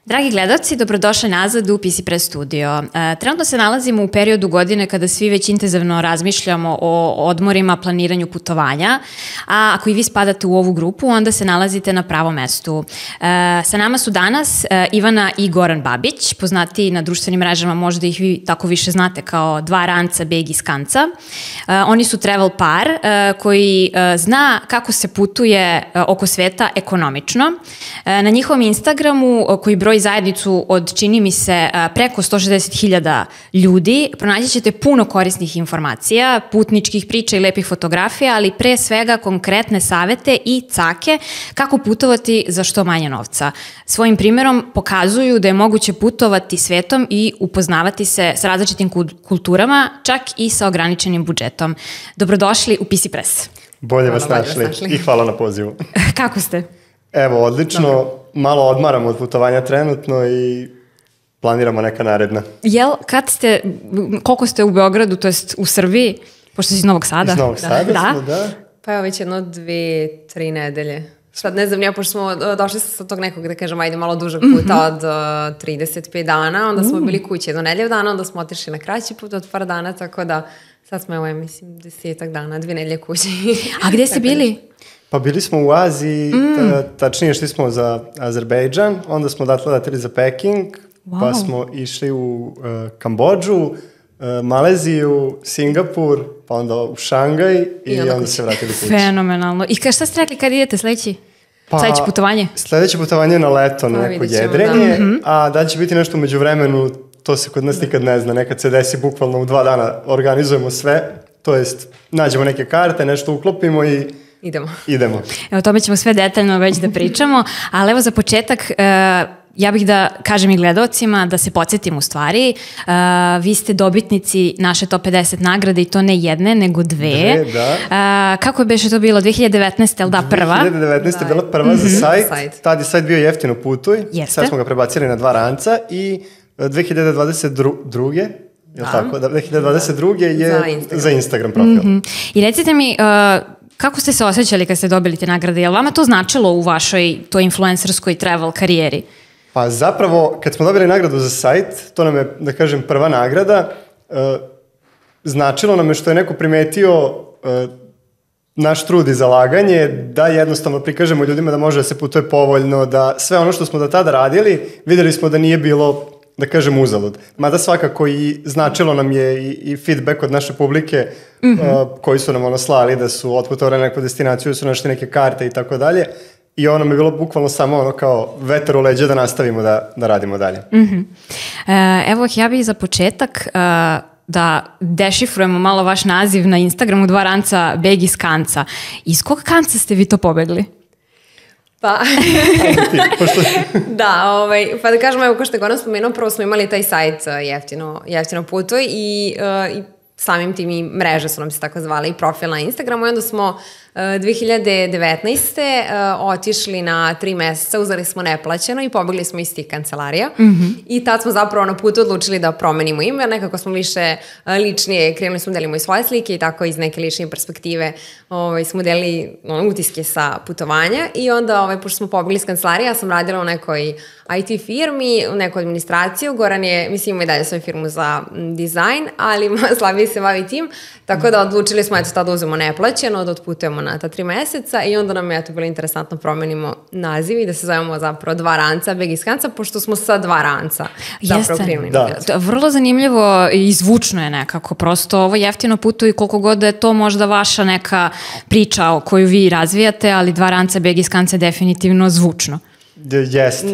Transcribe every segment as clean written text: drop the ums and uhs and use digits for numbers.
Dragi gledalci, dobrodošli nazad u PC Press Studio. Trenutno se nalazimo u periodu godine kada svi već intenzivno razmišljamo o odmorima, planiranju putovanja, a ako i vi spadate u ovu grupu, onda se nalazite na pravom mestu. Sa nama su danas Ivana i Goran Babić, poznati na društvenim mrežama, možda ih vi tako više znate kao dva ranca, beg iz kanca. Oni su travel par koji zna kako se putuje oko sveta ekonomično. Na njihovom Instagramu, koji broji zajednicu od, čini mi se, preko 160.000 ljudi, pronaći ćete puno korisnih informacija, putničkih priča i lepih fotografija, ali pre svega konkretne savete i cake kako putovati za što manje novca. Svojim primjerom pokazuju da je moguće putovati svetom i upoznavati se s različitim kulturama, čak i sa ograničenim budžetom. Dobrodošli u PC Press. Bolje vas našli i hvala na pozivu. Kako ste? Evo, odlično. Dobro. Malo odmaramo od putovanja trenutno i planiramo neka naredna. Koliko ste u Beogradu, to jest u Srbiji, pošto si iz Novog Sada? Iz Novog Sada smo, da. Pa evo već 2-3 nedelje. Sad ne znam, ja pošto smo došli sa tog nekog, da kažem, ajde malo dužeg puta od 35 dana, onda smo bili kući 1 nedelju dana, onda smo otišli na kraći put od par dana, tako da sad smo, evo, mislim, 10 dana, 2 nedelje kući. A gde ste bili? Pa bili smo u Aziji, tačnije šli smo za Azerbejdžan, onda smo leteli za Peking, pa smo išli u Kambodžu, Maleziju, Singapur, pa onda u Šangaj i onda se vratili kući. Fenomenalno. I šta ste rekli kad idete sledeće putovanje? Sledeće putovanje je na leto, na neko jedrenje, a da će biti nešto umeđu vremenu, to se kod nas nikad ne zna, nekad se desi bukvalno u 2 dana, organizujemo sve, to jest nađemo neke karte, nešto uklopimo i idemo. Evo, tome ćemo sve detaljno već da pričamo, ali evo za početak, ja bih da kažem i gledalcima da se podsjetim u stvari. Vi ste dobitnici naše Top 50 nagrade i to ne jedne, nego 2. Da. Kako je beše to bilo? 2019. je li da prva? 2019. je bila prva za sajt. Tad je sajt bio Jeftino putuj. Sad smo ga prebacili na 2 ranca i 2022. Je tako? 2022. je za Instagram profil. I recite mi, kako ste se osjećali kad ste dobili te nagrade? Je li vama to značilo u vašoj toj influencerskoj travel karijeri? Pa zapravo, kad smo dobili nagradu za sajt, to nam je, da kažem, prva nagrada, značilo nam je što je neko primetio naš trud i zalaganje, da jednostavno prikažemo ljudima da može da se putuje povoljno, da sve ono što smo do tada radili, videli smo da nije bilo, da kažem, uzalud. Mada svakako i značilo nam je i feedback od naše publike koji su nam slali da su otputovali na neku destinaciju, da su našli neke karte i tako dalje. I ono mi je bilo bukvalno samo kao vetar u leđa da nastavimo da radimo dalje. Evo, ja bih za početak da dešifrujemo malo vaš naziv na Instagramu 2 ranca, beg iz kanca. Iz kog kanca ste vi to pobegli? Pa, pa da kažemo, evo, ko što je Goran spomenuo, prvo smo imali taj sajt Jeftino putuj i samim tim i mreže su nam se tako zvale i profil na Instagramu i onda smo 2019. Otišli na 3 meseca, uzeli smo neplaćeno i pobegli smo iz tih kancelarija i tad smo zapravo na putu odlučili da promenimo ime, jer nekako smo više ličnije, krenuli smo delimo i svoje slike i tako iz neke lične perspektive smo delili utiske sa putovanja i onda, pošto smo pobegli iz kancelarija, ja sam radila u nekoj IT firmi, u neku administraciju, Goran je, mislim, ima i dalje svoju firmu za dizajn, ali slabije se bavi tim, tako da odlučili smo tada uzemo neplaćeno, da otputujemo na ta 3 meseca i onda nam je bilo interesantno promenimo naziv i da se zovemo zapravo 2 ranca, beg iz kanca, pošto smo sa 2 ranca zapravo krenuli na gledu. Vrlo zanimljivo i zvučno je nekako, prosto ovo Jeftino putuj, koliko god da je to možda vaša neka priča koju vi razvijate, ali 2 ranca, beg iz kanca je definitivno zvučno. Jest,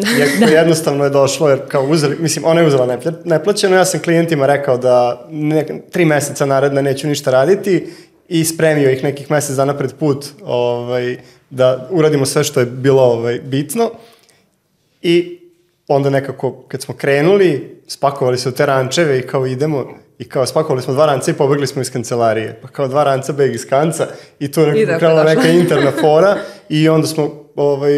jednostavno je došlo, jer kao uzeli, mislim, ona je uzela neplaćeno, ja sam klijentima rekao da 3 meseca naredne neću ništa raditi i spremio ih nekih mesec dana pred put da uradimo sve što je bilo bitno i onda nekako kad smo krenuli, spakovali se u te rančeve i kao idemo i kao spakovali smo 2 ranca i pobegli smo iz kancelarije, pa kao 2 ranca beg iz kanca i tu je krenula neka interna fora i onda smo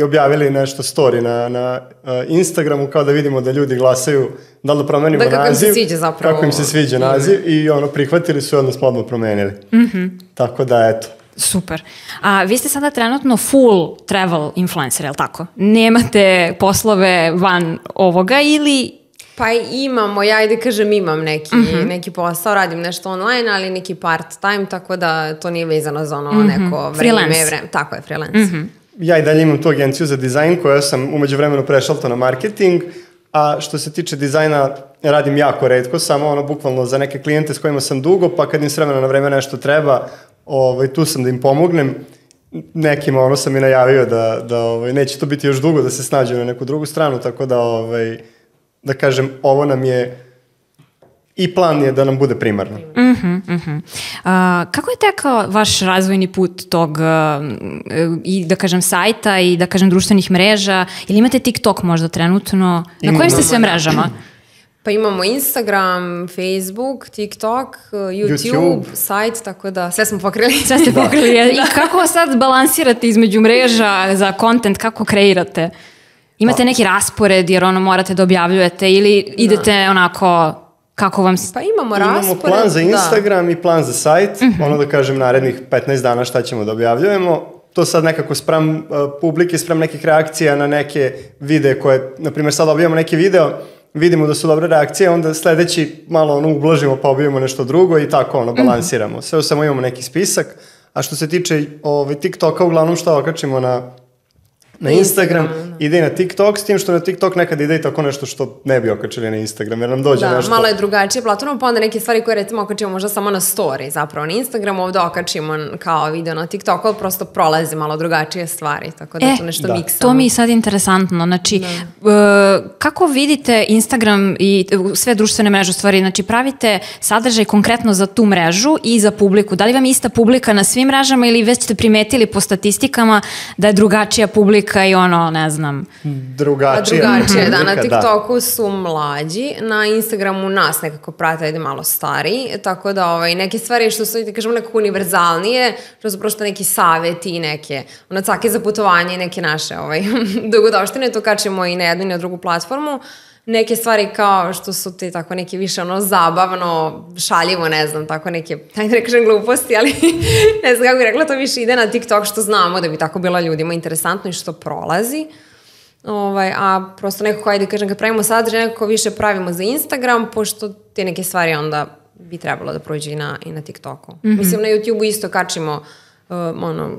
objavili nešto story na Instagramu kao da vidimo da ljudi glasaju da li da promenimo naziv. Kako im se sviđa zapravo. Kako im se sviđa naziv i prihvatili su i onda smo odmah promenili. Tako da, eto. Super. A vi ste sada trenutno full travel influencer, je li tako? Nemate poslove van ovoga ili... Pa imamo, ja kažem imam neki posao, radim nešto online, ali neki part time, tako da to nije vezano za ono neko vreme. Tako je, freelance. Ja i dalje imam tu agenciju za dizajn koja sam umeđu vremenu prešalto na marketing, a što se tiče dizajna radim jako retko, samo ono bukvalno za neke klijente s kojima sam dugo, pa kad im s vremena na vreme nešto treba, tu sam da im pomognem. Nekima ono sam i najavio da neće to biti još dugo da se snađu na neku drugu stranu, tako da kažem, ovo nam je i plan je da nam bude primarno. Kako je tekao vaš razvojni put tog i da kažem sajta i da kažem društvenih mreža? Ili imate TikTok možda trenutno? Na kojim ste sve mrežama? Pa imamo Instagram, Facebook, TikTok, YouTube, sajt, tako da sve smo pokrili. Sve ste pokrili. I kako sad balansirate između mreža za content, kako kreirate? Imate neki raspored jer ono morate da objavljujete ili idete onako kako vam... Pa imamo raspored. Imamo plan za Instagram i plan za sajt, ono da kažem narednih 15 dana šta ćemo da objavljujemo. To sad nekako sprem publike, sprem nekih reakcija na neke videe koje, na primjer sad objavimo neki video, vidimo da su dobre reakcije, onda sledeći malo ono ublažimo pa objavimo nešto drugo i tako ono balansiramo. Sve samo imamo neki spisak, a što se tiče TikToka, uglavnom šta okačimo na Instagram, ide i na TikTok, s tim što na TikTok nekad ide i tako nešto što ne bi okačili na Instagram, jer nam dođe nešto... Da, malo je drugačije platforma, pa onda neke stvari koje recimo okačimo možda samo na story, zapravo na Instagramu, ovdje okačimo kao video na TikToku, ali prosto prolaze malo drugačije stvari, tako da to nešto miksamo. To mi je sad interesantno, znači, kako vidite Instagram i sve društvene mreže, stvari, znači pravite sadržaj konkretno za tu mrežu i za publiku, da li vam je ista publika na svim mrežama ili već ste primetili po statistikama da je drugačija publika i ono, ne znam. Drugačije, da, na TikToku su mlađi, na Instagramu nas nekako prate, ide malo stariji, tako da neke stvari što su, kažemo, nekako univerzalnije, što su prosto neki savjeti i neke cake za putovanje i neke naše dogodovštine, to kačemo i na jednu i na drugu platformu. Neke stvari kao što su te tako neke više zabavno, šaljivo, ne znam, tako neke, ajde ne kažem gluposti, ali ne znam kako bih rekla, to više ide na TikTok što znamo da bi tako bilo ljudima interesantno i što prolazi. A prosto nekako, ajde kažem, kad pravimo sadržaj, nekako više pravimo za Instagram, pošto te neke stvari onda bi trebalo da prođe i na TikToku. Mislim, na YouTubeu isto kačimo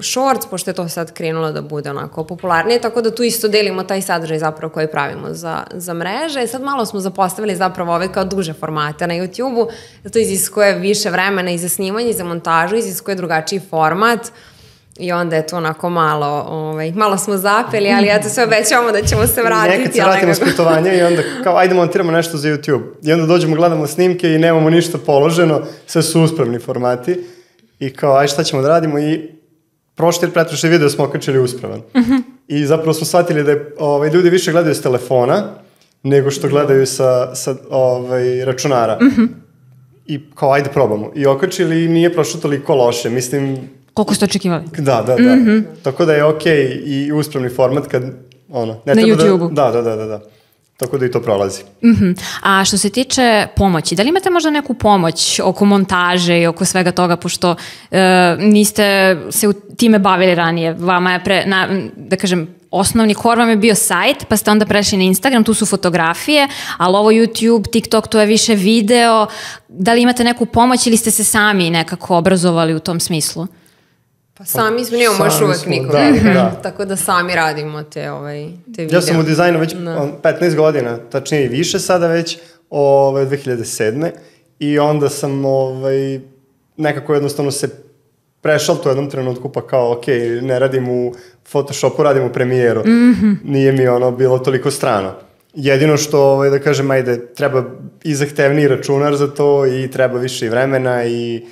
shorts, pošto je to sad krenulo da bude onako popularnije, tako da tu isto delimo taj sadržaj zapravo koji pravimo za mreže. Sad malo smo zapostavili zapravo ove kao duže formate na YouTubeu, to iziskuje više vremena i za snimanje i za montažu, iziskuje drugačiji format i onda je to onako malo smo zapeli, ali ja to sve obećavamo da ćemo se vratiti. Nekad se vratimo s putovanja i onda kao ajde montiramo nešto za YouTube i onda dođemo, gledamo snimke i nemamo ništa položeno, sve su uspravni formati. I kao, aj šta ćemo da radimo i prošli video smo okačili uspravan. I zapravo smo shvatili da ljudi više gledaju s telefona nego što gledaju sa računara. I kao, ajde probamo. I okačili i nije prošlo toliko loše, mislim... Koliko ste očekivali? Da. Tako da je okej i uspravni format kad, na YouTubeu. Da. Tako da i to prolazi. A što se tiče pomoći, da li imate možda neku pomoć oko montaže i oko svega toga, pošto niste se time bavili ranije? Vama je, da kažem, osnovni core vam je bio sajt, pa ste onda prešli na Instagram, tu su fotografije, ali ovo YouTube, TikTok, to je više video. Da li imate neku pomoć ili ste se sami nekako obrazovali u tom smislu? Pa sami smo, nemamo još uvek nikog. Tako da sami radimo te video. Ja sam u dizajnu već 15 godina, tačnije i više sada već, 2007. I onda sam nekako jednostavno se prešao to u jednom trenutku, pa kao ok, ne radim u Photoshopu, radim u Premieru. Nije mi bilo toliko strano. Jedino što, da kažem, ajde, treba i zahtevniji računar za to i treba više vremena i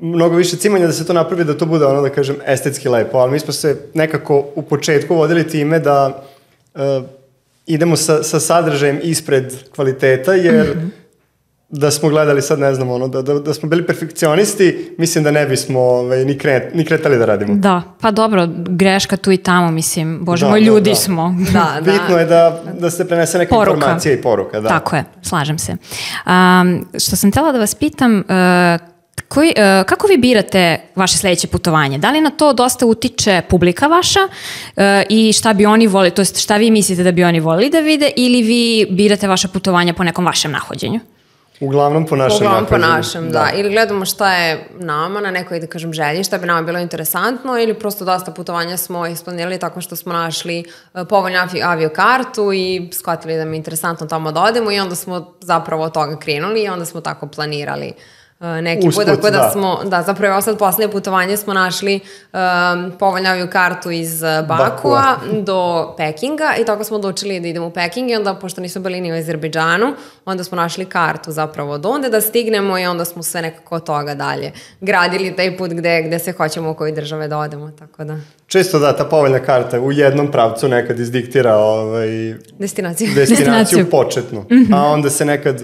mnogo više cimanja da se to napravi, da to bude da kažem, estetski lepo, ali mi smo se nekako u početku vodili time da idemo sa sadržajem ispred kvaliteta, jer da smo gledali sad, ne znam, da smo bili perfekcionisti, mislim da ne bismo ni kretali da radimo. Da, pa dobro, greška tu i tamo, mislim, bože moj, ljudi smo. Bitno je da se prenese neka informacija i poruka. Tako je, slažem se. Što sam htjela da vas pitam, Kako vi birate vaše sledeće putovanje? Da li na to dosta utiče publika vaša i šta bi oni volili, to jest šta vi mislite da bi oni volili da vide, ili vi birate vaše putovanja po nekom vašem nahođenju? Uglavnom po našem nahođenju. Uglavnom po našem, da. Ili gledamo šta je nama na nekoj, da kažem, želji, šta bi nama bilo interesantno, ili prosto dosta putovanja smo isplanirali tako što smo našli povoljnu aviokartu i shvatili da mi je interesantno tamo da odemo i onda smo zapravo od toga krenuli i onda smo tako planirali neki put, tako da smo, zapravo ovo sad poslednje putovanje smo našli povoljnu aviokartu iz Bakua do Pekinga i tako smo odlučili da idemo u Peking i onda, pošto nismo bili ni u Azerbejdžanu, onda smo našli kartu zapravo od onda da stignemo i onda smo sve nekako od toga dalje gradili taj put gde se hoćemo u koje države da odemo, tako da. Često ta povoljna karta u jednom pravcu nekad izdiktira destinaciju početnu, a onda se nekad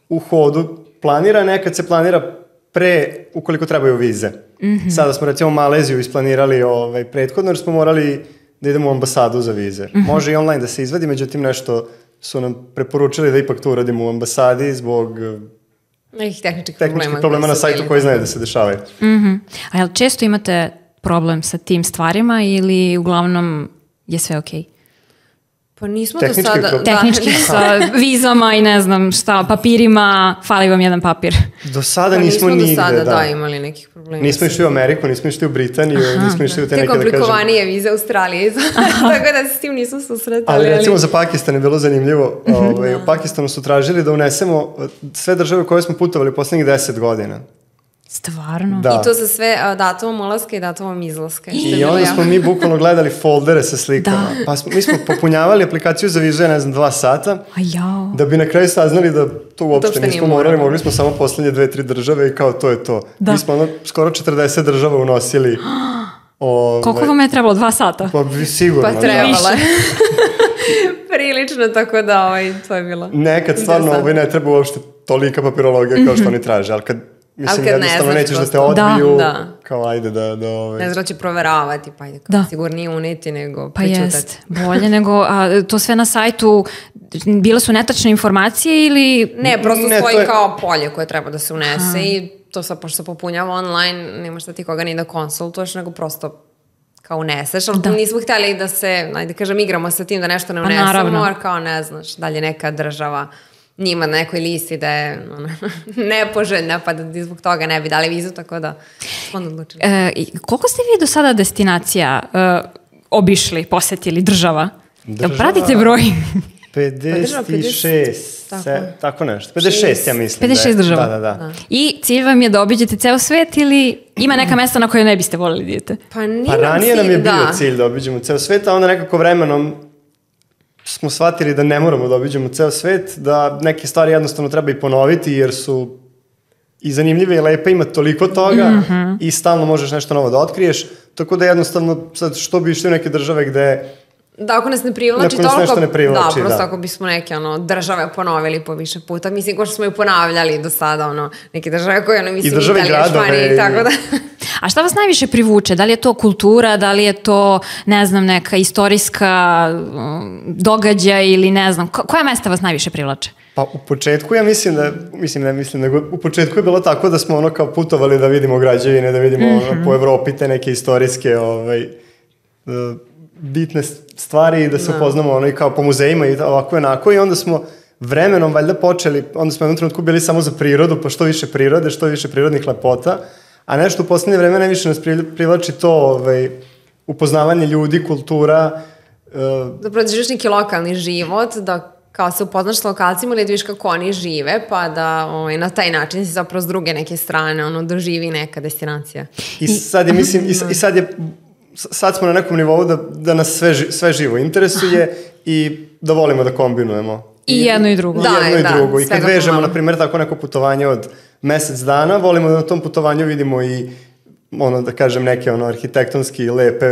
u hodu planira, nekad se planira pre, ukoliko trebaju vize. Sada smo recimo Maleziju isplanirali prethodno, jer smo morali da idemo u ambasadu za vize. Može i online da se izvadi, međutim nešto su nam preporučili da ipak to uradimo u ambasadi zbog nekih tehničkih problema na sajtu koji znaju da se dešavaju. A jel često imate problem sa tim stvarima ili uglavnom je sve okej? Pa nismo do sada... Tehnički sa vizama i ne znam šta, papirima, fali vam jedan papir. Do sada nismo nigde, do sada, imali nekih problema. Nismo išli u Ameriku, nismo išli u Britaniju, nismo išli u te neke, da kažem... Te komplikovanije vize Australije, tako da se s tim nismo susretali. Ali recimo za Pakistan je bilo zanimljivo. U Pakistanu su tražili da unesemo sve države u koje smo putovali u poslednjih 10 godina. Stvarno? Da. I to sa sve datumom ulaska i datumom izlaska. I onda smo mi bukvalno gledali foldere sa slikama. Pa mi smo popunjavali aplikaciju za vizu, 2 sata, da bi na kraju saznali da to uopšte nismo morali, mogli smo samo poslednje 2-3 države i kao to je to. Mi smo skoro 40 država unosili. Koliko vam je trebalo? 2 sata? Pa sigurno. Pa trebalo je. Prilično, tako da to je bilo. Nekad stvarno ne treba uopšte tolika papirologija kao što oni traže, ali kad mislim, jednostavno nećeš da te odbiju, kao ajde da... Ne znaš da će proveravati, pa ajde, kao sigurnije uneti nego pričutati. Pa jest, bolje nego, to sve na sajtu, bile su netačne informacije ili... Ne, prosto stoji kao polje koje treba da se unese i to sad, pošto se popunjava online, nemaš da ti koga ni da konsultuješ, nego prosto kao uneseš, ali nismo htjeli da se, ajde kažem, igramo sa tim da nešto ne unesemo, jer kao ne znaš, dalje neka država njima na nekoj listi da je nepoželjna, pa da zbog toga ne bi dali vizu, tako da smo odlučili. Koliko ste vi do sada destinacija obišli, posetili država? Pratite broj? 56, tako nešto. 56, ja mislim. 56 država. Da. I cilj vam je da obiđete ceo svet ili ima neka mesta na koje ne biste voljeli da idete? Pa ranije nam je bio cilj da obiđemo ceo svet, a onda nekako vremenom smo shvatili da ne moramo da obiđemo ceo svet, da neke stvari jednostavno treba i ponoviti, jer su i zanimljive i lepe, ima toliko toga i stalno možeš nešto novo da otkriješ, tako da jednostavno sad što bi išli u neke države gde... Da, ako nas ne privlači toliko, prosto ako bismo neke države ponovili po više puta, mislim, ko što smo ju ponavljali do sada, neke države koje mislim Italija, Španija i tako da... A šta vas najviše privuče? Da li je to kultura, da li je to, ne znam, neka istorijska događaj ili ne znam, koja mesta vas najviše privlače? Pa u početku ja nego u početku je bilo tako da smo kao putovali da vidimo građevine, da vidimo po Evropi te neke istorijske bitne stvari i da se upoznamo i kao po muzejima i ovako i onako i onda smo vremenom valjda počeli, onda smo u jednom trenutku bili samo za prirodu, pa što više prirode, što više prirodnih lepota, a nešto u poslednje vreme najviše nas privlači to upoznavanje ljudi, kultura. Da prođeš neki lokalni život, da kao se upoznaš s lokalcima ili da viš kako oni žive, pa da na taj način si zapravo s druge neke strane doživi neka destinacija. I sad je, mislim, sad smo na nekom nivou da nas sve živo interesuje i da volimo da kombinujemo. I jedno i drugo. I kad vežemo, na primjer, tako neko putovanje od mesec dana, volimo da na tom putovanju vidimo i, da kažem, neke arhitektonski lepe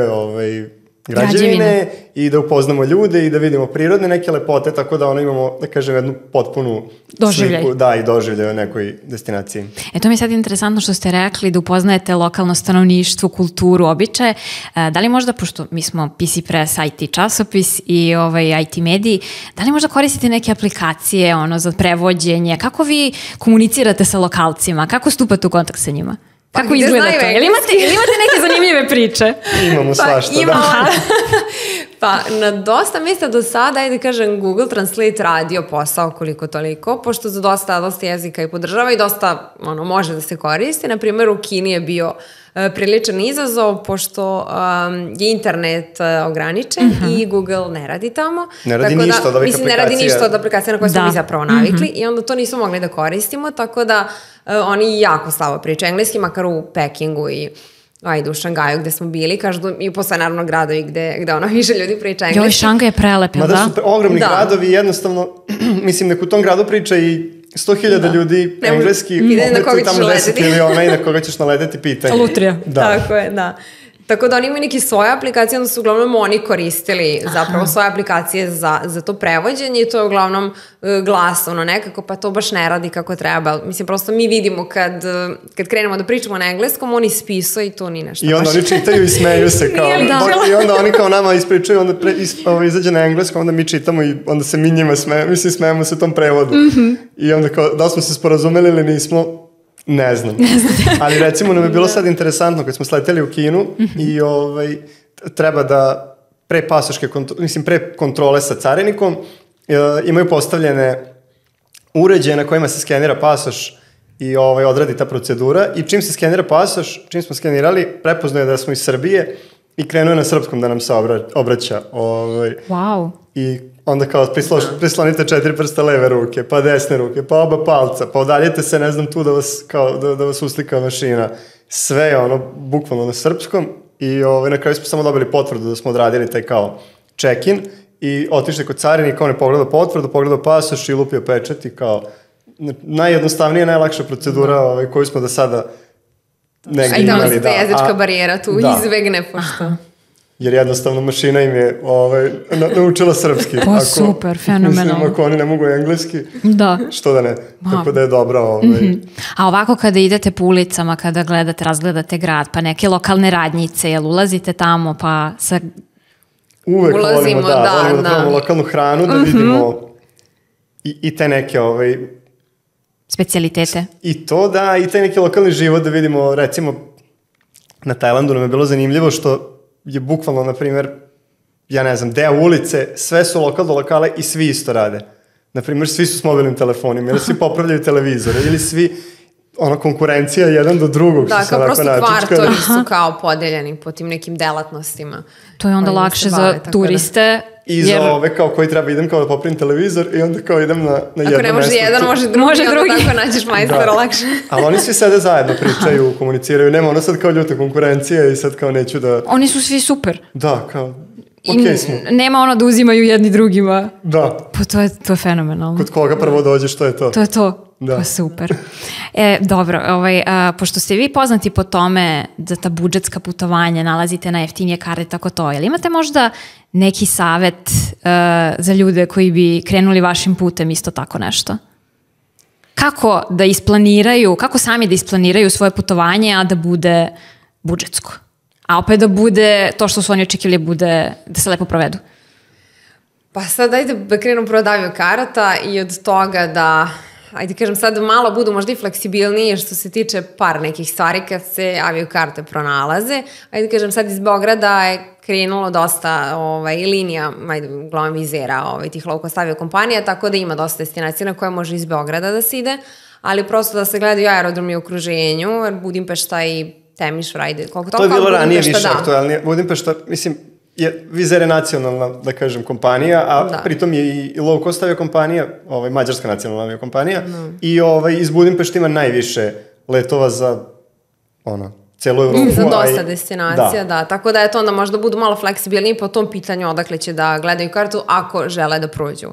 građevine i da upoznamo ljude i da vidimo prirodne neke lepote, tako da imamo, da kažem, jednu potpunu sliku, da, i doživljaj o nekoj destinaciji. To mi je sad interesantno što ste rekli da upoznajete lokalno stanovništvo, kulturu, običaje. Da li možda, pošto mi smo PC Press IT časopis i IT mediji, da li možda koristite neke aplikacije za prevođenje? Kako vi komunicirate sa lokalcima? Kako stupate u kontakt sa njima? Kako izgleda to? Ili imate neke zanimljive priče? Imamo svašta, Pa na dosta mjesta do sada, ajde kažem, Google Translate radio posao koliko toliko, pošto za dosta jezika i podržava i dosta može da se koristi. Na primjer, u Kini je bio priličan izazov, pošto je internet ograničen i Google ne radi tamo. Ne radi ništa od ovih aplikacija. Ne radi ništa od aplikacija na koje smo mi zapravo navikli i onda to nismo mogli da koristimo, tako da oni jako slabo pričaju engleski, makar u Pekingu i u Šangaju gde smo bili, kažu i posle naravno gradovi gde više ljudi priča engleski. Šangaj je prelep, da? Mada su ogromni gradovi, jednostavno, mislim, nek u tom gradu priča i 100.000 ljudi engleski, opet su tamo 10 miliona i na koga ćeš naleteti pitanje. Lutrija. Tako je, da. Tako da oni imaju neke svoje aplikacije, onda su uglavnom oni koristili zapravo svoje aplikacije za to prevođenje i to je uglavnom glasovno nekako, pa to baš ne radi kako treba. Mislim, prosto mi vidimo kad krenemo da pričamo na engleskom, oni spisuju i to ni nešto. I onda oni čitaju i smeju se kao. I onda oni kao nama ispričaju, onda izađe na engleskom, onda mi čitamo i onda se mi njima smejemo se tom prevodu. I onda kao, da smo se sporazumeli ili nismo, ne znam. Ali recimo nam je bilo sad interesantno kad smo sleteli u Kinu i treba da pre kontrole sa carinikom imaju postavljene uređaje na kojima se skenira pasoš i odradi ta procedura i čim se skenira pasoš, čim smo skenirali, prepoznao je da smo iz Srbije i krenuo je na srpskom da nam se obraća. Wow. I onda kao prislonite 4 prsta leve ruke, pa desne ruke, pa oba palca, pa udaljite se, ne znam, tu da vas uslika mašina. Sve je bukvalno na srpskom i na kraju smo samo dobili potvrdu da smo odradili taj kao check-in i otišli kod carinika, on je pogledao potvrdu, pogledao pasoš i lupio pečat i kao najjednostavnija, najlakša procedura koju smo do sada negdje imali. A i tamo se ta jezička barijera tu izvegne, pošto... Jer jednostavno mašina im je naučila srpski. Super, fenomenalno. Mislim, ako oni ne mogu engleski, što da ne. Tako da je dobro. A ovako kada idete po ulicama, kada razgledate grad, pa neke lokalne radnjice, jel ulazite tamo, pa sa... Uvek volimo da probamo lokalnu hranu, da vidimo i te neke... Specijalitete. I to da, i taj neki lokalni život da vidimo, recimo, na Tajlandu nam je bilo zanimljivo što je bukvalno, na primjer, ja ne znam, deo ulice, sve su lokal do lokale i svi isto rade. Na primjer, svi su s mobilnim telefonima, ili svi popravljaju televizore, ili svi, konkurencija jedan do drugog. Da, kao prosto kvartovi su kao podeljeni po tim nekim delatnostima. To je onda lakše za turiste. I za ove kao koji treba idem kao da popravim televizor i onda kao idem na jedno mesto. Ako ne može jedan, može drugi. Onda tako nađeš majstora lakše. Ali oni svi sede zajedno, pričaju, komuniciraju. Nema sad kao ljuta konkurencija i sad kao neću da... Oni su svi super. Da, kao... Okay smo. Nema da uzimaju jedni drugima. Da. Pa to je fenomenalno. Kod koga prvo dođe, što je to? To je to. Da. Pa super. Dobro, pošto ste vi poznati po tome za ta budžetska putovanja, nalazite na jeftinije karte, tako to, jel imate možda neki savet za ljude koji bi krenuli vašim putem isto tako nešto? Kako da isplaniraju, kako sami da isplaniraju svoje putovanje, a da bude budžetsko? A opet da bude to što su oni očekivali bude da se lepo provedu? Pa sad ajde da krenu prvo od aviokarata i od toga da, ajde kažem sad malo budu možda i fleksibilnije što se tiče par nekih stvari kad se aviokarte pronalaze. Ajde kažem sad iz Beograda je krenulo dosta linija, uglavnom Vizera, tih low cost aviokompanija, tako da ima dosta destinacija na koje može iz Beograda da se ide, ali prosto da se gledaju aerodromi u okruženju, jer Budimpešta i Temiš, Vrajde, koliko to je bilo ranije više aktualnije. Budimpešta, mislim, Vizer je nacionalna, da kažem, kompanija, a pritom je i low cost aviokompanija, mađarska nacionalna aviokompanija, i iz Budimpešta ima najviše letova za celu Evropu. Za dosta destinacija, da. Tako da je to onda možda budu malo fleksibilniji po tom pitanju odakle će da gledaju kartu ako žele da prođu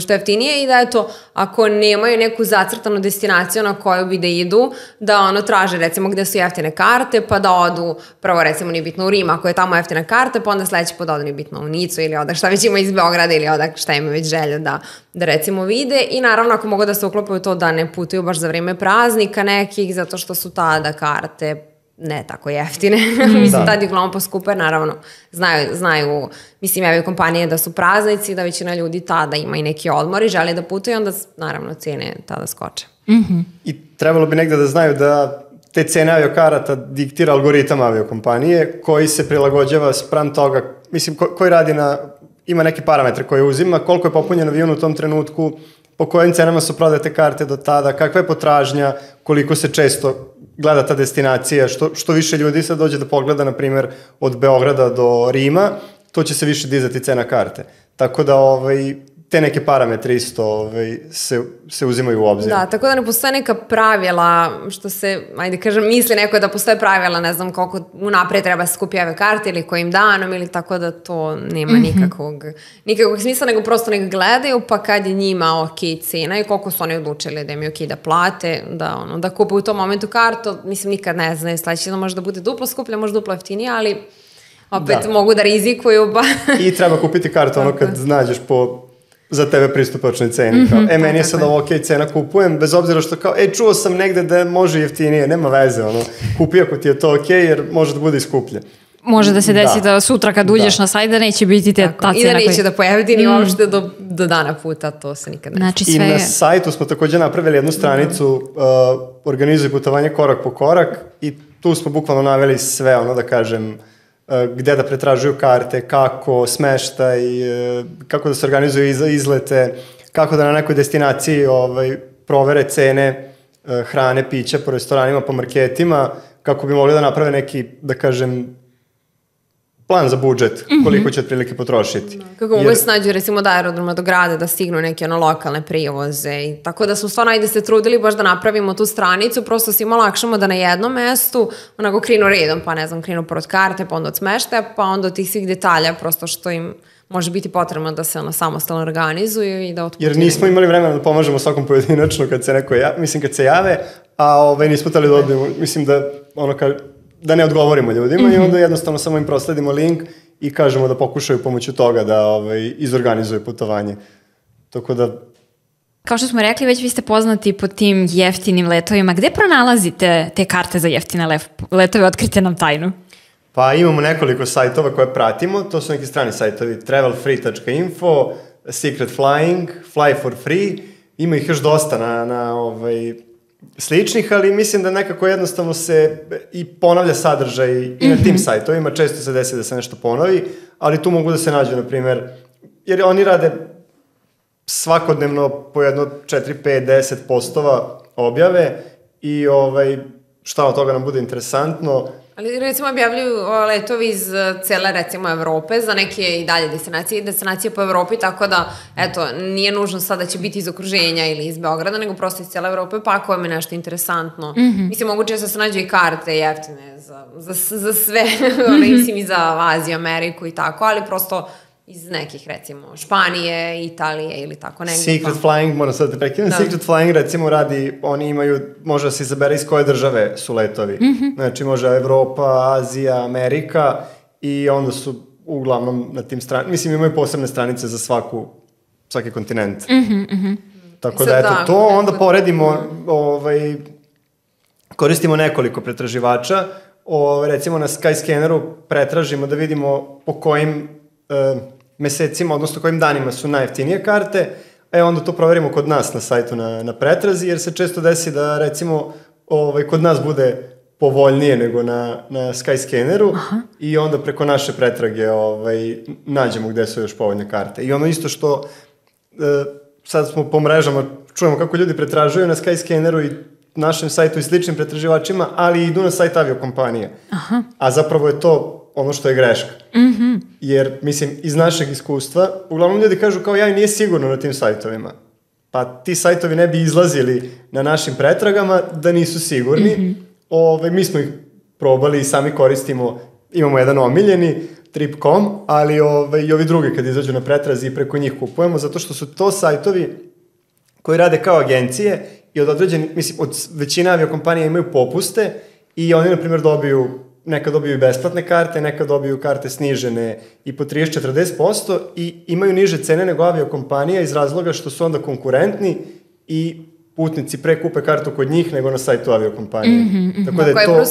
što je jeftinije i da eto, ako nemaju neku zacrtanu destinaciju na koju bi da idu, da traže recimo gde su jeftine karte, pa da odu, prvo recimo nije bitno u Rim, ako je tamo jeftina karta, pa onda sledeći put odu nije bitno u Nicu ili odak šta već ima iz Beograda ili odak šta ima već želja da recimo vide i naravno ako mogu da se uklopaju to da ne putuju baš za vreme praznika nekih, zato što su tada karte ne tako jeftine. Mislim, tad je uglavnom poskupe, naravno, znaju, mislim, aviokompanije da su praznici, da većina ljudi tada ima i neki odmor i žele da putuju, onda, naravno, cene tada skoče. I trebalo bi negde da znaju da te cene aviokarata diktira algoritam aviokompanije koji se prilagođava spram toga, mislim, koji radi ima neke parametre koje uzima, koliko je popunjen avion u tom trenutku, po kojim cenama su prodate karte do tada, kakva je potražnja, koliko se često gleda ta destinacija, što više ljudi sad dođe da pogleda, na primjer, od Beograda do Rima, to će se više dizati cena karte. Tako da te neke parametre isto se uzimaju u obzir. Da, tako da ne postoje neka pravila, što se, ajde kažem, misli neko da postoje pravila, ne znam koliko unapred treba se skupi ove karte ili kojim danom ili tako da to nema nikakvog smisla, nego prosto nek gledaju, pa kad je njima ok cena i koliko su oni odlučili da im je ok da plate, da kupe u tom momentu kartu, mislim nikad ne znaju, sledeći može da bude duplo skuplja, može duplo jeftinije, ali opet mogu da rizikuju. I treba kupiti kartu kad nađeš za tebe pristupačnoj ceni. Meni je sad ovo ok cena, kupujem, bez obzira što čuo sam negde da može jeftinije, nema veze, kupi ako ti je to ok, jer može da bude i skuplje. Može da se desi da sutra kad uđeš na sajt da neće biti ta cena. I da neće da pojaviti ni uopšte do dana puta, to se nikad ne znači, I na sajtu smo takođe napravili jednu stranicu organizuj putovanje korak po korak i tu smo bukvalno naveli sve, da kažem, gde da pretražuju karte, kako, smeštaj, kako da se organizuju izlete, kako da na nekoj destinaciji provere cene hrane, pića po restoranima, po marketima, kako bi mogli da naprave neki, da kažem, plan za budžet, koliko će otprilike potrošiti. Kako mogu se nađu recimo od aerodroma do grada da stignu neke lokalne prijevoze i tako da smo stvarno ajde se trudili baš da napravimo tu stranicu, prosto svima lakšamo da na jednom mestu onako krenu redom, pa ne znam, krenu pored karte, pa onda od smeštaja, pa onda od tih svih detalja, prosto što im može biti potrebno da se samostalno organizuju i da otputuju. Jer nismo imali vremena da pomažemo svakom pojedinačno kad se neko kad se jave, a nismo tali da odbijemo, mislim da ne odgovorimo ljudima i onda jednostavno samo im prosledimo link i kažemo da pokušaju pomoću toga da izorganizuju putovanje. Tako da... Kao što smo rekli, već vi ste poznati po tim jeftinim letovima. Gde pronalazite te karte za jeftine letove? Otkrite nam tajnu. Pa imamo nekoliko sajtova koje pratimo. To su neki strani sajtovi. Travelfree.info, Secret Flying, Fly for Free. Ima ih još dosta na sličnih, ali mislim da nekako jednostavno se i ponavlja sadržaj i na tim sajtovima, često se desi da se nešto ponovi, ali tu mogu da se nađu, na primjer, jer oni rade svakodnevno po jedno 4, 5, 10 postova objave i šta od toga nam bude interesantno. Ali recimo objavljuju letovi iz cele recimo Evrope za neke i dalje destinacije po Evropi, tako da eto, nije nužno sad da će biti iz okruženja ili iz Beograda, nego prosto iz cele Evrope, pa ako vam je nešto interesantno. Mislim, moguće da se nađu i karte jeftine za sve, mislim i za Aziju, Ameriku i tako, ali prosto iz nekih, recimo, Španije, Italije ili tako negdje. Secret Flying, moram sad da prekinem, Secret Flying recimo radi, oni imaju, može da se izabere iz koje države su letovi. Znači može Evropa, Azija, Amerika i onda su uglavnom na tim stranicama, mislim imaju posebne stranice za svaki kontinent. Tako da eto to, onda poredimo, koristimo nekoliko pretraživača, recimo na Skyscanneru pretražimo da vidimo po kojim mesecima, odnosno kojim danima su najjeftinije karte, onda to proverimo kod nas na sajtu na pretrazi, jer se često desi da recimo kod nas bude povoljnije nego na Skyscanneru i onda preko naše pretrage nađemo gde su još povoljne karte. I ono isto što sad smo po mrežama, čujemo kako ljudi pretražuju na Skyscanneru i našem sajtu i sličnim pretraživačima, ali idu na sajt aviokompanije. A zapravo je to ono što je greška. Jer, mislim, iz našeg iskustva, uglavnom ljudi kažu kao nije sigurno na tim sajtovima. Pa ti sajtovi ne bi izlazili na našim pretragama da nisu sigurni. Mi smo ih probali i sami koristimo imamo jedan omiljeni, Trip.com, ali i ovi drugi kad izađu na pretrazi i preko njih kupujemo, zato što su to sajtovi koji rade kao agencije i od određenih, mislim, od većina aviokompanija imaju popuste i oni, na primjer, nekad dobiju i besplatne karte, nekad dobiju karte snižene i po 30-40% i imaju niže cene nego aviokompanija iz razloga što su onda konkurentni i putnici pre kupe kartu kod njih nego na sajtu aviokompanije. Tako da je to... Plus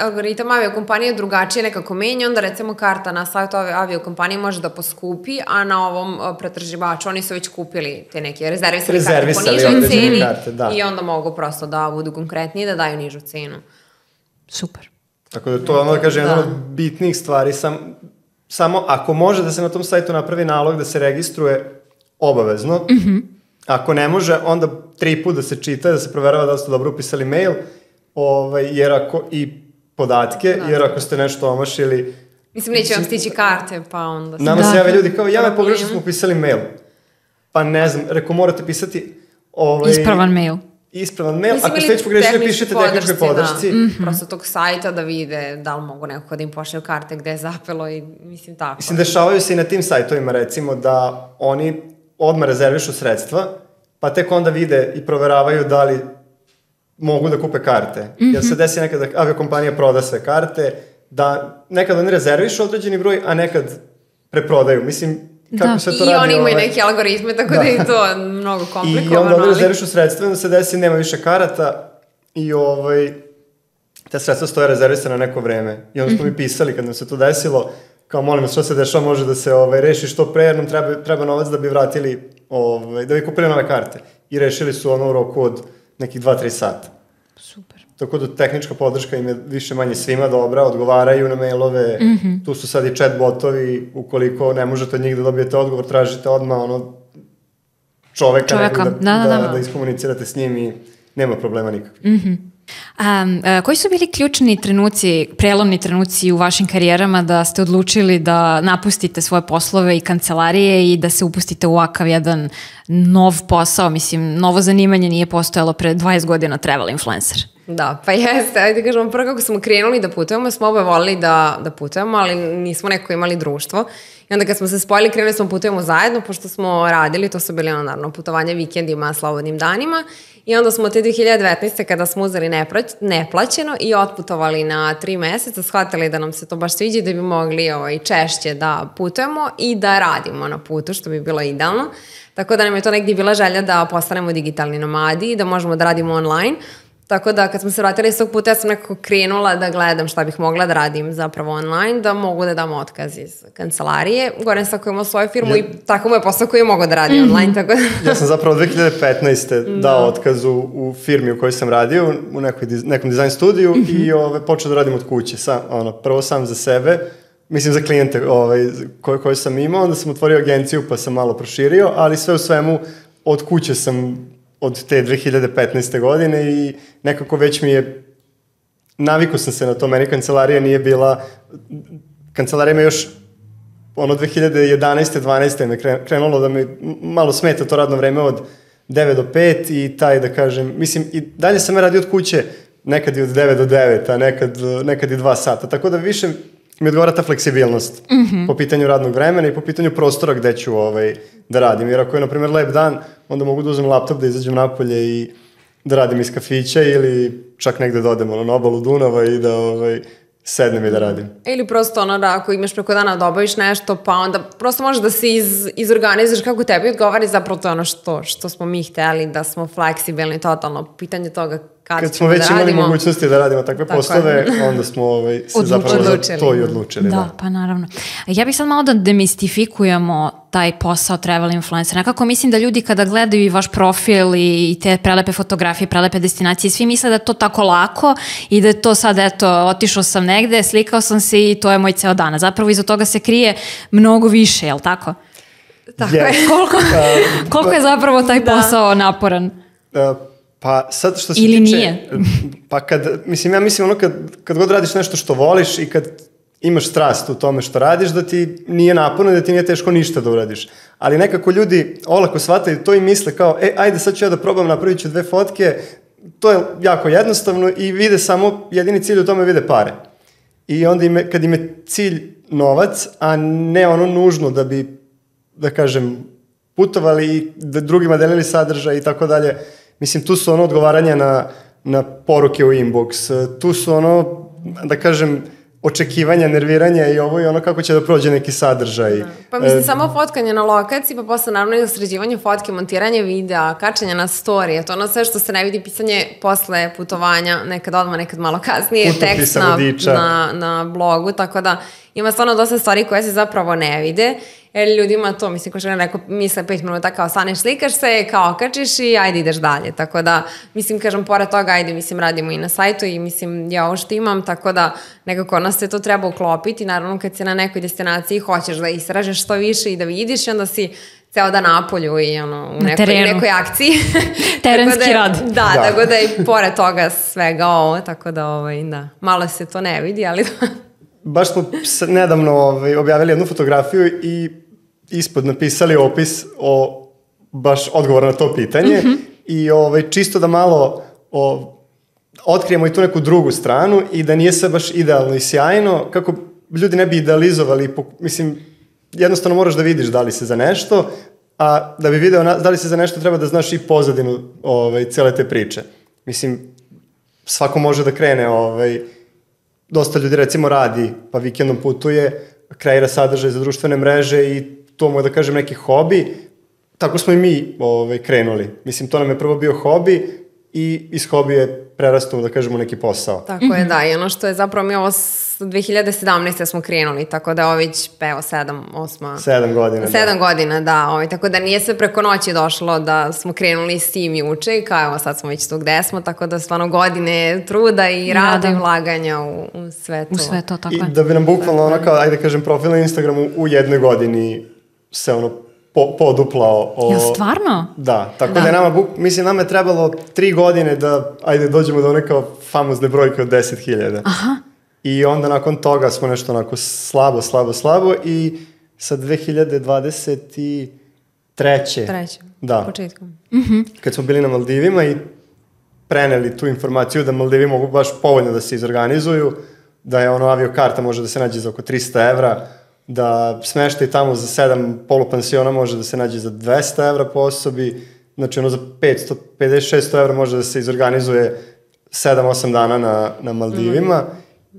algoritam aviokompanije drugačije nekako menja, onda recimo karta na sajtu aviokompanije može da poskupi, a na ovom pretraživaču oni su već kupili te neke rezervisali karte po nižoj ceni i onda mogu prosto da budu konkretniji da daju nižu cenu. Super. Tako da to je ono da kažem jedna od bitnih stvari. Samo ako može da se na tom sajtu napravi nalog da se registruje obavezno, ako ne može, onda 3 puta da se čita, da se proverava da ste dobro upisali mail, i podatke, jer ako ste nešto omašili... Mislim, neće vam stići karte, pa onda... Nama se jave ljudi kao, me pogrešno smo upisali mail. Pa ne znam, reko morate pisati... Ispravan mail. Ako ste već pogrešili, pišete tehničkoj podršci. Prosto tog sajta da vide da li mogu nekako da im pošlju karte gde je zapelo i mislim tako. Mislim, dešavaju se i na tim sajtovima, recimo, da oni odmah rezervišu sredstva, pa tek onda vide i proveravaju da li mogu da kupe karte. Jer se desi nekada da aviokompanija proda sve karte, da nekad oni rezervišu određeni broj, a nekad preprodaju. Mislim, kako se to radi? I oni imaju neke algoritme, tako da je to mnogo komplikovano. I onda oni rezervišu sredstva, onda se desi nema više karata i te sredstva stoje rezervisane na neko vreme. I onda smo mi pisali kad nam se to desilo, kao molim vas što se dešava, može da se reši što pre, jer nam treba novac da bi vratili, da bi kupili nove karte. I rešili su ono u roku od nekih 2-3 sata. Super. Tako da tehnička podrška im je više manje svima dobra, odgovaraju na mailove, tu su sad i chat botovi, ukoliko ne možete od njih da dobijete odgovor, tražite odmah čoveka nekog da iskomunicirate s njim i nema problema nikakvih. Koji su bili ključni trenuci, prelomni trenuci u vašim karijerama da ste odlučili da napustite svoje poslove i kancelarije i da se upustite u ovakav jedan nov posao? Mislim, novo zanimanje nije postojalo pre 20 godina, travel influencer. Da, pa jeste, ajde kažemo, prvo kako smo krenuli da putujemo, smo oba volili da putujemo, ali nismo neko imali društvo. I onda kad smo se spojili, krenuli smo putujemo zajedno, pošto smo radili, to su bili naravno putovanja vikendima, slobodnim danima. I onda smo te 2019. kada smo uzeli neplaćeno i otputovali na 3 meseca, shvatili da nam se to baš sviđa i da bi mogli češće da putujemo i da radimo na putu, što bi bilo idealno. Tako da nam je to negdje bila želja da postanemo digitalni nomadi i da možemo da radimo online. Tako da kad smo se vratili s tog puta, ja sam nekako krenula da gledam šta bih mogla da radim zapravo online, da mogu da dam otkaz iz kancelarije. Goran sam koji imao svoju firmu i tako mu je posao koji je mogao da radi online. Tako da... Ja sam zapravo 2015. dao otkaz u firmi u kojoj sam radio, u nekom dizajn studiju i počeo da radim od kuće. Prvo sam za sebe, mislim za klijente koje sam imao, onda sam otvorio agenciju pa sam malo proširio, ali sve u svemu od kuće sam od te 2015. godine i nekako već navikao sam se na to, meni kancelarija nije bila, kancelarija me još 2011. 12. me krenulo da mi malo smeta to radno vreme od 9 do 5 i taj da kažem, mislim i dalje sam radio od kuće, nekad i od 9 do 9, a nekad i 2 sata, tako da više mi odgovara ta fleksibilnost po pitanju radnog vremena i po pitanju prostora gde ću da radim. Jer ako je, na primjer, lep dan, onda mogu da uzmem laptop, da izađem napolje i da radim iz kafića ili čak negde da odem na obalu Dunava i da sednem i da radim. Ili prosto da ako imaš preko dana da obaviš nešto, pa onda prosto možeš da se izorganizuješ kako tebi odgovara i zapravo to je ono što smo mi hteli, da smo fleksibilni totalno. Pitanje toga kad smo već imali mogućnosti da radimo takve poslove, onda smo se zapravo za to i odlučili. Da, pa naravno. Ja bih sad malo da demistifikujemo taj posao travel influencer. Nekako mislim da ljudi kada gledaju i vaš profil i te prelepe fotografije, prelepe destinacije, svi misle da je to tako lako i da je to sad, eto, otišao sam negde, slikao sam se i to je moj ceo dan. Zapravo iza toga se krije mnogo više, je li tako? Tako je. Koliko je zapravo taj posao naporan? Pa sad što se ili tiče... nije? Pa ja mislim kad god radiš nešto što voliš i kad imaš strast u tome što radiš, da ti nije naporno, da ti nije teško ništa da uradiš. Ali nekako ljudi olako shvataju to i misle kao, ajde sad ću ja da probam, napravit ću 2 fotke, to je jako jednostavno i vide samo, jedini cilj u tome vide pare. i onda kad im je cilj novac, a ne ono nužno da bi, da kažem, putovali i da drugima delili sadržaj i tako dalje. Mislim, tu su ono odgovaranja na poruke u inbox, tu su ono, da kažem, očekivanja, nerviranja i ovo i ono kako će da prođe neki sadržaj. Da. Pa mislim, samo fotkanje na lokaciji, pa posle naravno i sređivanje fotke, montiranje videa, kačanje na story, to ono sve što se ne vidi, pisanje posle putovanja, nekad odmah, nekad malo kasnije, tekst na blogu, tako da ima stvarno dosta stvari koje se zapravo ne vide, jer ljudima to, mislim, ko što je rekao, misle 5 minuta kao staneš, slikaš se, kao okačiš i ajde ideš dalje, tako da, mislim, kažem, pored toga, ajde, mislim, radimo i na sajtu i, mislim, ja ovo što imam, tako da nekako nas se to treba uklopiti, naravno kad si na nekoj destinaciji hoćeš da istražeš što više i da vidiš i onda si ceo dan napolju i ono, u nekoj akciji. Terenski rad. Da, tako da i pored toga svega ovo, tako da, da, malo se to ne vidi, ali baš smo nedavno objavili jednu fotografiju i ispod napisali opis o baš odgovor na to pitanje i čisto da malo otkrijemo i tu neku drugu stranu i da nije sve baš idealno i sjajno, kako ljudi ne bi idealizovali, mislim, jednostavno moraš da vidiš da li se za nešto, a da bi video da li se za nešto treba da znaš i pozadinu cele te priče. Mislim, svako može da krene, dosta ljudi recimo radi, pa vikendom putuje, kreira sadržaj za društvene mreže i to mu je, da kažem, neki hobi. Tako smo i mi krenuli. Mislim, to nam je prvo bio hobi i iz hobija je prerastao, da kažemo, neki posao. Tako je, da. I ono što je zapravo mi ovo 2017. smo krenuli, tako da je ovo već 7 godina. 7 godina, da. Tako da nije sve preko noći došlo da smo krenuli s tim juče i kao evo sad smo već tu gde smo, tako da stvarno godine truda i rada i ulaganja u sve to. U sve to, tako je. I da bi nam bukvalno ono kao, ajde kažem, profil na Instagramu u jednoj godini se ono poduplao. Jel stvarno? Da, tako da je nama je trebalo 3 godine da, ajde, dođemo do one kao famozne brojke od 10.000. Aha. I onda nakon toga smo nešto onako slabo i sa 2023. Da. Početkom. Kad smo bili na Maldivima i preneli tu informaciju da Maldivi mogu baš povoljno da se izorganizuju, da je ono aviokarta može da se nađe za oko 300 evra, da smeštaj tamo za 7 polupansiona može da se nađe za 200 evra po osobi, znači ono za 550-600 evra može da se izorganizuje 7-8 dana na Maldivima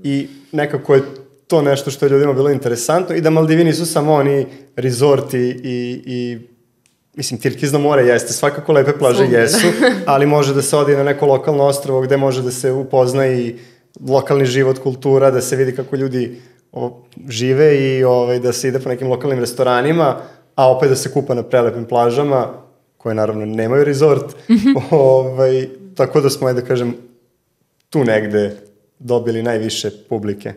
i nekako je to nešto što je ljudima bilo interesantno i da Maldivi nisu samo oni rezorti i mislim, Tirkizno more jeste, svakako lepe plaže jesu, ali može da se odi na neko lokalno ostrvo gde može da se upozna i lokalni život, kultura, da se vidi kako ljudi žive i da se ide po nekim lokalnim restoranima, a opet da se kupa na prelepim plažama, koje naravno nemaju rezort. Tako da smo, da kažem, tu negde dobili najviše publike.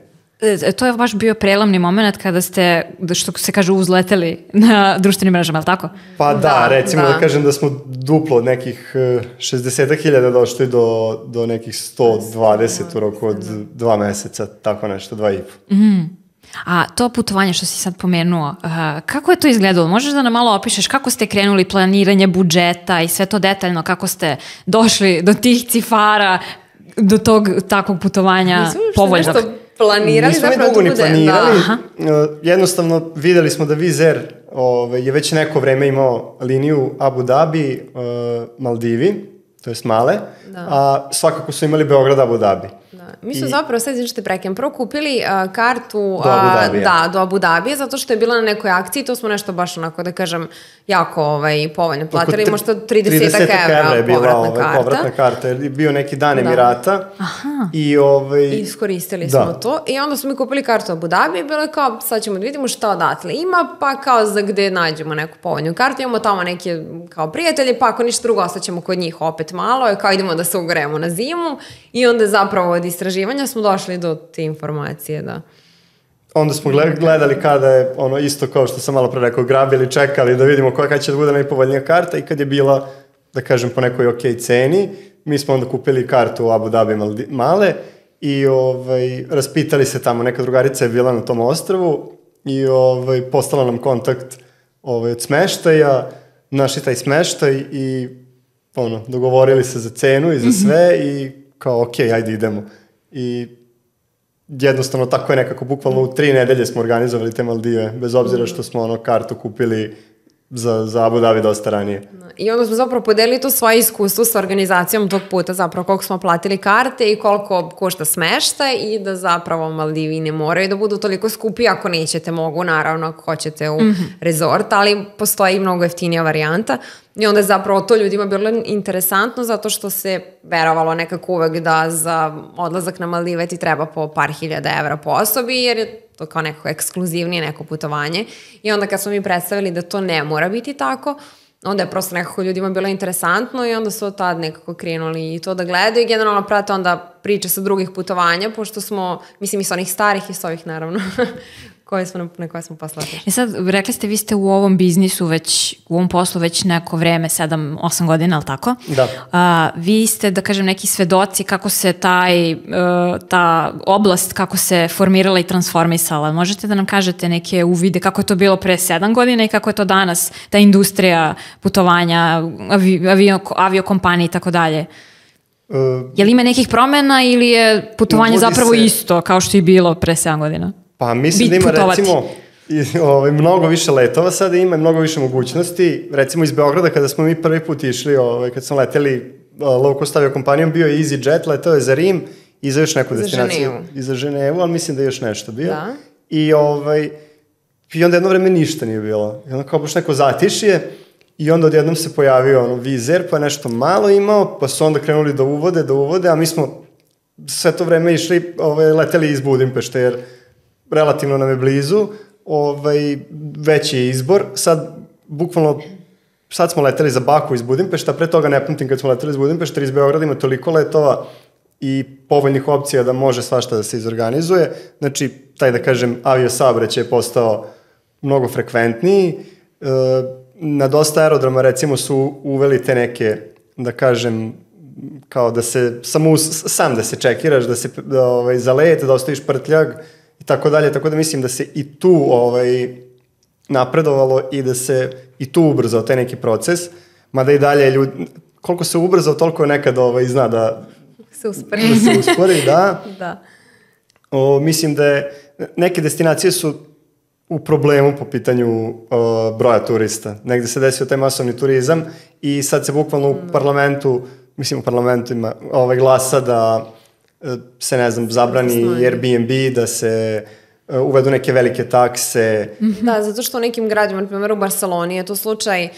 To je baš bio prelamni moment kada ste, što se kaže, uzleteli na društvenim mrežama, ali tako? Pa da, recimo da kažem da smo duplo od nekih 60.000 došli do nekih 120 u roku od 2 meseca, tako nešto, 2,5. A to putovanje što si sad pomenuo, kako je to izgledalo? Možeš da nam malo opišeš kako ste krenuli planiranje budžeta i sve to detaljno, kako ste došli do tih cifara, do tog takvog putovanja povoljnog? Planirali, nismo zapravo dugo ni planirali, jednostavno videli smo da Wizz Air je već neko vreme imao liniju Abu Dhabi, Maldivi, to je Male, a svakako su imali Beograd, Abu Dhabi. Mi smo zapravo, sad izvinite prekem, prvo kupili kartu do Abu Dhabije, zato što je bila na nekoj akciji, to smo nešto baš onako, da kažem, jako povoljno platili, možda 30 evra je bila povratna karta, jer je bio neki dan Emirata. I iskoristili smo to i onda smo mi kupili kartu Abu Dhabi i bilo je kao, sad ćemo da vidimo šta odatle ima, pa kao za gde nađemo neku povoljnu kartu, imamo tamo neke kao prijatelje, pa ako ništa drugo, ostaćemo kod njih opet malo, kao idemo da se ugrejemo na zimu i onda zapravo od istraživanja smo došli do te informacije, da. Onda smo gledali kada je ono isto kao što sam malo pre rekao, grabili, čekali da vidimo koja će da bude najpovoljnija karta i kad je bila, da kažem, po nekoj okej ceni, mi smo onda kupili kartu u Abu Dhabi Male i raspitali se tamo, neka drugarica je bila na tom ostrvu i poslala nam kontakt od smeštaja, našli taj smeštaj i dogovorili se za cenu i za sve i kao okej, ajde idemo. I jednostavno tako je nekako, bukvalno u 3 nedelje smo organizovali te Maldive, bez obzira što smo kartu kupili za Abu Dhabi dosta ranije. I onda smo zapravo podelili to svoje iskustvo sa organizacijom tog puta, zapravo koliko smo platili karte i koliko košta smeštaj i da zapravo Maldivi ne moraju da budu toliko skupi, ako nećete mogu, naravno ako hoćete u rezort, ali postoji i mnogo jeftinija varijanta. I onda je zapravo to ljudima bilo interesantno zato što se verovalo nekako uvek da za odlazak na Maldive ti treba po par hiljada evra po osobi, jer je to kao neko ekskluzivnije neko putovanje. I onda kad smo mi predstavili da to ne mora biti tako, onda je prosto nekako ljudima bilo interesantno i onda su od tad nekako krenuli i to da gledaju i generalno prate onda priče sa drugih putovanja, pošto smo, mislim i sa onih starih i sa ovih naravno, na koje smo posle otišli. Sad, rekli ste, vi ste u ovom biznisu već, u ovom poslu već neko vreme, 7-8 godina, ali tako? Da. Vi ste, da kažem, neki svedoci kako se ta oblast, kako se formirala i transformisala. Možete da nam kažete neke uvide kako je to bilo pre 7 godina i kako je to danas, ta industrija putovanja, aviokompanije i tako dalje? Je li ima nekih promena ili je putovanje zapravo isto kao što je bilo pre 7 godina? Pa mislim da ima recimo mnogo više letova sada ima, mnogo više mogućnosti. Recimo iz Beograda kada smo mi prvi put išli, kad smo leteli low cost aviokompanijom, bio je EasyJet, letao je za Rim i za još neku destinaciju. I za Ženevu, ali mislim da je još nešto bio. Da. I onda jedno vreme ništa nije bilo. I onda kao baš neko zatišje i onda odjednom se pojavio Vizer, pa nešto malo imao, pa su onda krenuli da uvode, a mi smo sve to vreme išli, leteli iz Budimpešte, jer relativno nam je blizu, veći je izbor. Sad smo leteli za Baku iz Budimpešta, pre toga ne pamtim kad smo leteli iz Budimpešta, jer iz Beograda ima toliko letova i povoljnih opcija da može svašta da se izorganizuje. Znači, taj da kažem aviosaobraćaj je postao mnogo frekventniji. Na dosta aerodroma recimo su uveli te neke, da kažem, kao da se sam da se čekiraš, da se za let, da ostaviš prtljag i tako dalje, tako da mislim da se i tu napredovalo i da se i tu ubrzao taj neki proces, mada i dalje koliko se ubrzao, toliko nekad zna da se uspori, da. Da. Mislim da neke destinacije su u problemu po pitanju broja turista. Negde se desio taj masovni turizam i sad se bukvalno u parlamentu ima glasa da se, ne znam, zabrani Airbnb, da se uvedu neke velike takse. Da, zato što u nekim gradima, na primjer u Barceloni je to slučaj,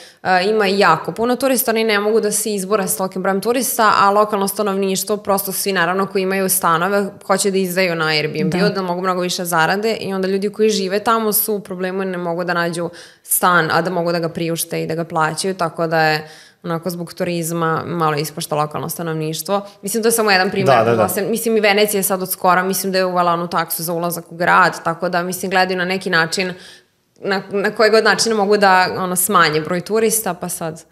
ima jako puno turista, oni ne mogu da se izbore s tolikim brojem turista, a lokalno stanovništvo, prosto svi naravno koji imaju stanove, hoće da izdaju na Airbnb-u, da mogu mnogo više zarade i onda ljudi koji žive tamo su u problemu i ne mogu da nađu stan, a da mogu da ga priušte i da ga plaćaju, tako da je onako zbog turizma malo ispašta lokalno stanovništvo. Mislim, to je samo jedan primjer. Da. Mislim, i Venecija je sad od skora, mislim da je uvela onu taksu za ulazak u grad, tako da, mislim, gledaju na neki način, na koji god način mogu da smanje broj turista, pa sad...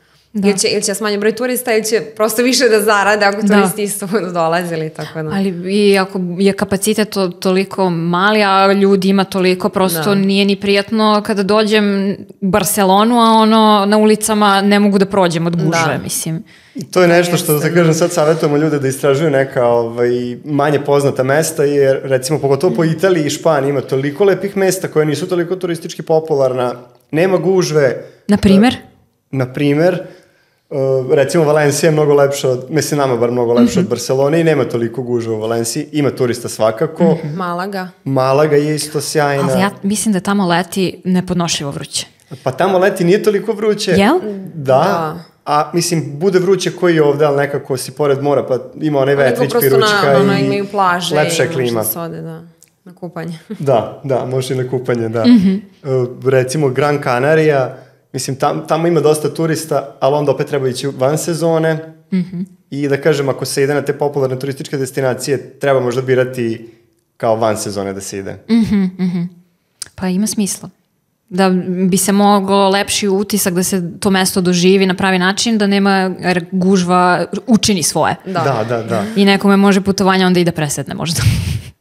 Ili će smanje broj turista ili će prosto više da zarade ako turisti isto budu dolazili, tako da. Ali i ako je kapacitet toliko mali, a ljudi ima toliko, prosto nije ni prijatno kada dođem u Barcelonu, a na ulicama ne mogu da prođem od gužve, mislim. I to je nešto što, da kažem, sad savjetujemo ljude da istražuju neka manje poznata mesta, jer recimo pogotovo po Italiji i Španiji ima toliko lepih mesta koje nisu toliko turistički popularna, nema gužve. Na primer, recimo Valencija je mnogo lepša nama bar mnogo lepša od Barcelone i nema toliko gužve u Valenciji, ima turista svakako. Malaga je isto sjajna. Ali ja mislim da tamo leti nepodnošljivo vruće. Pa tamo leti nije toliko vruće. Jel? Da. A mislim, bude vruće koji je ovde, ali nekako si pored mora, pa ima onaj vetrić, piručka i imaju plaže lepša klima. I sode, na kupanje. Da, može i na kupanje, da. Recimo Gran Canaria, mislim, tamo ima dosta turista, ali onda opet treba ići van sezone i da kažem, ako se ide na te popularne turističke destinacije, treba možda birati kao van sezone da se ide. Pa ima smisla. Da bi se moglo lepši utisak da se to mesto doživi na pravi način, da nema gužva učini svoje. Da. I nekome može putovanje onda i da presedne možda.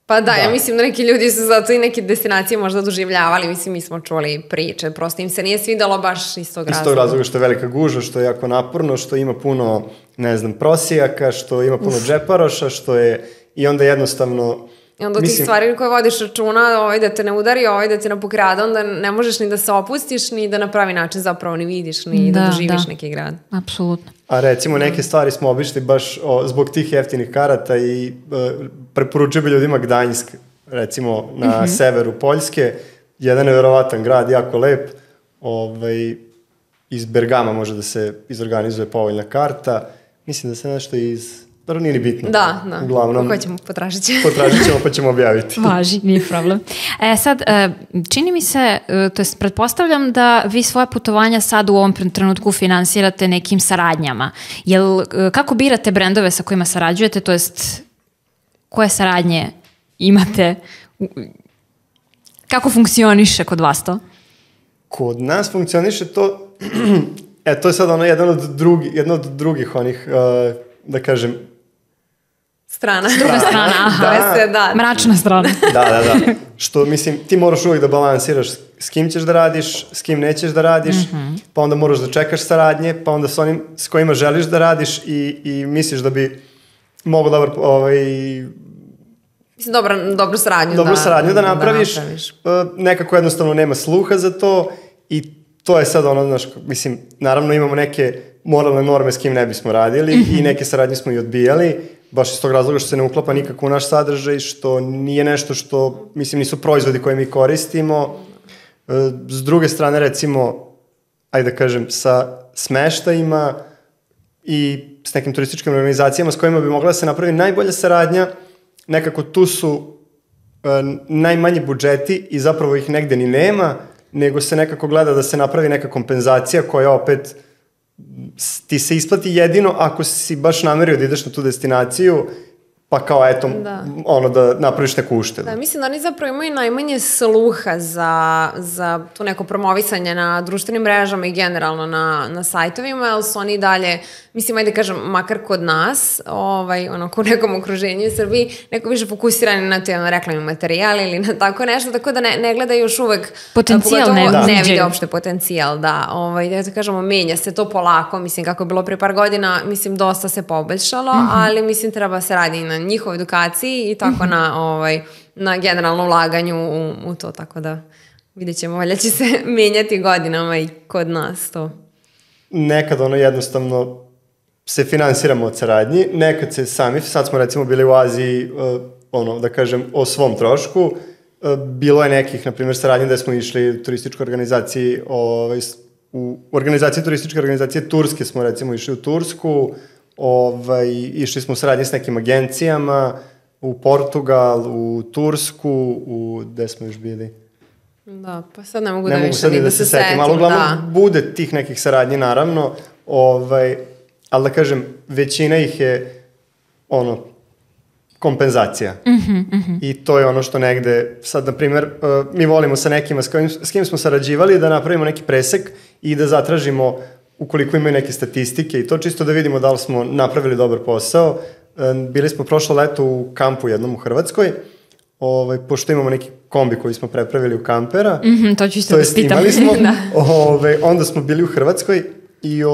Pa da, ja mislim da neki ljudi su zato i neke destinacije možda doživljavali, mislim, mi smo čuli priče, prosto im se nije svidalo baš iz tog razloga. Iz tog razloga što je velika gužva, što je jako naporno, što ima puno, ne znam, prosijaka, što ima puno džeparoša, što je, i onda jednostavno... I onda tih stvari koje vodiš računa, da te ne udari, da te ne pokrada, onda ne možeš ni da se opustiš, ni da na pravi način zapravo ni vidiš, ni da doživiš neki grad. Apsolutno. A recimo neke stvari smo obišli baš zbog tih jeftinih karata i preporučio bi ljudima Gdanjsk, recimo na severu Poljske, jedan neverovatan grad, jako lep, iz Bergama može da se izorganizuje povoljna karta, mislim da se nešto dobro, nije ni bitno. Da. Uglavnom, hoćemo, potražit ćemo pa ćemo objaviti. Važi, nije problem. Sad, čini mi se, to jest pretpostavljam da vi svoje putovanja sad u ovom trenutku finansirate nekim saradnjama. Kako birate brendove sa kojima sarađujete, to jest koje saradnje imate? Kako funkcioniše kod vas to? Kod nas funkcioniše to, to je sad jedna od drugih onih, da kažem, Druga strana, aha. Mračna strana. Da. Što, mislim, ti moraš uvijek da balansiraš s kim ćeš da radiš, s kim nećeš da radiš, pa onda moraš da čekaš saradnje, pa onda s onim s kojima želiš da radiš i misliš da bi mogo dobru saradnju da napraviš. Nekako jednostavno nema sluha za to i to je sad mislim, naravno imamo neke moralne norme s kim ne bismo radili i neke saradnje smo i odbijali, baš iz tog razloga što se ne uklapa nikako u naš sadržaj, što nije nešto što, mislim, nisu proizvodi koje mi koristimo. S druge strane, recimo, ajde da kažem, sa smeštajima i s nekim turističkim organizacijama s kojima bi mogla da se napravi najbolja saradnja, nekako tu su najmanji budžeti i zapravo ih negde ni nema, nego se nekako gleda da se napravi neka kompenzacija koja opet ti se isplati jedino ako si baš namerio da ideš na tu destinaciju, pa kao da napraviš neku uštedu. Da, mislim da oni zapravo imaju najmanje sluha za to neko promovisanje na društvenim mrežama i generalno na sajtovima, jer su oni dalje, mislim, ajde kažem, makar kod nas, kod nekom okruženju u Srbiji, neko više fokusirani na te reklamni materijali ili na tako nešto, tako da ne gleda još uvek potencijal, ne vide uopšte potencijal, da kažemo, menja se to polako, mislim, kako je bilo pre par godina, mislim, dosta se poboljšalo, ali mislim, treba se radi na njihovoj edukaciji i tako na generalnom ulaganju u to, tako da vidjet ćemo, valjda će se menjati godinama i kod nas to. Nekad jednostavno se finansiramo od saradnji, nekad se sami, sad smo recimo bili u Aziji, da kažem, o svom trošku, bilo je nekih, na primjer, saradnje da smo išli u turističkoj organizaciji, u organizaciji turističke organizacije Turske smo recimo išli u Tursku, išli smo u saradnji s nekim agencijama, u Portugal, u Tursku, gde smo još bili? Da, pa sad ne mogu da se setim. Ali uglavnom bude tih nekih saradnji, naravno, ali da kažem, većina ih je kompenzacija. I to je ono što negde, sad, na primjer, mi volimo sa nekima s kim smo sarađivali da napravimo neki presek i da zatražimo ukoliko imaju neke statistike i to čisto da vidimo da li smo napravili dobar posao. Bili smo prošlo leto u kampu jednom u Hrvatskoj, pošto imamo neki kombi koji smo prepravili u kampera. To ću isto da spitam. Imali smo, onda smo bili u Hrvatskoj i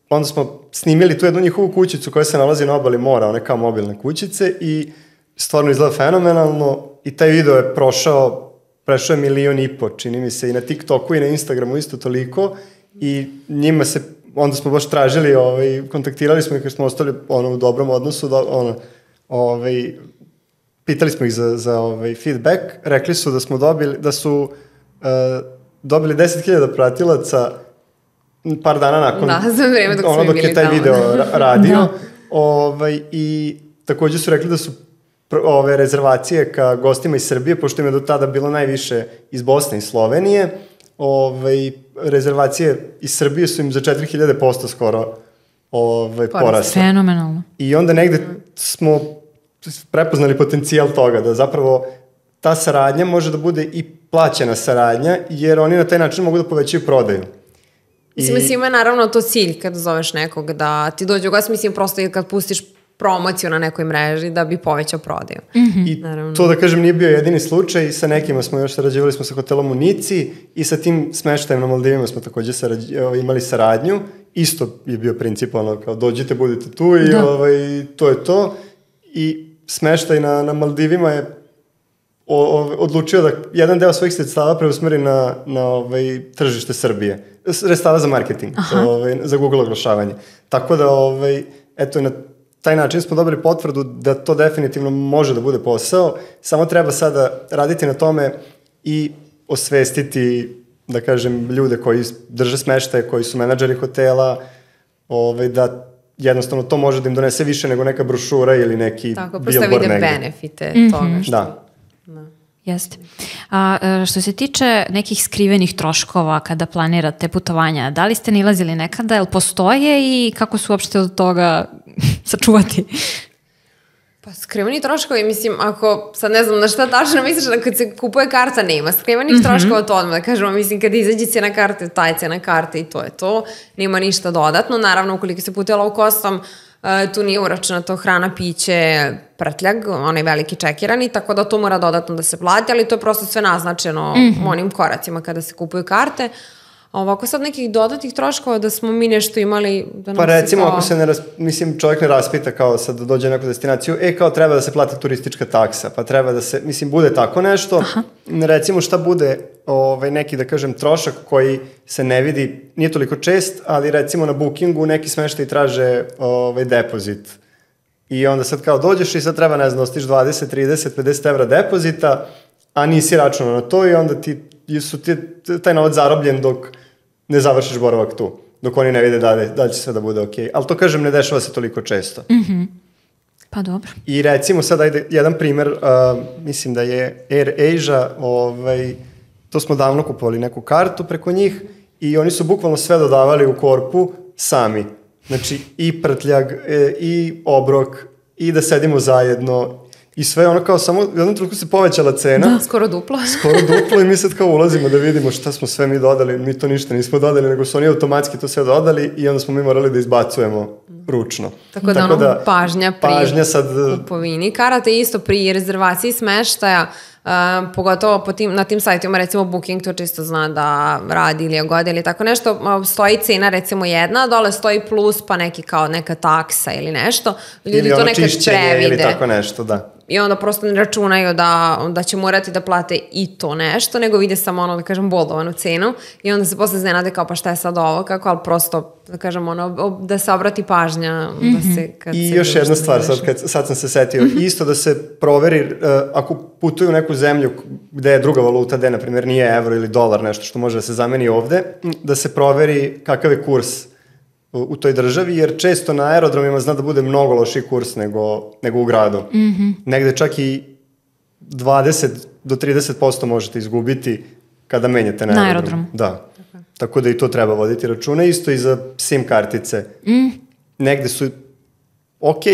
onda smo snimili tu jednu njihovu kućicu koja se nalazi na obali mora, one kao mobilne kućice i stvarno izgleda fenomenalno i taj video je prešao je 1,5 miliona, čini mi se, i na TikToku i na Instagramu isto toliko i njima se, onda smo baš tražili, kontaktirali smo ih jer smo ostali u dobrom odnosu, pitali smo ih za feedback, rekli su da su dobili 10.000 pratilaca par dana nakon dok je taj video radio. I također su rekli da su rezervacije ka gostima iz Srbije, pošto im je do tada bilo najviše iz Bosne i Slovenije, rezervacije iz Srbije su im za 4.000% skoro porasle. Fenomenalno. I onda negde smo prepoznali potencijal toga, da zapravo ta saradnja može da bude i plaćena saradnja, jer oni na taj način mogu da povećaju prodaju. Mislim, ima naravno to cilj kad zoveš nekog da ti dođe u gost, mislim, prosto i kad pustiš promociju na nekoj mreži da bi povećao prodaju. I to, da kažem, nije bio jedini slučaj, sa nekima smo još sarađivali smo sa hotelom u Nici i sa tim smeštajem na Maldivima smo također imali saradnju. Isto je bio princip, kao dođite, budite tu i to je to. I smeštaj na Maldivima je odlučio da jedan deo svojih sredstava preusmeri na tržište Srbije. Sredstava za marketing, za Google oglašavanje. Tako da, eto, na taj način smo dobili potvrdu da to definitivno može da bude posao, samo treba sada raditi na tome i osvestiti, da kažem, ljude koji drže smeštaje, koji su menadžeri hotela, da jednostavno to može da im donese više nego neka brošura ili neki tako, billboard negde. Tako, prosto vide benefite toga što... Da. Jeste. A što se tiče nekih skrivenih troškova kada planirate putovanja, da li ste nilazili nekada, jel postoje i kako su uopšte od toga sačuvati? Pa skriveni troškovi, mislim, ako sad ne znam na šta tačno misliš da kad se kupuje karta nema skrivenih troškova, to odmah da kažemo, mislim, kad izađe cena karte, taj cena karte i to je to, nema ništa dodatno, naravno ukoliko se putuje low costom, tu nije uračunato hrana, piće, prtljag, onaj veliki čekirani, tako da to mora dodatno da se plati, ali to je prosto sve naznačeno onim koracima kada se kupuju karte. A ovako sad nekih dodatnih troškova da smo mi nešto imali... Da pa recimo ako se mislim, čovjek ne raspita kao sad da dođe na neku destinaciju, kao treba da se plati turistička taksa, pa treba da se, mislim, bude tako nešto. Aha. Recimo šta bude neki, da kažem, trošak koji se ne vidi, nije toliko čest, ali recimo na bookingu neki smeštaj traže depozit. I onda sad kao dođeš i sad treba, ne znam, ostiš 20, 30, 50 evra depozita, a nisi računao na to i onda taj novac zarobljen dok ne završiš boravak tu, dok oni ne vide da će sve da bude okej. Ali to, kažem, ne dešava se toliko često. Pa dobro. I recimo sad ajde jedan primer, mislim da je Air Asia, to smo davno kupovali neku kartu preko njih i oni su bukvalno sve dodavali u korpu sami. Znači i prtljag, i obrok, i da sedimo zajedno. I sve ono kao samo, u jednom trenutku se povećala cena. Da, skoro duplo. Skoro duplo i mi sad kao ulazimo da vidimo šta smo sve mi dodali. Mi to ništa nismo dodali, nego su oni automatski to sve dodali i onda smo mi morali da izbacujemo ručno. Tako da pažnja pri kupovini. Karata je isto pri rezervaciji smeštaja, pogotovo na tim sajtima, recimo Booking to čisto zna da radi ili godi ili tako nešto, stoji cena recimo jedna, dole stoji plus pa neka taksa ili nešto. Ljudi ili to ono nekad previde. Ili tako nešto, da. I onda prosto ne računaju da će morati da plate i to nešto, nego vide samo ono, da kažem, boldovanu cenu i onda se posle iznenade kao pa šta je sad ovo, kako, ali prosto, da kažem, ono, da se obrati pažnja. Da se, I još jedna stvar, sad sam se setio, isto da se proveri, ako putuju u neku zemlju gde je druga valuta, gde, na primjer, nije evro ili dolar, nešto što može da se zameni ovde, da se proveri kakav je kurs u toj državi, jer često na aerodromima zna da bude mnogo lošiji kurs nego u gradu. Negde čak i 20 do 30% možete izgubiti kada menjate na aerodrom. Da. Tako da i to treba voditi računa. Isto i za SIM kartice. Negde su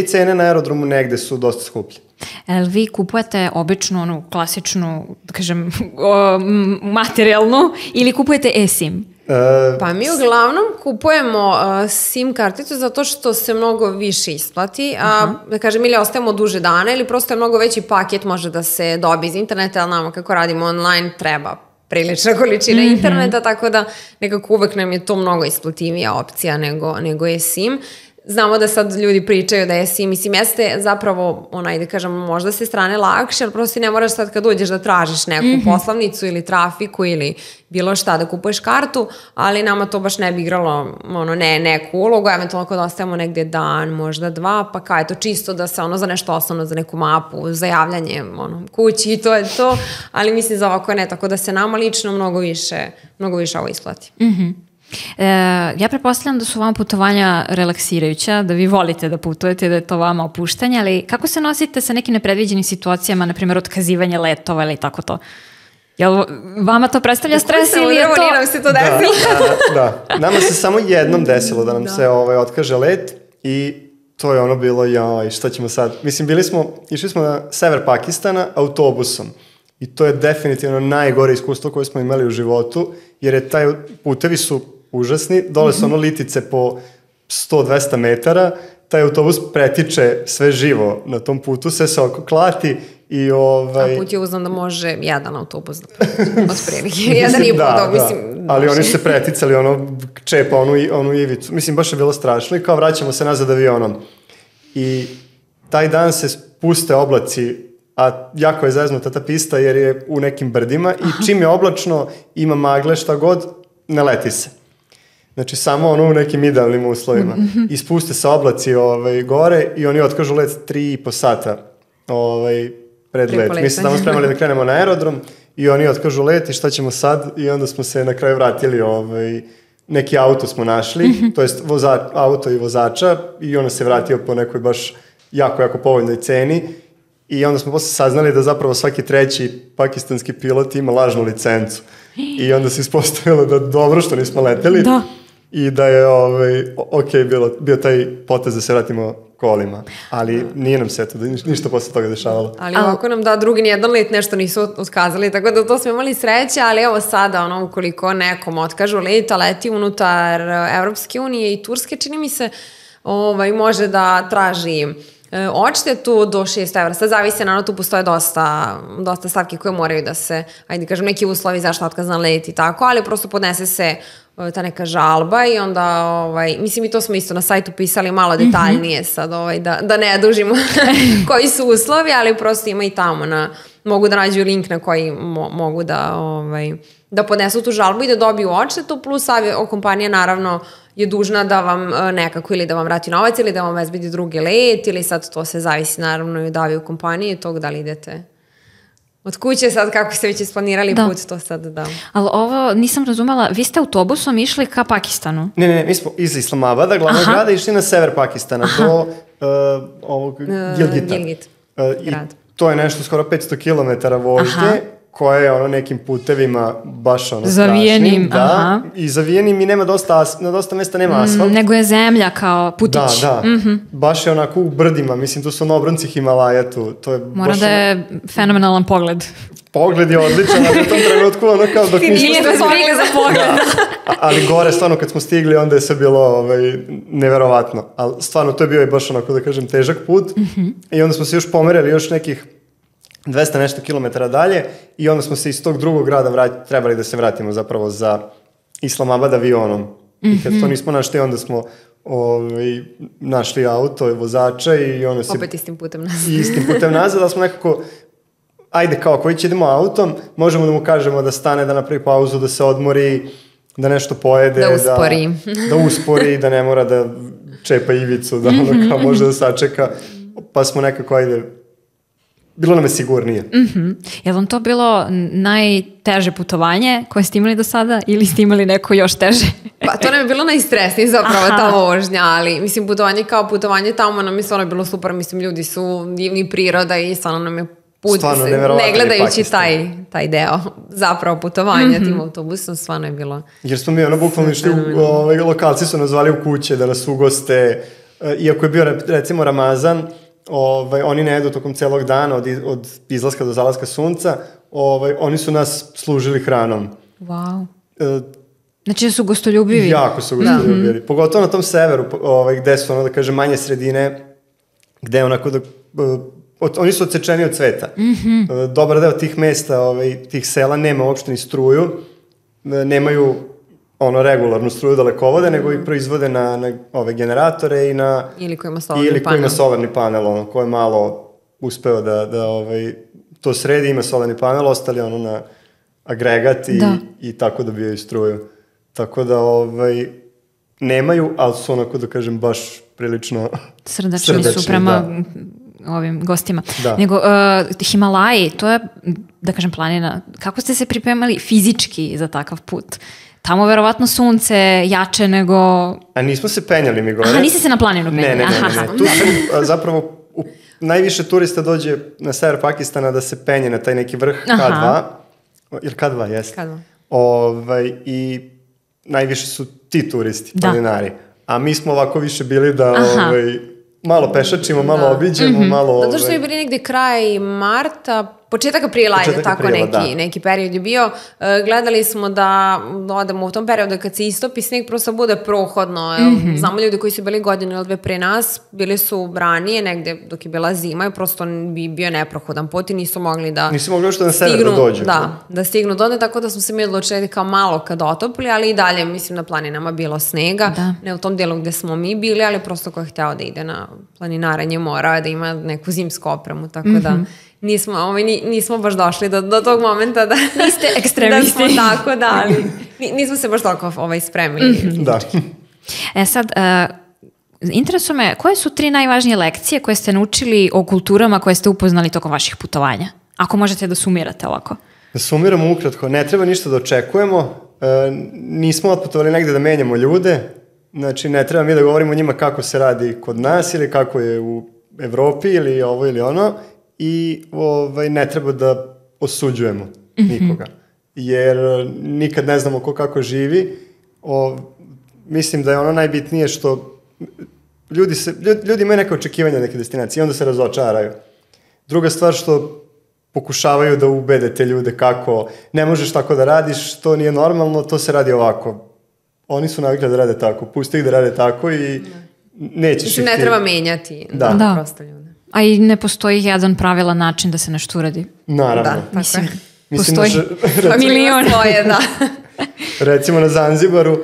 cene na aerodromu, negde su dosta skuplje. Jel vi kupujete običnu, onu klasičnu, da kažem, materijalnu ili kupujete eSIM? Pa mi uglavnom kupujemo SIM karticu zato što se mnogo više isplati, da kažem, ili ostajemo duže dana ili prosto je mnogo veći paket može da se dobije iz interneta, ali nama kako radimo online treba prilična količina interneta, tako da nekako uvek nam je to mnogo isplativija opcija nego je SIM. Znamo da sad ljudi pričaju da je SIM, mislim, jeste zapravo, da kažem, možda se strane lakše, ali prosto ne moraš sad kad uđeš da tražiš neku poslovnicu ili trafiku ili bilo šta da kupuješ kartu, ali nama to baš ne bi igralo neku ulogu, eventualno ako da ostavimo negdje dan, možda dva, pa kao je to čisto da se za nešto osnovno, za neku mapu, za javljanje kući i to je to, ali mislim za ovako ne, tako da se nama lično mnogo više ovo isplati. Ja pretpostavljam da su vam putovanja relaksirajuća, da vi volite da putujete, da je to vama opuštanje, ali kako se nosite sa nekim nepredviđenim situacijama, na primjer otkazivanje letova ili tako to? Jel vama to predstavlja stres ili je to... Nije nam se to desilo. Da. Nama se samo jednom desilo da nam se otkaže let i to je bilo, šta ćemo sad? Mislim, išli smo na sever Pakistana autobusom. I to je definitivno najgore iskustvo koje smo imali u životu, jer je putevi su užasni, dole su litice po 100-200 metara, taj autobus pretiče sve živo na tom putu, sve se oko klati i A put je uzman da može jedan autobus od prilike, jedan i pol, mislim. Ali oni su se preticali, čepa onu ivicu, mislim, baš je bilo strašno i kao vraćamo se nazad avionom. I taj dan se puste oblaci, a jako je zeznuta ta pista jer je u nekim brdima i čim je oblačno, ima magle, šta god, ne leti se. Znači, samo ono u nekim idealnim uslovima. I spuste se oblaci gore i oni otkažu let 3,5 sata pred let. Mi se tamo spremali da krenemo na aerodrom i oni otkažu let i šta ćemo sad? I onda smo se na kraju vratili, neki auto smo našli, to jest auto i vozača i on se vratio po nekoj baš jako povoljnoj ceni i onda smo posle saznali da zapravo svaki treći pakistanski pilot ima lažnu licencu. I onda se ispostavilo da dobro što nismo leteli i da je bio taj potez da se vratimo kolima, ali nije nam se ništa posle toga dešavalo. Ali ovako nam drugi nijedan let nešto nisu otkazali, tako da to smo imali sreće, ali evo sada, ukoliko nekom otkažu let, a leti unutar Evropske unije i Turske, čini mi se, može da traži odštetu do 6 evra. Sad zavisi, naravno, tu postoje dosta stavki koje moraju da se, ajde kažem, neki uslovi zašto otkazan let i tako, ali prosto podnese se ta neka žalba i onda, mislim, i to smo isto na sajtu pisali malo detaljnije sad, da ne dužimo koji su uslovi, ali prosto ima i tamo mogu da nađu link na koji mogu da podnesu tu žalbu i da dobiju odštetu, plus kompanija naravno je dužna da vam nekako ili da vam vrati novac ili da vam obezbedi drugi let ili sad to se zavisi naravno i od kompanije tog da li idete od kuće sad kako ste već isplanirali put to sad da. Ali ovo nisam razumela, vi ste autobusom išli ka Pakistanu? Ne, mi smo iz Islamabada, glavnog grada, išli na sever Pakistana do Gilgita. Gilgit, grad. To je nešto skoro 500 km vožnje, koje je nekim putevima baš zavijenim, da, i zavijenim i nema na dosta mesta nema asfalt. Nego je zemlja kao putić. Da, baš je onako u brdima, mislim tu su obronci Himalaja tu. To je mora da je fenomenalan pogled. Pogled je odličan, ali u tom trenutku kao dok nismo stigli za pogled. Ali gore, stvarno, kad smo stigli, onda je sve bilo neverovatno. Ali stvarno, to je bio i baš onako, da kažem, težak put. I onda smo se još pomerili još nekih 200 nešto kilometara dalje i onda smo se iz tog drugog grada trebali da se vratimo zapravo za Islamabad avionom. I kad to nismo našli, onda smo našli auto i vozača i ono se... Opet istim putem nazad. Istim putem nazad, da smo nekako... Ajde, kao koji će idemo autom, možemo da mu kažemo da stane, da napravi pauzu, da se odmori, da nešto pojede. Da uspori, da ne mora da čepa ivicu, da kao može da sačeka. Pa smo nekako, ajde... Bilo nam je sigurnije. Je li vam to bilo najteže putovanje koje ste imali do sada ili ste imali neko još teže? Pa to nam je bilo najstresnije zapravo ta vožnja, ali mislim putovanje kao putovanje tamo nam je stvarno bilo super, mislim ljudi su divni, priroda i stvarno nam je put, ne gledajući taj deo zapravo putovanja tim autobusom, stvarno je bilo. Jer smo mi bukvalno išli, lokalci su nas zvali u kuće da nas ugoste, iako je bio recimo Ramazan, oni ne jedu tokom celog dana od izlaska do zalaska sunca, oni su nas služili hranom. Wow. Znači da su gostoljubivi. Jako su gostoljubivi. Pogotovo na tom severu, gde su da kažem manje sredine, gde onako da... Oni su odsečeni od sveta. Dobar deo tih mesta, tih sela nema uopšte ni struju, nemaju regularnu struju dalekovode, nego ih proizvode na ove generatore i na... Ili ko ima solarni panel, ko je malo uspeo da to sredi, ima solarni panel, ostali na agregat i tako dobijaju struju. Tako da nemaju, ali su onako da kažem baš prilično srdačni su prema ovim gostima. Nego Himalaji, to je, da kažem, planina. Kako ste se pripremali fizički za takav put? Tamo verovatno sunce jače nego... A nismo se penjali mi gore. Aha, niste se na planinu penjali. Ne. Tu su zapravo najviše turista dođe na sever Pakistana da se penje na taj neki vrh K2. Ili K2, jeste. K2. I najviše su ti turisti, planinari. A mi smo ovako više bili da malo pešačimo, malo obiđemo, malo... Zato što je bili negde kraj marta, početak aprila, tako neki period je bio. Gledali smo da odemo u tom periodu kad se istopi sneg, prosto bude prohodno. Znamo ljudi koji su bili godine ili dve pre nas, bili su ranije negde dok je bila zima i prosto bi bio neprohodan put i nisu mogli da što na sever da dođu. Da stignu do tako da smo se mi odlučili kao malo kad otopli, ali i dalje mislim na planinama bilo snega, ne u tom delu gde smo mi bili, ali prosto ko je hteo da ide na planinarenje mora, da ima neku zimsku opremu, tako da nismo baš došli do tog momenta da niste ekstremisti. Da smo tako, ali nismo se baš toliko spremili. Da. Sad, interesuje me, koje su 3 najvažnije lekcije koje ste naučili o kulturama koje ste upoznali tokom vaših putovanja? Ako možete da sumirate ovako. Da sumiramo ukratko, ne treba ništa da očekujemo, nismo otputovali negde da menjamo ljude, znači ne treba mi da govorimo njima kako se radi kod nas ili kako je u Evropi ili ovo ili ono i ne treba da osuđujemo nikoga, jer nikad ne znamo ko kako živi. Mislim da je ono najbitnije što ljudi imaju neke očekivanja neke destinacije i onda se razočaraju. Druga stvar što pokušavaju da ubede te ljude kako ne možeš tako da radiš, to nije normalno, to se radi ovako. Oni su navikli da rade tako, pusti ih da rade tako i nećeš ih... Ne treba menjati prosto ljude. A i ne postoji jedan pravilan način da se nešto uradi. Naravno. Mislim postoji milion. Recimo na Zanzibaru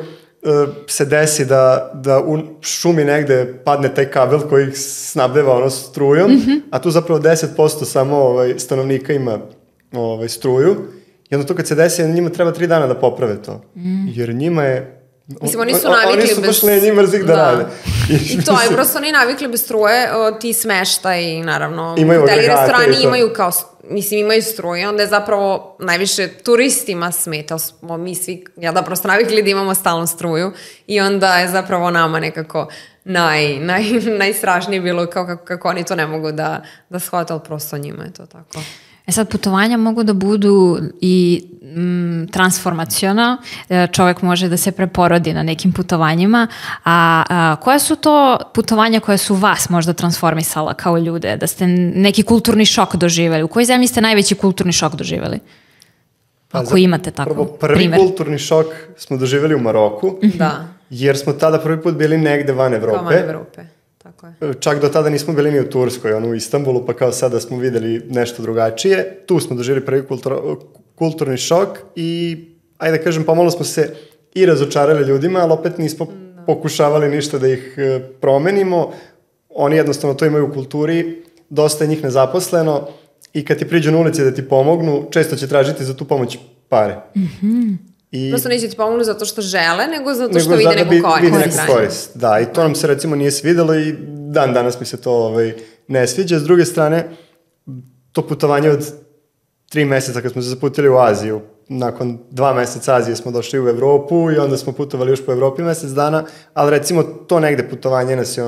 se desi da u šumi negde padne taj kabel koji ih snabdeva strujom, a tu zapravo 10% samo stanovnika ima struju i onda to kad se desi, njima treba 3 dana da poprave to. Jer njima je... Mislim, oni su navikli bez... Oni su baš lenji mrzih da rade. I to je, prosto oni navikli bez struje, ti smeštaj, naravno, hoteli, restorani imaju kao... Mislim, imaju struje, onda je zapravo najviše turistima smeta. Mi svi, prosto navikli da imamo stalnu struju i onda je zapravo nama nekako najstrašnije bilo kako oni to ne mogu da shvate, ali prosto njima je to tako. Sad, putovanja mogu da budu i transformaciona, čovjek može da se preporodi na nekim putovanjima, a koja su to putovanja koje su vas možda transformisala kao ljude, da ste neki kulturni šok doživjeli? U kojoj zemlji ste najveći kulturni šok doživjeli? Ako imate tako prvi kulturni šok smo doživjeli u Maroku, jer smo tada prvi put bili negde van Evrope. Van Evrope. Čak do tada nismo bili ni u Turskoj, u Istanbulu, pa kao sada smo videli nešto drugačije. Tu smo doživjeli prvi kulturni šok i, ajde da kažem, pomalo smo se i razočarali ljudima, ali opet nismo pokušavali ništa da ih promenimo. Oni jednostavno to imaju u kulturi, dosta je njih nezaposleno i kad ti priđu na ulici da ti pomognu, često će tražiti za tu pomoć pare. Prosto neće ti pomognu zato što žele, nego zato što vide neku korist. Da, i to nam se recimo nije svidelo i dan danas mi se to ne sviđa. S druge strane, to putovanje od 3 meseca kad smo se zaputili u Aziju, nakon 2 meseca Azije smo došli u Evropu i onda smo putovali još po Evropi mesec dana, ali recimo to negde putovanje nas je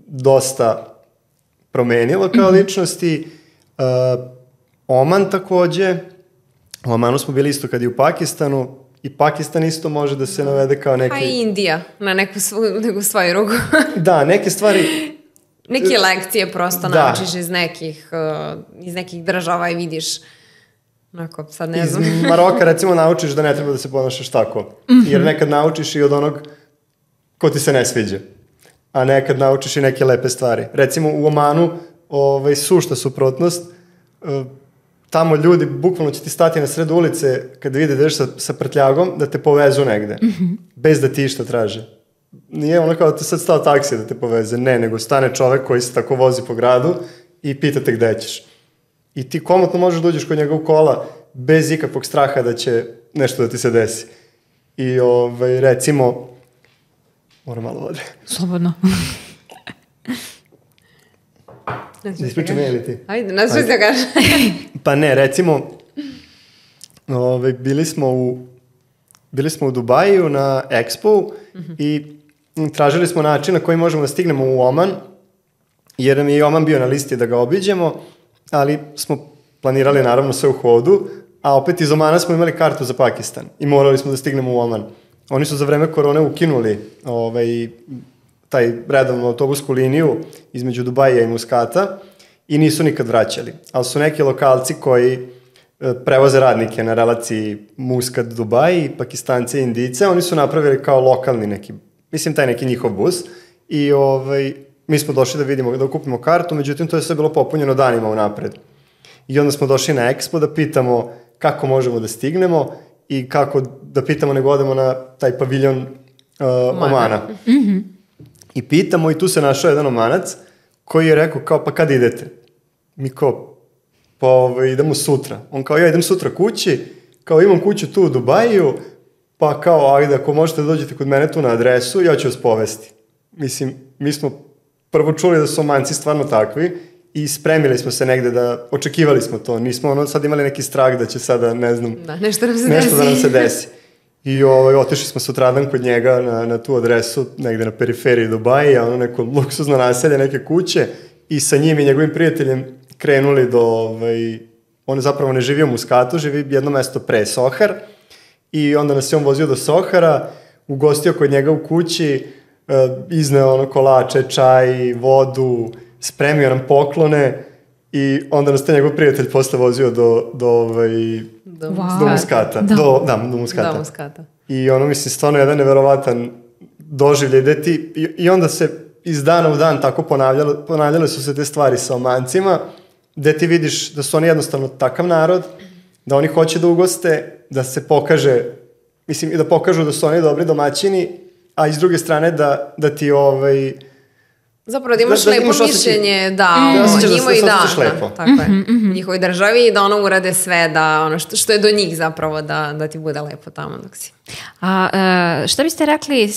dosta promenilo kao ličnosti. Oman takođe, u Omanu smo bili isto kad i u Pakistanu i Pakistan isto može da se navede kao neki... A i Indija, na neku svoju ruku. Da, neke stvari... Neke lekcije prosto naučiš iz nekih država i vidiš, sad ne znam. Iz Maroka recimo naučiš da ne treba da se ponašaš tako, jer nekad naučiš i od onog ko ti se ne sviđa, a nekad naučiš i neke lepe stvari. Recimo u Omanu, sušta suprotnost, tamo ljudi, bukvalno će ti stati na sred ulice kad vide da ideš sa prtljagom, da te povezu negde, bez da ti išta traže. Nije ono kao da te sad stao taksija da te poveze, ne, nego stane čovek koji se tako vozi po gradu i pita te gde ćeš. I ti komotno možeš da uđeš kod njega u kola bez ikakvog straha da će nešto da ti se desi. I recimo, moram malo vode. Slobodno. Ispričam je ili ti? Ajde, nas što se kaže. Pa ne, recimo, bili smo u Dubaju na Expo i tražili smo način na koji možemo da stignemo u Oman, jer nam je i Oman bio na listi da ga obiđemo, ali smo planirali naravno sve u hodu, a opet iz Omana smo imali kartu za Pakistan i morali smo da stignemo u Oman. Oni su za vreme korone ukinuli taj redovnu autobusku liniju između Dubaja i Muskata i nisu nikad vraćali. Ali su neki lokalci koji prevoze radnike na relaciji Muscat-Dubai, Pakistanci i Indijce, oni su napravili kao lokalni neki, mislim taj neki njihov bus i mi smo došli da vidimo, da kupimo kartu, međutim to je sve bilo popunjeno danima unapred. I onda smo došli na Expo da pitamo kako možemo da stignemo i kako da pitamo nego odemo na taj paviljon Omana. I pitamo i tu se našao jedan Omanac koji je rekao kao pa kad idete? Mi kao pa idemo sutra. On kao ja idem sutra kući, kao imam kuću tu u Dubaju, pa kao ajde ako možete da dođete kod mene tu na adresu, ja ću vas povesti. Mislim, mi smo prvo čuli da su Omanci stvarno takvi i spremili smo se negde da, očekivali smo to, nismo sad imali neki strah da će sada, ne znam, nešto da nam se desi. I otišli smo sutradan kod njega na tu adresu, negde na periferiji Dubaja, neko luksuzno naselje, neke kuće i sa njim i njegovim prijateljem krenuli do, on zapravo ne živi u Muscatu, živi jedno mesto pre Sohar i onda nas je on vozio do Sohara, ugostio kod njega u kući, izneo kolače, čaj, vodu, spremio nam poklone i onda nas te njegov prijatelj posle vozio do Muscata. Do Muscata. I mislim, stvarno jedan neverovatan doživljaj gde ti, i onda se iz dana u dan tako ponavljale su se te stvari sa Omancima, gde ti vidiš da su oni jednostavno takav narod, da oni hoće da ugoste, da se pokaže, mislim, i da pokažu da su oni dobri domaćini, a iz druge strane da ti zapravo da imaš lepo mišljenje njima i tako je, njihovoj državi i da ono urade sve da ono što je do njih zapravo da ti bude lepo tamo dok si. A šta biste rekli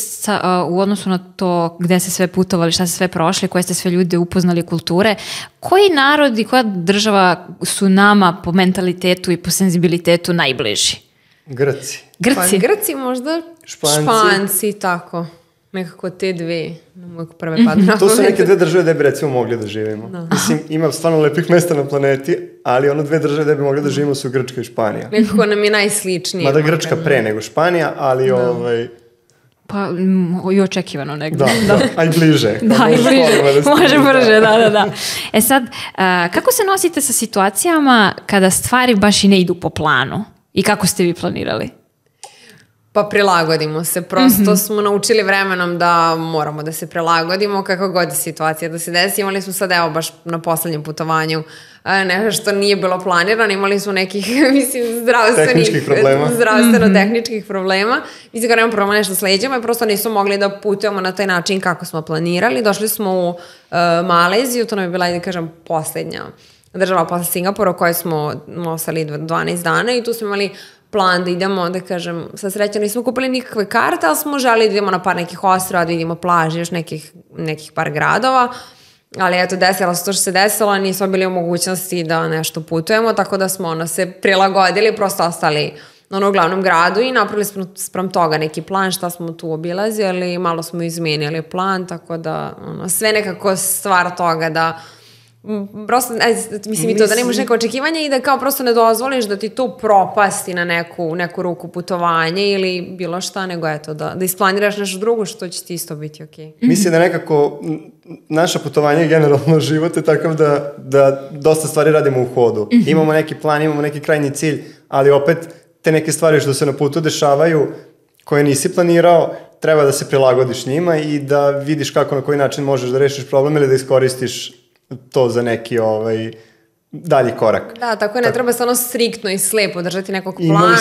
u odnosu na to gde ste sve putovali, šta ste sve prošli, koje ste sve ljude upoznali, kulture, koji narod i koja država su nama po mentalitetu i po senzibilitetu najbliži? Grci. Pa Grci možda, Španci, tako. Nekako te dve, prve padne na pamet. To su neke dve države gde bi recimo mogli da živimo. Mislim, ima stvarno lepih mesta na planeti, ali ono dve države gde bi mogli da živimo su Grčka i Španija. Nekako nam je najsličnije. Mada Grčka pre nego Španija, ali Pa i očekivano negdje. Da, a i bliže. Da, i bliže, može brže, da. E sad, kako se nosite sa situacijama kada stvari baš i ne idu po planu? I kako ste vi planirali? Pa prilagodimo se, prosto smo naučili vremenom da moramo da se prilagodimo kako god je situacija da se desi. Imali smo sad, evo, baš na poslednjem putovanju nešto što nije bilo planirano, imali smo nekih, mislim, zdravstveno-tehničkih problema. Mislim, kada imamo problema nešto s leđama, prosto nismo mogli da putujemo na taj način kako smo planirali. Došli smo u Maleziju, to nam je bila, da kažem, poslednja država posle Singapura u kojoj smo ostali 12 dana i tu smo imali plan da idemo, da kažem, sa srećom nismo kupili nikakve karte, ali smo želi da idemo na par nekih ostrava, da vidimo plaže, još nekih par gradova, ali eto, desilo se to što se desilo, nismo bili u mogućnosti da nešto putujemo, tako da smo se prilagodili, prosto ostali u glavnom gradu i napravili smo sprem toga neki plan šta smo tu obilazili, malo smo izmenili plan, tako da sve nekako stvar toga da prosto, mislim i to da nemaš neko očekivanje i da kao prosto ne dozvoliš da ti to propasti na neku ruku putovanje ili bilo šta, nego eto da isplaniraš nešto drugo što će ti isto biti okej. Mislim da nekako naša putovanja i generalno život je takav da dosta stvari radimo u hodu. Imamo neki plan, imamo neki krajnji cilj, ali opet te neke stvari što se na putu dešavaju koje nisi planirao, treba da se prilagodiš njima i da vidiš kako na koji način možeš da rešiš problem ili da iskoristiš to za neki dalji korak. Da, tako je, ne treba se striktno i slepo držati nekog plana.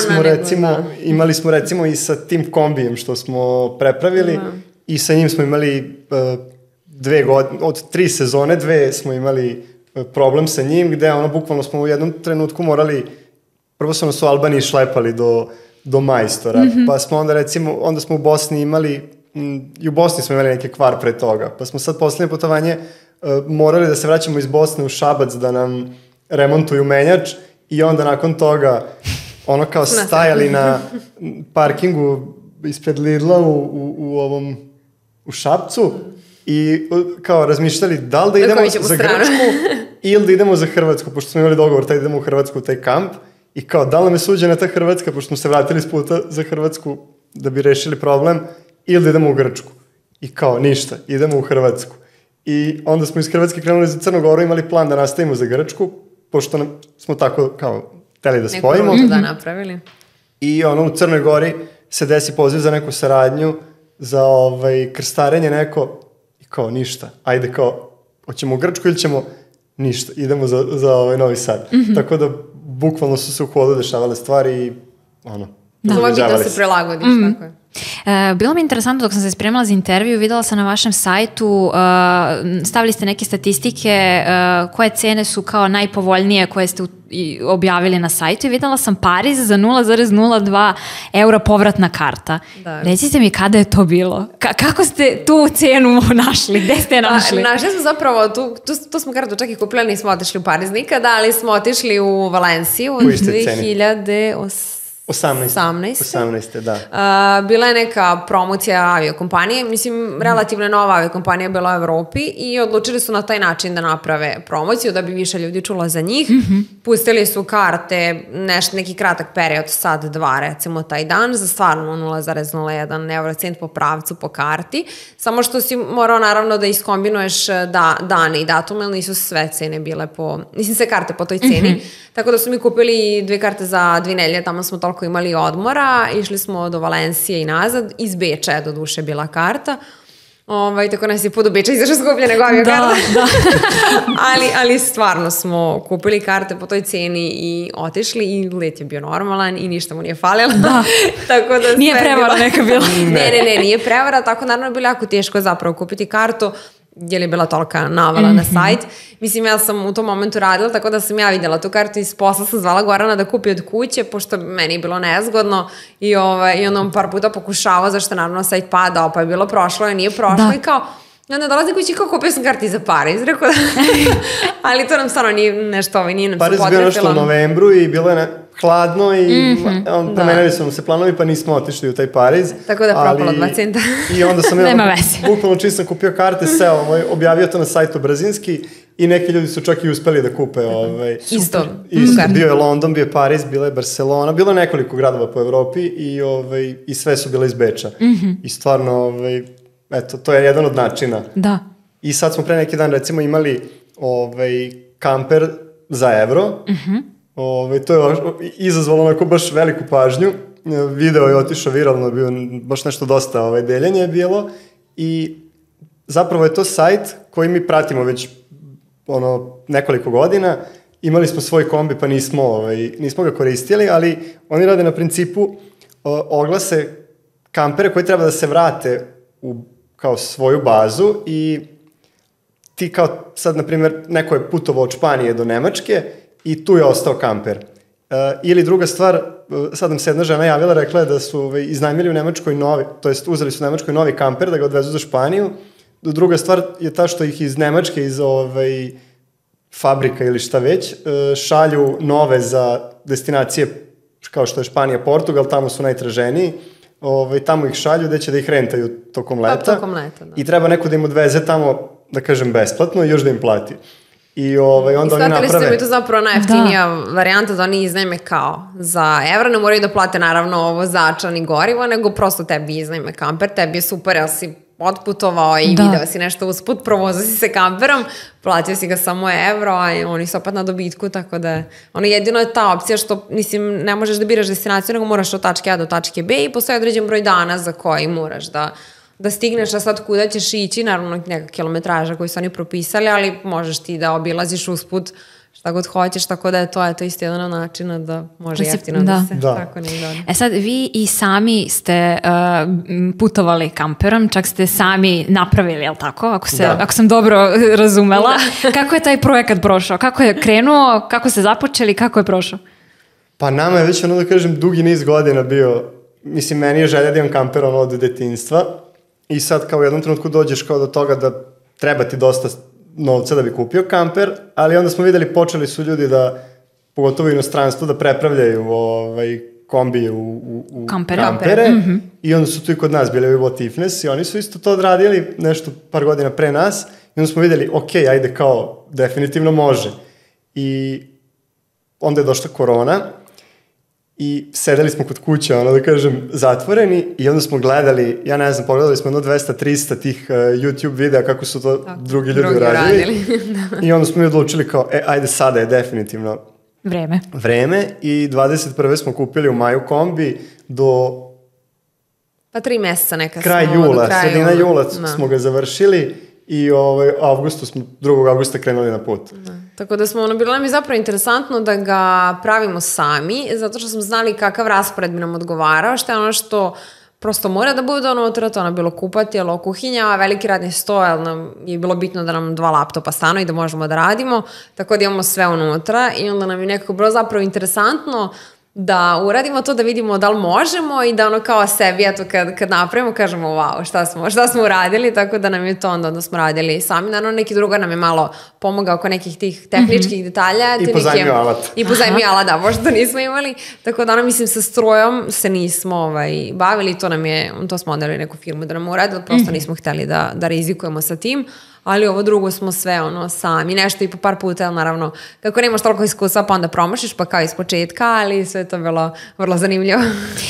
Imali smo recimo i sa tim kombijem što smo prepravili i sa njim smo imali 2 godine, od 3 sezone 2 smo imali problem sa njim gde bukvalno smo u jednom trenutku morali, prvo su nas u Albaniji šlepali do majstora, pa smo onda smo u Bosni imali, i u Bosni smo imali neki kvar pre toga, pa smo sad poslednje putovanje morali da se vraćamo iz Bosne u Šabac da nam remontuju menjač i onda nakon toga kao stajali na parkingu ispred Lidla u Šapcu i kao razmišljali da li da idemo za Grčku ili da idemo za Hrvatsku, pošto smo imali dogovor da idemo u Hrvatsku u taj kamp i kao da li nam je suđena ta Hrvatska, pošto smo se vratili s puta za Hrvatsku da bi rešili problem, ili da idemo u Grčku. I kao ništa, idemo u Hrvatsku. I onda smo iz Hrvatske krenuli za Crnu Goru, imali plan da nastavimo za Grčku, pošto smo tako kao hteli da spojimo. Neku rutu da napravili. I u Crnoj Gori se desi poziv za neku saradnju, za krstarenje neko, i kao ništa. Ajde kao, hoćemo u Grčku ili ćemo ništa, idemo za Novi Sad. Tako da bukvalno su se u hodu dešavale stvari i Samo je bitno se prilagodiš, tako je. Bilo mi interesantno dok sam se spremala za intervju, videla sam na vašem sajtu, stavili ste neke statistike koje cene su kao najpovoljnije koje ste objavili na sajtu i videla sam Pariz za 0,02 eura povratna karta. Da. Recite mi kada je to bilo? Kako ste tu cenu našli? Gde ste je našli? Našli smo zapravo, tu smo kartu čak i kupili, nismo otišli u Pariz nikada, ali smo otišli u Valenciju od 2018. Da. Bila je neka promocija aviokompanije, mislim, relativno nova aviokompanija bila u Evropi i odlučili su na taj način da naprave promociju, da bi više ljudi čulo za njih. Pustili su karte, neki kratak period, sad 2 recimo taj dan, za stvarno 0,01 eurocent po pravcu po karti, samo što si morao naravno da iskombinuješ dane i datume, ali nisu sve cene bile sve karte po toj ceni, tako da su mi kupili 2 karte za 2 nedelje, tamo smo toliko imali odmora, išli smo do Valencije i nazad, iz Beča je do duše bila karta, tako nas je put do Beča izašao skuplje nego aviokarta. Da. ali stvarno smo kupili karte po toj ceni i otišli i let je bio normalan i ništa mu nije falilo. Da. Tako da nije prevara neka bila. Ne, nije prevara, tako naravno je bilo jako teško zapravo kupiti kartu, jer je bila tolika navala na sajt. Mislim, ja sam u tom momentu radila, tako da sam ja vidjela tu kartu iz posla, sam zvala Gorana da kupi od kuće, pošto meni je bilo nezgodno i onda on par puta pokušavao, zašto naravno sajt padao, pa je bilo prošlo i nije prošlo i kao, i onda dolazi kući kao kupio sam karti za Pariz, rekao da, ali to nam stvarno nije nešto, nije nam se potrefilo. Pariz bio nešto u novembru i bilo je hladno i promenili su nam se planovi, pa nismo otišli u taj Pariz. Tako da propalo 2 centa. I onda sam bukvalno čim sam kupio karte, objavio to na sajtu brzinski i neki ljudi su čak i uspeli da kupe. Isto. Bio je London, bio je Pariz, bila je Barcelona, bilo je nekoliko gradova po Evropi i sve su bile iz Beča. I stvarno, eto, to je jedan od načina. Da. I sad smo pre neki dan recimo imali kamper za evro. To je izazvalo onako baš veliku pažnju. Video je otišao viralno, bio baš nešto dosta deljenje je bilo i zapravo je to sajt koji mi pratimo već nekoliko godina. Imali smo svoj kombi pa nismo ga koristili, ali oni rade na principu oglase kampere koji treba da se vrate u kao svoju bazu i ti kao sad, na primjer, neko je putovao od Španije do Nemačke i tu je ostao kamper. Ili druga stvar, sad nam se jedna žena javila, rekla je da su iznajmili u Nemačkoj novi, to jest uzeli su u Nemačkoj novi kamper da ga odvezu za Španiju. Druga stvar je ta što ih iz Nemačke, iz fabrika ili šta već, šalju nove za destinacije kao što je Španija, Portugal, tamo su najtraženiji. Tamo ih šalju gde će da ih rentaju tokom leta. I treba neko da im odveze tamo, da kažem, besplatno i još da im plati. I onda oni naprave... I shvatili ste mi to zapravo najjeftinija varijanta da oni iznajme kao za evro, ne moraju da plate naravno vozača ni gorivo, nego prosto tebi iznajme kamper, tebi je super, jel si otputovao i video si nešto usput, provozao si se kamperom, platio si ga samo evro, a oni su opet na dobitku, tako da jedino je ta opcija što, mislim, ne možeš da biraš destinaciju, nego moraš od tačke A do tačke B i postoji određen broj dana za koji moraš da stigneš, a sad kuda ćeš ići, naravno neka kilometraža koju su oni propisali, ali možeš ti da obilaziš usput šta god hoćeš, tako da je to isto jedan način da može jeftino da se tako ne dođe. Sad, vi i sami ste putovali kamperom, čak ste sami napravili, jel tako? Ako sam dobro razumela. Kako je taj projekat prošao? Kako je krenuo? Kako ste započeli? Kako je prošao? Pa nama je već, da kažem, dugi niz godina bio, mislim, meni je želja da imam kamper od detinjstva i sad kao u jednom trenutku dođeš kao do toga da treba ti dosta novca da bi kupio kamper, ali onda smo videli, počeli su ljudi da, pogotovo u inostranstvu, da prepravljaju kombije u kampere i onda su tu i kod nas bili Vivo Tifnes i oni su isto to odradili nešto par godina pre nas i onda smo videli, ok, ajde kao, definitivno može. I onda je došla korona i sedeli smo kod kuće, ono da kažem, zatvoreni i onda smo gledali, ja ne znam, pogledali smo 200-300 tih YouTube videa kako su to drugi ljudi uradili. I onda smo mi odlučili kao, ajde sada je definitivno vreme i 21. smo kupili u maju kombi do... Pa 3 meseca neka kraj jula, sredina jula smo ga završili i 2. avgusta krenuli na put. Tako da smo, bilo nam je zapravo interesantno da ga pravimo sami, zato što smo znali kakav raspored bi nam odgovarao, što je ono što prosto mora da bude unutra, to ono bilo kupatilo, kuhinja, veliki radni sto, jer nam je bilo bitno da nam 2 laptopa stanu i da možemo da radimo, tako da imamo sve unutra i onda nam je nekako bilo zapravo interesantno da uradimo to, da vidimo da li možemo i da ono kao sebi, eto kad napravimo, kažemo wow, šta smo uradili, tako da nam je to onda smo radili sami. Naravno, neki drugar nam je malo pomogao oko nekih tih tehničkih detalja. I pozajmio alat. I pozajmio alat, da, možda nismo imali. Tako da, mislim, sa strojom se nismo bavili, to smo odali neku firmu da nam uradili, prosto nismo hteli da rizikujemo sa tim. Ali ovo drugo smo sve sami, nešto i po par puta, naravno, kako nemaš toliko iskustva, pa onda promašiš, pa kao iz početka, ali sve to bilo vrlo zanimljivo.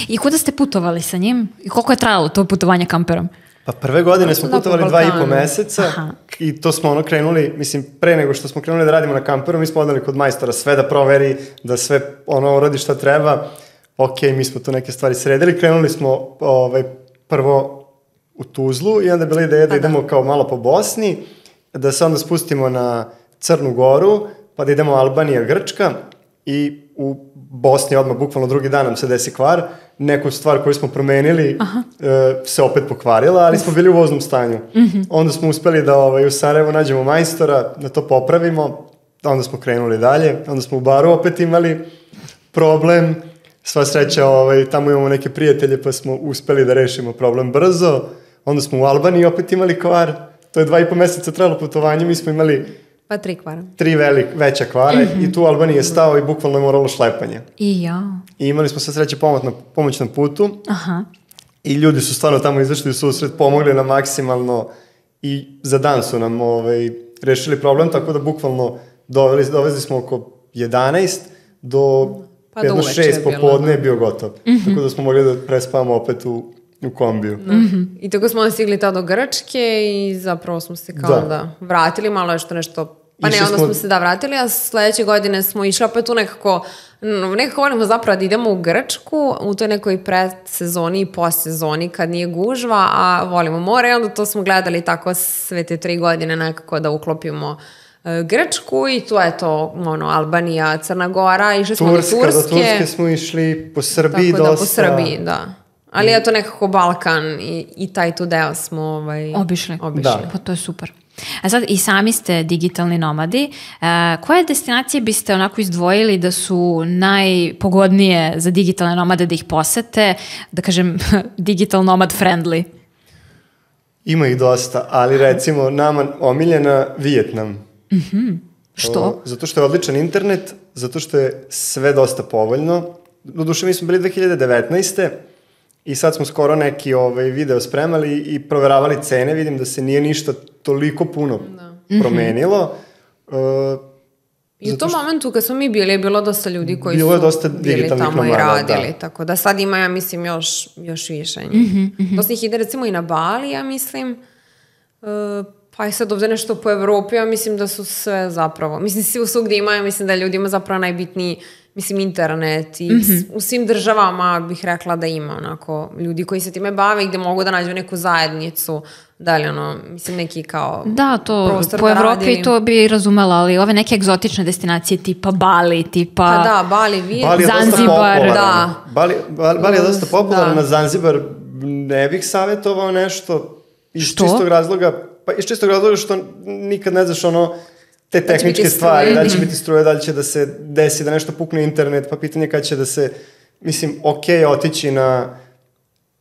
I kuda ste putovali sa njim? I koliko je trajalo to putovanje kamperom? Pa prve godine smo putovali 2,5 meseca i to smo krenuli, mislim, pre nego što smo krenuli da radimo na kamperu, mi smo odali kod majstora sve da proveri, da sve uradi šta treba. Ok, mi smo tu neke stvari sredili, krenuli smo prvo u Tuzlu i onda je bila ideja da idemo kao malo po Bosni, da se onda spustimo na Crnu Goru, pa da idemo Albanija, Grčka i u Bosni odmah bukvalno drugi dan nam se desi kvar. Neku stvar koju smo promenili se opet pokvarila, ali smo bili u voznom stanju. Onda smo uspeli da u Sarajevu nađemo majstora, da to popravimo, onda smo krenuli dalje, onda smo u baru opet imali problem. Sva sreća, tamo imamo neke prijatelje pa smo uspeli da rešimo problem brzo. Onda smo u Albaniji opet imali kvar. To je 2,5 meseca trajalo putovanje. Mi smo imali 3 kvara. 3 veća kvara i tu u Albaniji je stao i bukvalno je moralo šlepanje. I imali smo sva sreća pomoć na putu. I ljudi su stvarno tamo izašli u susret, pomogli nam maksimalno i za dan su nam rešili problem, tako da bukvalno dovezli smo oko 11 do 6 popodne je bio gotov. Tako da smo mogli da prespavamo opet u kombiju. I tako smo stigli tada do Grčke i zapravo smo se kao da vratili, malo nešto, pa ne, onda smo se vratili, a sledeće godine smo išli opet tu nekako volimo zapravo da idemo u Grčku, u toj nekoj predsezoni i postsezoni kad nije gužva, a volimo more i onda to smo gledali tako sve te 3 godine nekako da uklopimo Grčku i tu je to Albanija, Crna Gora, išli smo do Turske. Do Turske smo išli, po Srbiji dosta. Tako da, po Srbiji, da. Ali je to nekako Balkan i taj tu deo smo obišli. Pa to je super. A sad i sami ste digitalni nomadi. Koje destinacije biste onako izdvojili da su najpogodnije za digitalne nomade da ih posete, da kažem digital nomad friendly? Ima ih dosta, ali recimo nama omiljena Vijetnam. Što? Zato što je odličan internet, zato što je sve dosta povoljno. Doduše mi smo bili 2019. I sad smo skoro neki video spremali i proveravali cene, vidim da se nije ništa toliko puno promenilo. I u tom momentu kad smo mi bili je bilo dosta ljudi koji su bili tamo i radili, tako da sad ima, ja mislim, još više. Dosta ih ide recimo i na Bali, ja mislim, pa i sad ovde nešto po Evropi, ja mislim da su sve zapravo, mislim svi svugdje imaju, mislim da ljudima zapravo najbitniji, mislim, internet i u svim državama bih rekla da ima onako ljudi koji se time bave i gde mogu da nađu neku zajednicu, da li mislim neki kao da, to po Evropi to bi razumela, ali ove neke egzotične destinacije tipa Bali, tipa pa da, Bali, Zanzibar, da. Bali je dosta popularan, na Zanzibar ne bih savjetovao nešto iz čistog razloga, pa iz čistog razloga što nikad ne znaš te tehničke stvari, da li će biti struje, da li će da se desi, da nešto pukne internet, pa pitanje kada će da se, mislim, otići na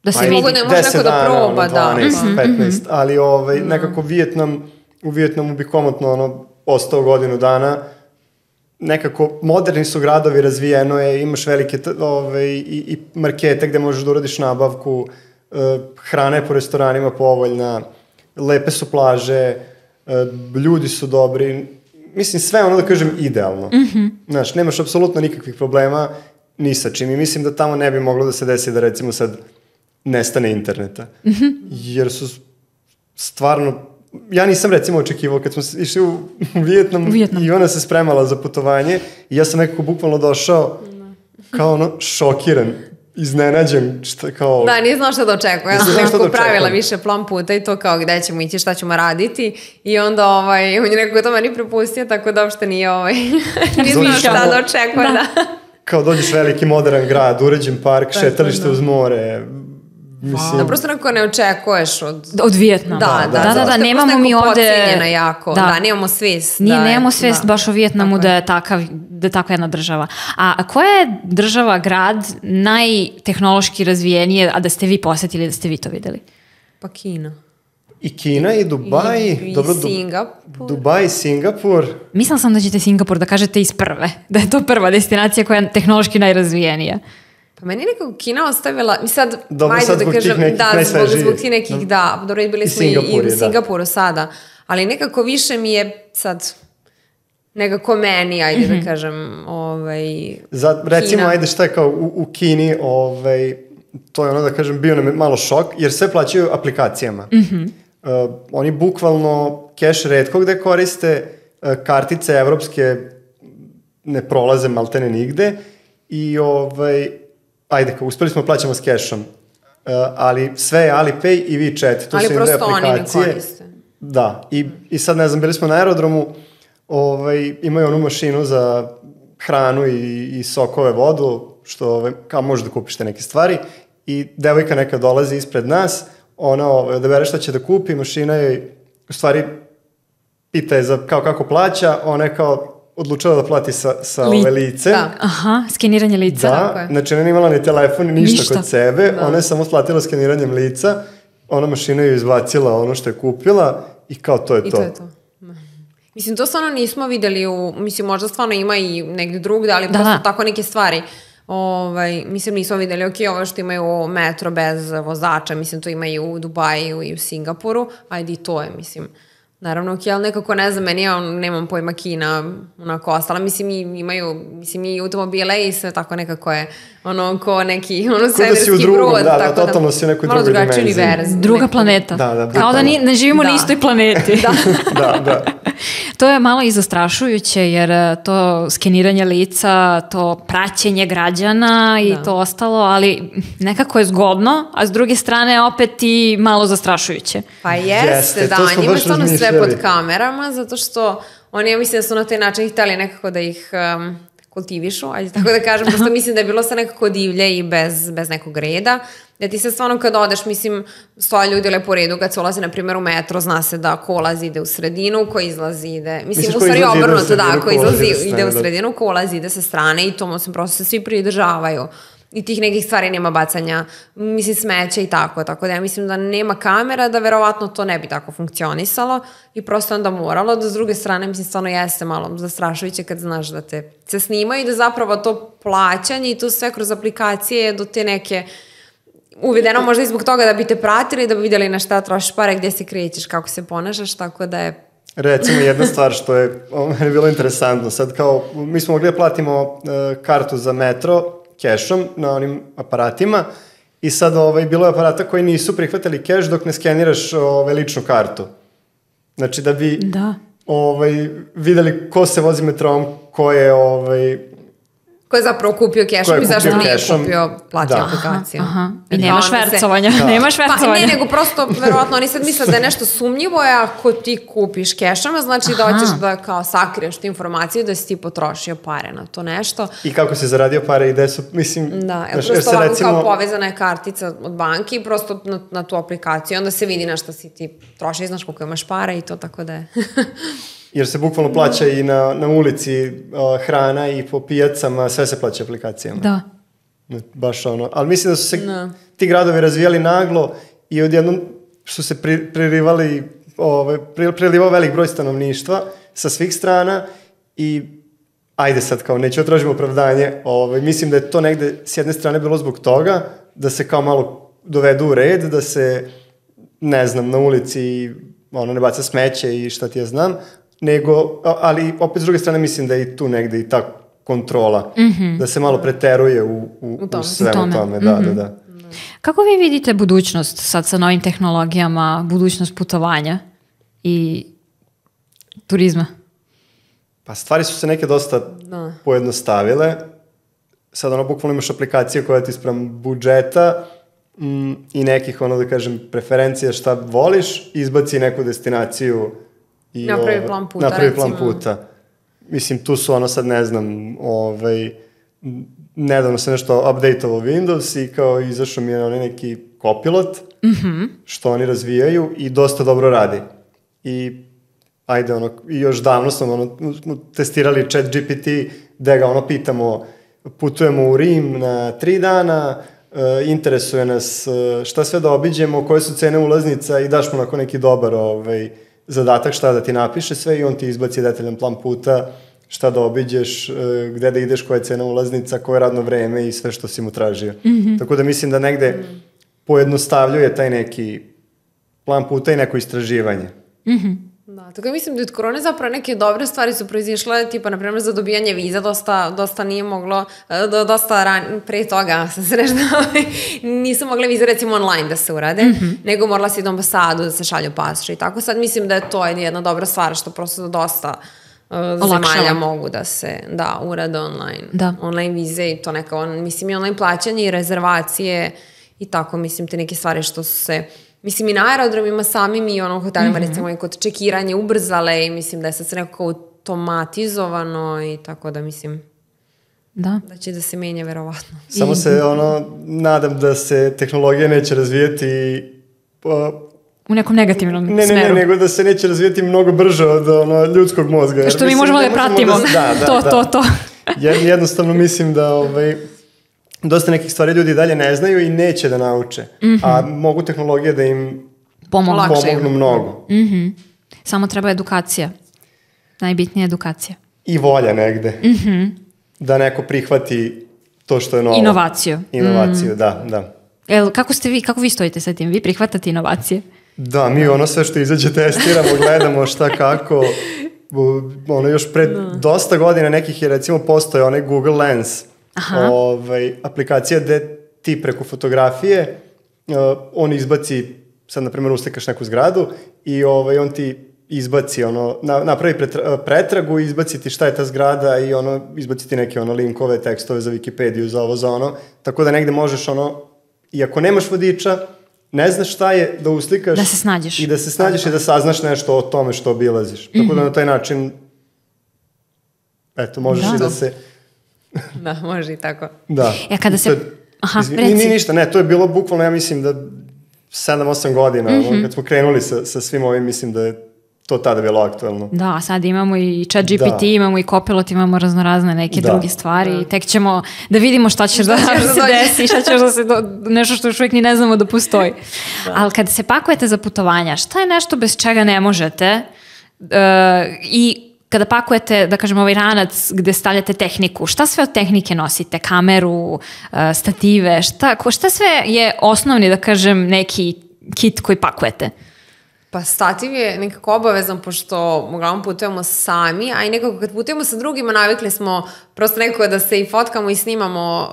da se vidi, ne može neko da proba, 12, 15, ali nekako u Vijetnamu bi komotno ostao godinu dana, nekako moderni su gradovi, razvijeno je, imaš velike i markete gde možeš da uradiš nabavku, hrana je po restoranima povoljna, lepe su plaže, ljudi su dobri, mislim sve da kažem idealno. Znaš, nemaš apsolutno nikakvih problema, ni sa čim. I mislim da tamo ne bi moglo da se desi da recimo sad nestane interneta. Jer su stvarno... Ja nisam recimo očekivao kad smo išli u Vijetnam i ona se spremala za putovanje i ja sam nekako bukvalno došao kao ono šokiran, iznenađen, šta kao... Da, nije znao šta da očekujem. Ja sam nekako pravila više plan puta i to kao gde ćemo ići, šta ćemo raditi i onda on je nekako to meni prepustio, tako da uopšte nije nije znao šta da očekuje. Da. Kao dođeš veliki modern grad, uređen park, šetalište uz more... Mislim... Da, prosto nekako ne očekuješ od Vijetnama. Da, nemamo mi ovde... jako. Da, nemamo svest. Nemamo svest baš o Vijetnamu da je takva jedna država. A koja je država, grad najtehnološki razvijenije, a da ste vi posetili, da ste vi to videli? Pa Kina. I Kina i Dubaj. I Singapur. Dubaj, Singapur. Mislila sam da ćete Singapur da kažete iz prve. Da je to prva destinacija koja je tehnološki najrazvijenija. Pa meni nekako Kina ostavila, mi sad, dobro, sad zbog tih nekih najsvežijih. Zbog tih nekih, da, dobro, bili smo i u Singapuru sada, ali nekako više mi je sad, nekako meni, ajde da kažem, recimo, ajde šta je kao u Kini, to je ono da kažem, bio nam je malo šok, jer sve plaćaju aplikacijama. Oni bukvalno keš retko gde koriste, kartice evropske ne prolaze maltene nigde i ajde, kao uspeli smo plaćamo s kešom, ali sve je Alipay i WeChat, to su im dve aplikacije. Ali prosto oni ne koriste. Da, i sad ne znam, bili smo na aerodromu, imaju onu mašinu za hranu i sokove, vodu, što kao možeš da kupiš te neke stvari i devojka neka dolazi ispred nas, ona odabere šta će da kupi, mašina je u stvari pita je za kao kako plaća, ona je kao odlučila da plati sa lice. Aha, skeniranje lica. Da, znači ona nije imala ni telefon, ništa kod sebe, ona je samo platila skeniranjem lica, ona mašina je izbacila ono što je kupila i kao to je to. I to je to. Mislim, to stvarno nismo videli mislim, možda stvarno ima i negdje drugde, ali prosto tako neke stvari. Mislim, nismo videli, ovo što imaju metro bez vozača, mislim, to ima i u Dubaju i u Singapuru, ajde i to je, mislim. Naravno, ali nekako ne znam, meni ja nemam pojma Kina, onako ostala, mislim, imaju, i automobile i sve tako nekako je, ko neki, svemirski brod. Da, totalno si u nekoj drugoj dimenziji. Druga planeta. Kao da ne živimo na istoj planeti. Da. To je malo i zastrašujuće, jer to skeniranje lica, to praćenje građana i to ostalo, ali nekako je zgodno, a s druge strane opet i malo zastrašujuće. Pa jeste, da, njima stvarno sve pod kamerama, zato što oni, ja mislim da su na taj način htjeli nekako da ih kultivišu, ajde tako da kažem, prosto mislim da je bilo sve nekako divlje i bez nekog reda, da ti se stvarno kad odeš, mislim, stoje ljudi lepo u redu, kad se ulazi, na primjer, u metro, zna se da ko ulazi ide u sredinu, ko izlazi ide, mislim, u stvari obrnuto, da, ko izlazi ide u sredinu, ko ulazi ide sa strane i to, mislim, prosto se svi pridržavaju. I tih nekih stvari nema bacanja, mislim, smeća i tako da ja mislim da nema kamera, da verovatno to ne bi tako funkcionisalo i prosto onda moralo, da s druge strane, mislim, stvarno jeste malo zastrašujuće kad znaš da te se snimaju i da zapravo to plaćanje i to sve kroz aplikacije do te neke uvedeno možda i zbog toga da bi te pratili, da bi vidjeli na šta trošiš pare, gdje se krećeš, kako se ponašaš, tako da je... Recimo jedna stvar što je meni bilo interesantno, sad kao mi smo mogli da platimo kartu za metro kešom na onim aparatima i sad bilo je aparata koji nisu prihvatili keš dok ne skeniraš ličnu kartu. Znači da bi videli ko se vozi metrom, ko je ko je zapravo kupio kešom i zašto nije kupio plati aplikaciju. I nema švercovanja. Pa ne, nego prosto, verovatno, oni sad misle da je nešto sumnjivo, ako ti kupiš kešom, znači da hoćeš da kao sakriješ tu informaciju da si ti potrošio pare na to nešto. I kako si zaradio pare i gde su, mislim... Da, prosto ovako kao povezana je kartica od banke i prosto na tu aplikaciju, onda se vidi na šta si ti troši, znaš koliko imaš para i to, tako da je... Jer se bukvalno plaća i na ulici hrana i po pijacama, sve se plaća aplikacijama. Da. Baš ali mislim da su se ti gradovi razvijali naglo i odjednom su se prilivao velik broj stanovništva sa svih strana i ajde sad kao neću tražiti opravdanje, mislim da je to negde s jedne strane bilo zbog toga da se kao malo dovedu u red, da se ne znam, na ulici ne baca smeće i šta ti ja znam, nego, ali opet s druge strane mislim da je i tu negde i ta kontrola, da se malo preteruje u svemu tome. Da. Kako vi vidite budućnost sad sa novim tehnologijama, budućnost putovanja i turizma? Pa stvari su se neke dosta pojednostavile. Sad bukvalno imaš aplikacije koja ti sprem budžeta i nekih, da kažem, preferencija šta voliš, izbaci neku destinaciju i napravi plan puta, napravi plan puta. Mislim, tu su sad ne znam, nedavno se nešto update-ovo Windows i kao izašao mi je neki Copilot, što oni razvijaju i dosta dobro radi. I ajde, i još davno smo testirali ChatGPT, gde ga pitamo, putujemo u Rim na 3 dana, interesuje nas šta sve da obiđemo, koje su cene ulaznica i daš mu onako neki dobar zadatak šta da ti napiše sve i on ti izbaci detaljan plan puta, šta da obiđeš, gde da ideš, koja je cena ulaznica, koje je radno vreme i sve što si mu tražio. Tako da mislim da negde pojednostavljuje taj neki plan puta i neko istraživanje. Da, tako mislim da od korone zapravo neke dobre stvari su proizišle, tipa, na primjer, za dobijanje viza dosta nije moglo, pre toga sam se nešto, nisu mogle vize recimo online da se urade, nego morala si do ambasadu da se šalju pasoši i tako. Sad mislim da je to jedna dobra stvar što prosto dosta zemalja mogu da se urade online. Online vize i to neka, mislim i online plaćanje i rezervacije i tako, mislim te neke stvari što su se, mislim i na aerodromima samim i u hotelima recimo i kod čekiranja ubrzale i mislim da je sad sve nekako automatizovano i tako da mislim da će da se menja verovatno. Samo se nadam da se tehnologija neće razvijeti u nekom negativnom smeru. Ne, nego da se neće razvijeti mnogo brže od ljudskog mozga. Što mi možemo da pratimo. To. Jednostavno mislim da dosta nekih stvari ljudi dalje ne znaju i neće da nauče. A mogu tehnologije da im pomognu mnogo. Samo treba edukacija. Najbitnija edukacija. I volja negde. Da neko prihvati to što je novo. Inovaciju, da. Kako vi stojite sa tim? Vi prihvatate inovacije? Da, mi sve što izađe testiramo, gledamo šta kako. Još pred dosta godina nekih je recimo postoje onaj Google Lens. Aplikacija gde ti preko fotografije on izbaci, sad na primjer uslikaš neku zgradu i on ti izbaci, napravi pretragu i izbaci ti šta je ta zgrada i izbaci ti neke linkove, tekstove za Wikipediju, za ovo, za ono, tako da negde možeš i ako nemaš vodiča, ne znaš šta je, da uslikaš da se snađeš i da saznaš nešto o tome što obilaziš. Tako da na taj način možeš i da se... Da, može i tako. Da. Kada se... Ni ništa, ne, to je bilo bukvalno, ja mislim da 7-8 godina, kad smo krenuli sa svim ovim, mislim da je to tada bilo aktualno. Da, sad imamo i ChatGPT, imamo i Copilot, imamo raznorazne neke druge stvari i tek ćemo da vidimo šta će da se desi, šta će da se, nešto što još uvijek ni ne znamo da postoji. Ali kada se pakujete za putovanja, šta je nešto bez čega ne možete i kada pakujete, da kažem, ovaj ranac gde stavljate tehniku, šta sve od tehnike nosite? Kameru, stative, šta sve je osnovni, da kažem, neki kit koji pakujete? Pa stativ je nekako obavezan, pošto uglavnom putujemo sami, a i nekako kad putujemo sa drugima navikli smo prosto nekako da se i fotkamo i snimamo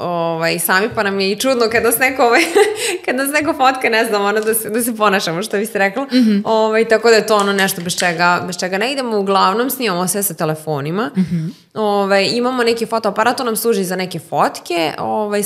sami, pa nam je i čudno kada nas neko fotka, ne znam, da se ponašamo, što biste rekla. Tako da je to nešto bez čega ne idemo. Uglavnom snimamo sve sa telefonima. Imamo neki fotoaparat, to nam služi za neke fotke,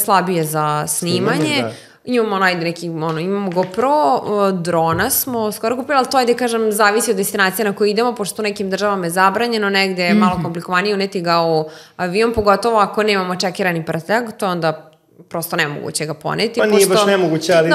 slabije za snimanje. Imamo imamo GoPro, drona smo skoro kupili, ali to je, da kažem, zavisi od destinacije na koju idemo, pošto u nekim državama je zabranjeno, negde je malo komplikovanije uneti ga u avion, pogotovo ako nemamo čekirani prtljag, to je onda prosto nemoguće ga poneti. Pa nije baš nemoguće, ali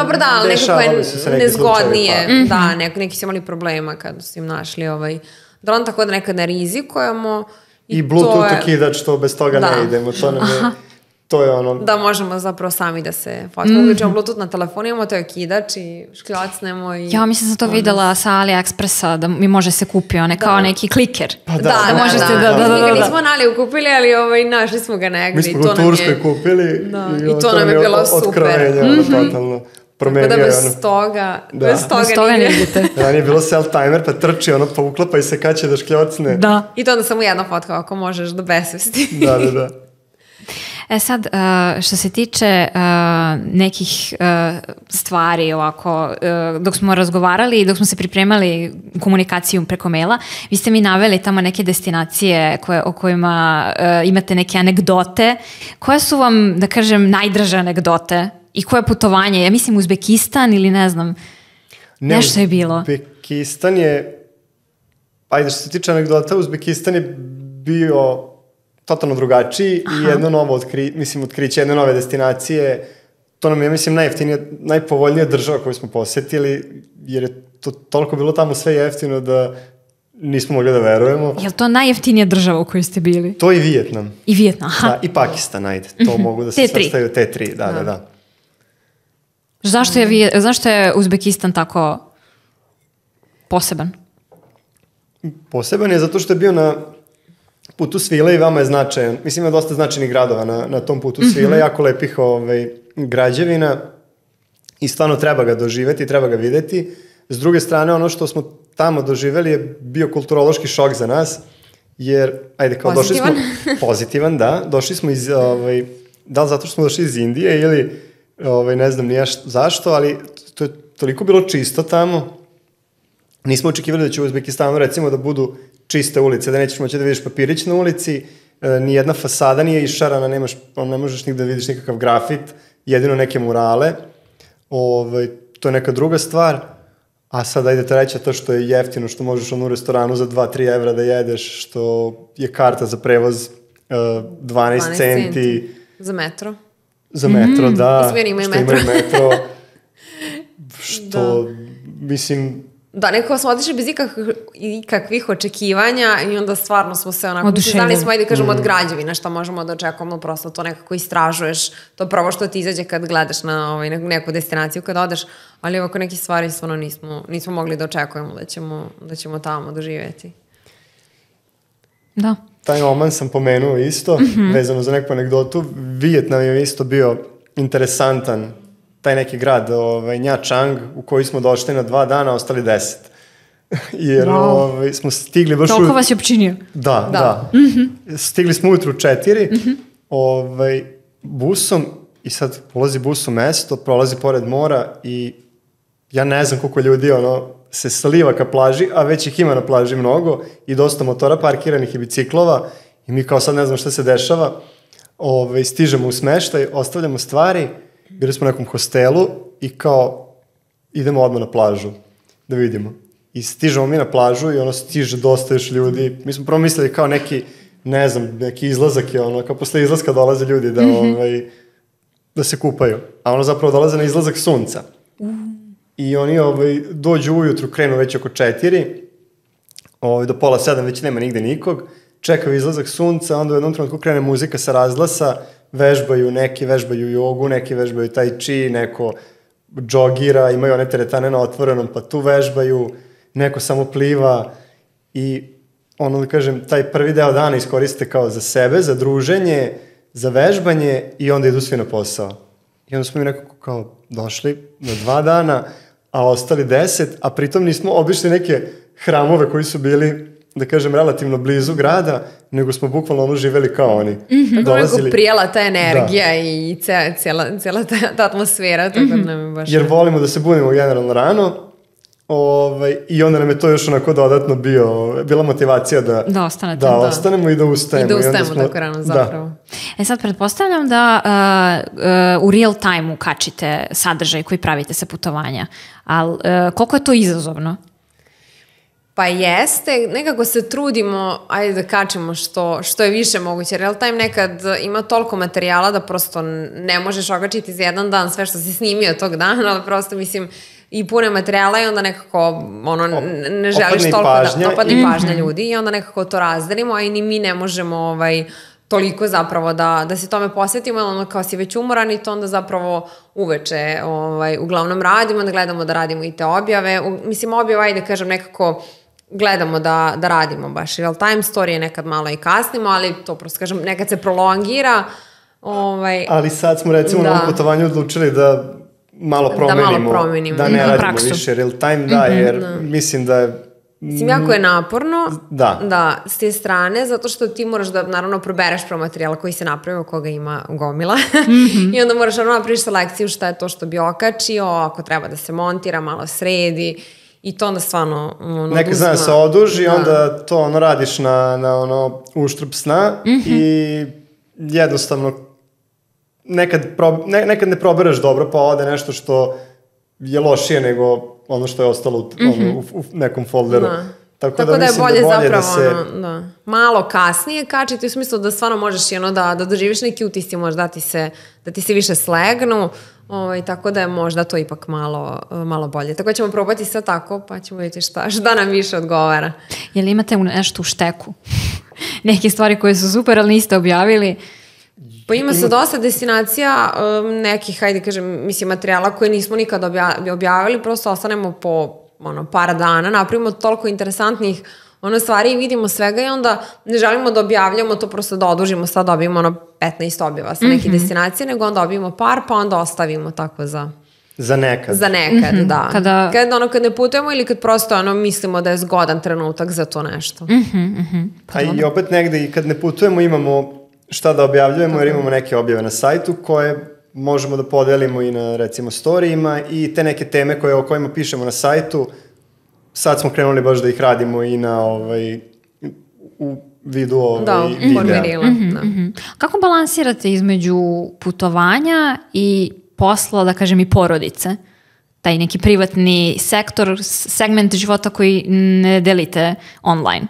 dešavali su se neki nezgodnije. Da, neki su imali problema kada su im našli dron, tako da nekad ne rizikujemo. I Bluetooth okidač, to bez toga ne idemo, to nam je... To je da možemo zapravo sami da se fotkamo. Uključimo Bluetooth na telefonu, imamo to je okidač i škljacnemo i... Ja mislim sam to videla sa AliExpressa, da mi može se kupi kao neki kliker. Pa da. Mi ga nismo na Aliju kupili, ali našli smo ga negdje. Mi smo ga u Turskoj kupili i to nam je bilo super. Otkrovenje, totalno. promenio tako da je bez toga, bez toga ne idete. Ranije je bilo self-timer, pa trči ono, pa uklapa i se kad će da škljocne. Da. I to onda samo jedna fotka ako možeš do besvesti. Da. Sad, što se tiče nekih stvari ovako, dok smo razgovarali i dok smo se pripremali komunikaciju preko maila, vi ste mi naveli tamo neke destinacije o kojima imate neke anegdote. Koje su vam, da kažem, najdraže anegdote? I koje putovanje? Ja mislim Uzbekistan ili ne znam, nešto je bilo. Uzbekistan je, ajde što se tiče anegdota, Uzbekistan je bio totalno drugačiji i jedno novo otkriće, jedne nove destinacije. To nam je, mislim, najpovoljnija država koju smo posetili, jer je to toliko bilo tamo sve jeftino da nismo mogli da verujemo. Je li to najjeftinija država u kojoj ste bili? To i Vijetnam. I Vijetnam, aha. Da, i Pakistan, ajde. To mogu da se svrstaju te tri, da. Zašto je Uzbekistan tako poseban? Poseban je zato što je bio na putu svile i vama je značajan. Mislim, ima dosta značajnih gradova na tom putu svile, jako lepih građevina i stvarno treba ga doživeti, treba ga videti. S druge strane, ono što smo tamo doživeli je bio kulturološki šok za nas, jer, ajde, kao pozitivan? Došli smo, pozitivan, da, došli smo iz, da li zato što smo došli iz Indije ili, ne znam nije zašto, ali to je toliko bilo čisto tamo. Nismo očekivali da će u Uzbekistanu, recimo, da budu čiste ulice, da nećeš moći da vidiš papirić na ulici, nijedna fasada nije išarana, ne možeš nigde da vidiš nikakav grafit, jedino neke murale. To je neka druga stvar. A sad ajde treća, to što je jeftino, što možeš u restoranu za 2-3 evra da jedeš, što je karta za prevoz 12 centi. Za metro. Za metro, da. Što imaju metro. Što, mislim... Da, nekako smo otišli bez ikakvih očekivanja i onda stvarno smo se onako... Znali smo, ajde kažemo, od građevina šta možemo da očekujemo, prosto to nekako istražuješ. To prvo što ti izađe kad gledaš na neku destinaciju kad odeš, ali ovako neke stvari stvarno nismo mogli da očekujemo da ćemo tamo doživjeti. Da. Taj Oman sam pomenuo isto, vezano za neku anegdotu. Vijetnam je isto bio interesantan, taj neki grad, Nha Trang, u koji smo došli na 2 dana, ostali 10. Jer smo stigli baš... Toliko vas je opčinio. Da. Stigli smo ujutru 4, busom i sad polazi bus u mesto, prolazi pored mora i ja ne znam koliko ljudi se sliva ka plaži, a već ih ima na plaži mnogo i dosta motora parkiranih i biciklova i mi kao sad ne znam šta se dešava. Stižemo u smeštaj, ostavljamo stvari, bili smo u nekom hostelu i kao idemo odmah na plažu da vidimo. I stižemo mi na plažu i stiže dosta još ljudi. Mi smo prvo mislili kao neki, ne znam, neki izlazak je kao posle izlaska dolaze ljudi da se kupaju. A zapravo dolaze na izlazak sunca. I oni dođu ujutru, krenu već oko 4, do pola 7 već nema nigde nikog, čekaju izlazak sunca, onda u jednom trenutku krene muzika sa razglasa, neki vežbaju jogu, neki vežbaju tai chi, neko džogira, imaju one teretane na otvorenom, pa tu vežbaju, neko samo pliva i da kažem, taj prvi deo dana iskoriste kao za sebe, za druženje, za vežbanje i onda idu svi na posao. I onda smo mi nekako kao došli na 2 dana, a ostali 10, a pritom nismo obišli neke hramove koji su bili, da kažem, relativno blizu grada, nego smo bukvalno živeli kao oni. Tako nekako prijela ta energija i cijela ta atmosfera. Tako da nam je baš... Jer volimo da se budimo generalno rano i onda nam je to još onako dodatno bila motivacija da ostanemo i da ustajemo. I da ustajemo tako rano zapravo. Sad pretpostavljam da u real time-u kačite sadržaj koji pravite sa putovanja, ali koliko je to izazovno? Pa jeste, nekako se trudimo, ajde da kačemo što je više moguće. Real time nekad ima toliko materijala da prosto ne možeš okačiti za jedan dan sve što si snimio tog dana, ali prosto mislim i pune materijala i onda nekako ne želiš toliko da opadne pažnja ljudi i onda nekako to razdelimo, a i ni mi ne možemo toliko zapravo da se tome posvetimo, ali kao si već umoran i to onda zapravo uveče uglavnom radimo, da gledamo da radimo i te objave. Mislim, objave, ajde kažem, nekako gledamo da radimo baš real time, storije nekad malo i kasnimo, ali to prosto kažem, nekad se prolongira. Ali sad smo recimo na ovom putovanju odlučili da malo promenimo, da ne radimo više real time, da, jer mislim da je... Mislim, jako je naporno, da, s te strane, zato što ti moraš da, naravno, probereš pro materijala koji se napravio, koga ima gomila, i onda moraš napraviš selekciju šta je to što bi okačio, ako treba da se montira, malo sredi, i to onda stvarno neka zna se oduži, onda to radiš na uštrb sna i jednostavno nekad ne proberaš dobro, pa ode nešto što je lošije nego ono što je ostalo u nekom folderu. Tako da je bolje zapravo malo kasnije kačiti, u smislu da stvarno možeš da doživiš neki utisci, možda da ti se više slegnu, tako da je možda to ipak malo bolje. Tako ćemo probati sve tako, pa ćemo vidjeti šta nam više odgovara. Je li imate nešto u šteku? Neke stvari koje su super, ali niste objavili? Pa ima se dosta destinacija, nekih, hajde kažem, mislim, materijala koje nismo nikad objavili, prosto ostanemo po par dana, napravimo toliko interesantnih stvari i vidimo svega i onda ne želimo da objavljamo to, prosto da odužimo, sad dobijemo 15 objava sa neke destinacije, nego onda dobijemo par, pa onda ostavimo tako za nekad. Za nekad, da. Kad ne putujemo ili kad prosto mislimo da je zgodan trenutak za to nešto. Pa i opet negde i kad ne putujemo imamo šta da objavljujemo, jer imamo neke objave na sajtu koje možemo da podelimo i na, recimo, storijima i te neke teme o kojima pišemo na sajtu. Sad smo krenuli baš da ih radimo i na u vidu videa. Kako balansirate između putovanja i posla, da kažem, i porodice? Taj neki privatni sektor, segment života koji ne delite online?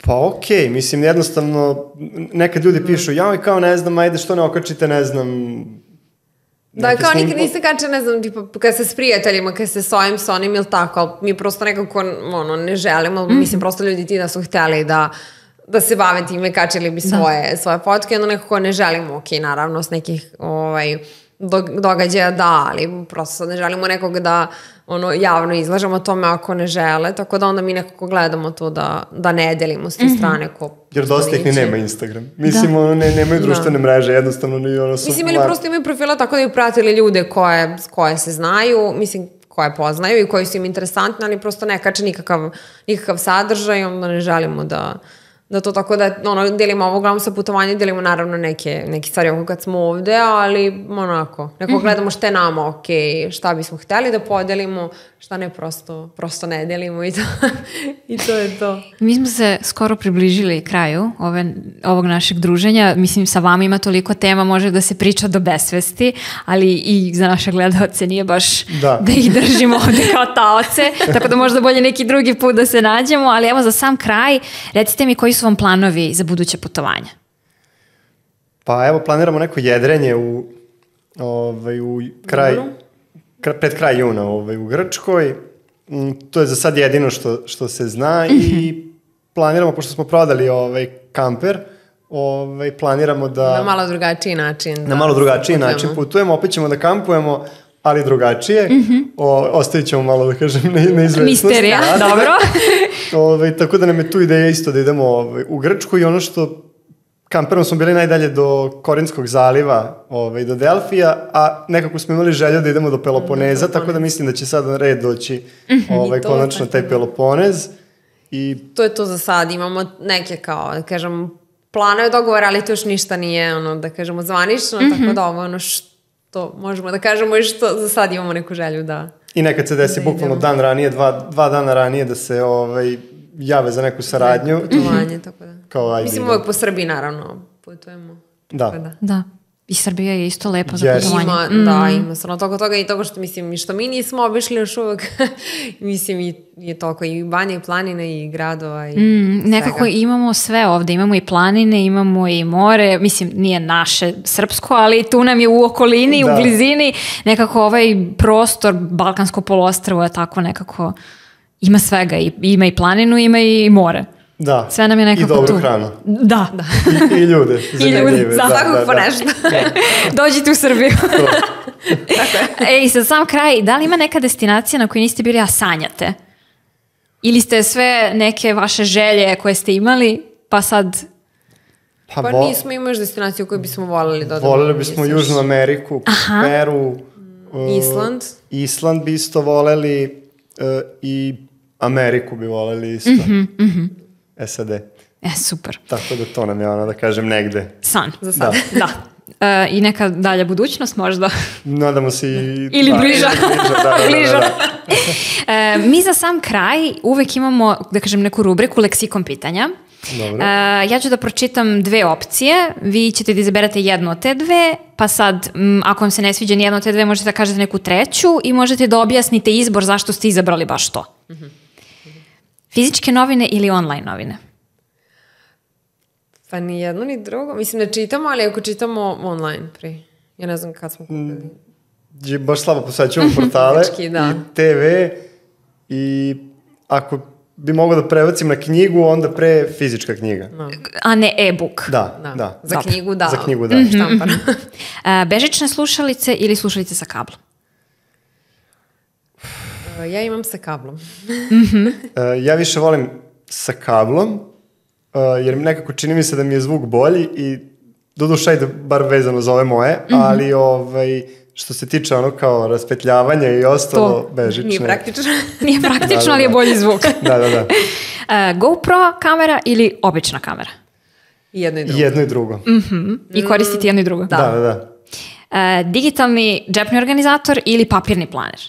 Pa okej, mislim, jednostavno, nekad ljudi pišu, kao ne znam, ajde što ne okačite, ne znam... Da, kao nikad niste kače, ne znam, tipa, kad se s prijateljima, kad se s ovim, s onim ili tako, ali mi prosto nekako, ne želimo, mislim, prosto ljudi ti da su hteli da se bave time, kačili bi svoje fotke, onda nekako ne želimo, naravno, s nekih događaja ali prosto ne želimo nekog da javno izlažemo tome ako ne žele, tako da onda mi nekako gledamo to da ne delimo s te strane. Jer dosta ih ni nema Instagram. Mislim, nemaju društvene mreže, jednostavno su... Mislim, ili prosto imaju profila tako da bi pratili ljude koje se znaju, mislim, koje poznaju i koji su im interesantni, ali prosto ne kače nikakav sadržaj, onda ne želimo da to tako da delimo ovo uglavnom sa putovanje, delimo naravno neke stvari oko kad smo ovde, ali neko gledamo šta je nama okej, šta bismo hteli da podelimo, šta ne prosto ne delimo i to je to. Mi smo se skoro približili kraju ovog našeg druženja, mislim sa vama ima toliko tema, može da se priča do besvesti, ali i za naše gledaoce nije baš da ih držimo ovde kao taoce, tako da možda bolje neki drugi put da se nađemo, ali evo za sam kraj, recite mi koji su vam planovi za buduće putovanja? Pa evo, planiramo neko jedrenje pred kraj juna u Grčkoj. To je za sad jedino što se zna i planiramo, pošto smo prodali kamper, planiramo da... Na malo drugačiji način. Na malo drugačiji način putujemo, opet ćemo da kampujemo, ali drugačije. Ostavit ćemo malo, da kažem, neizvesnost. Misterija, dobro. Tako da nam je tu ideja isto da idemo u Grčku i ono što kamperom smo bili najdalje do Korinskog zaliva, do Delfija, a nekako smo imali želju da idemo do Peloponeza, tako da mislim da će sad red doći konačno taj Peloponez. To je to za sad, imamo neke kao, da kažem, planove dogovora, ali to još ništa nije, da kažemo, zvanično, tako da ovo što možemo da kažemo i što za sad imamo neku želju da... I nekad se desi bukvalno dan ranije, dva dana ranije da se jave za neku saradnju. Putovanje, tako da. Mislim, uvijek po Srbiji, naravno, putujemo. Da. I Srbija je isto lepa za putovanje. Ima stvarno toga i toga što, mislim, i što mi nismo obišli još uvijek. Mislim, je toliko i banje, i planine, i gradova, i nekako imamo sve ovde. Imamo i planine, imamo i more. Mislim, nije naše srpsko, ali tu nam je u okolini, u blizini. Nekako ovaj prostor, Balkansko poluostrvo je tako nekako... Ima svega. Ima i planinu, ima i more. Da, sve nam je nekako tu. I dobru hranu. Da. I ljude. I ljude, svakog po nešto. Dođite u Srbiju. I sad sam kraj, da li ima neka destinacija na kojoj niste bili, a sanjate? Ili ste sve neke vaše želje koje ste imali, pa sad... Pa nismo imali još destinaciju koju bismo voljeli da odemo. Voljeli bismo Južnu Ameriku, Peru, Island bi isto voljeli i Ameriku bi voljeli isto. SAD. Super. Tako da to nam je ono, da kažem, negde. San. Za sad. Da. I neka dalja budućnost možda. Nadamo se ili bliža. Bliža. Mi za sam kraj uvek imamo, da kažem, neku rubriku leksikon pitanja. Dobro. Ja ću da pročitam dve opcije, vi ćete da izaberate jednu od te dve, pa sad, ako vam se ne sviđa nijedno od te dve, možete da kažete neku treću i možete da objasnite izbor zašto ste izabrali baš to. Fizičke novine ili online novine? Pa ni jedno ni drugo. Mislim, ne čitamo, ali ako čitamo online pre. Ja ne znam kad smo kupili. Baš slabo posaćujemo portale i TV i ako bi mogao da prebacim na knjigu, onda pre fizička knjiga. No. A ne e-book. Da. Za knjigu da. Za knjigu da. Štampana. Bežične slušalice ili slušalice sa kablom? Ja imam sa kablom. Ja više volim sa kablom, jer nekako čini mi se da mi je zvuk bolji i doduša ide bar vezano za ove moje, ali što se tiče ono kao raspetljavanja i ostalo bežične. Nije praktično. Nije praktično, ali je bolji zvuk. Da. GoPro kamera ili obična kamera? Jedno i drugo. I koristiti jedno i drugo? Da. Digitalni džepni organizator ili papirni planer?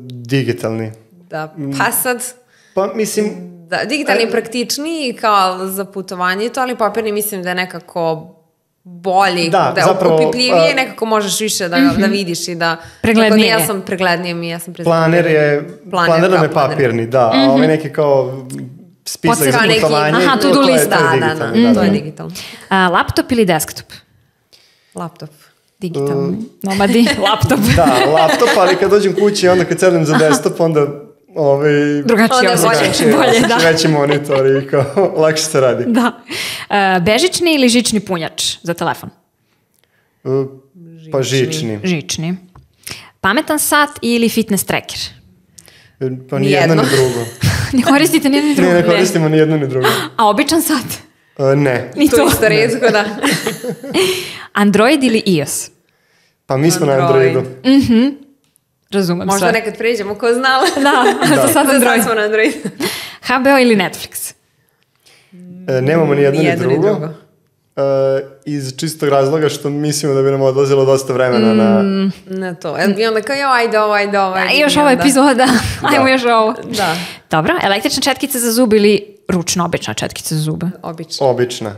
Digitalni. Da, pa sad... Pa mislim... Da, digitalni je praktičniji kao za putovanje i to, ali papirni mislim da je nekako bolji, da je opipljivije, nekako možeš više da vidiš i da... Preglednije. Ja sam preglednije, Planer nam je papirni, da, a ovaj neki kao spisak za putovanje, to-do list, to je digitalno. Laptop ili desktop? Laptop. Digitalni. Nomadi, laptop. Da, laptop, ali kad dođem kući i onda kad sedem za desktop, onda drugačije, bolje, da. Veći monitor i kao lakše se radi. Da. Bežični ili žični punjač za telefon? Pa žični. Pametan sat ili fitness tracker? Pa ni jedno ni drugo. Ne koristite ni jedno ni drugo? Ne koristimo ni jedno ni drugo. A običan sat? Ne. Ni to. To isto redko, da. Android ili iOS? Pa mi smo na Androidu. Razumem. Možda nekad pređemo, ko znala. Da. Za sad Android. Smo na Androidu. HBO ili Netflix? Nemamo ni jedno ni drugo. Iz čistog razloga što mislimo da bi nam odlazilo dosta vremena na to. I onda kao, ajde ovo. I još ova epizoda. Ajmo još ovo. Da. Dobro, električna četkica za zub ili ručna obična četkica za zube? Obična.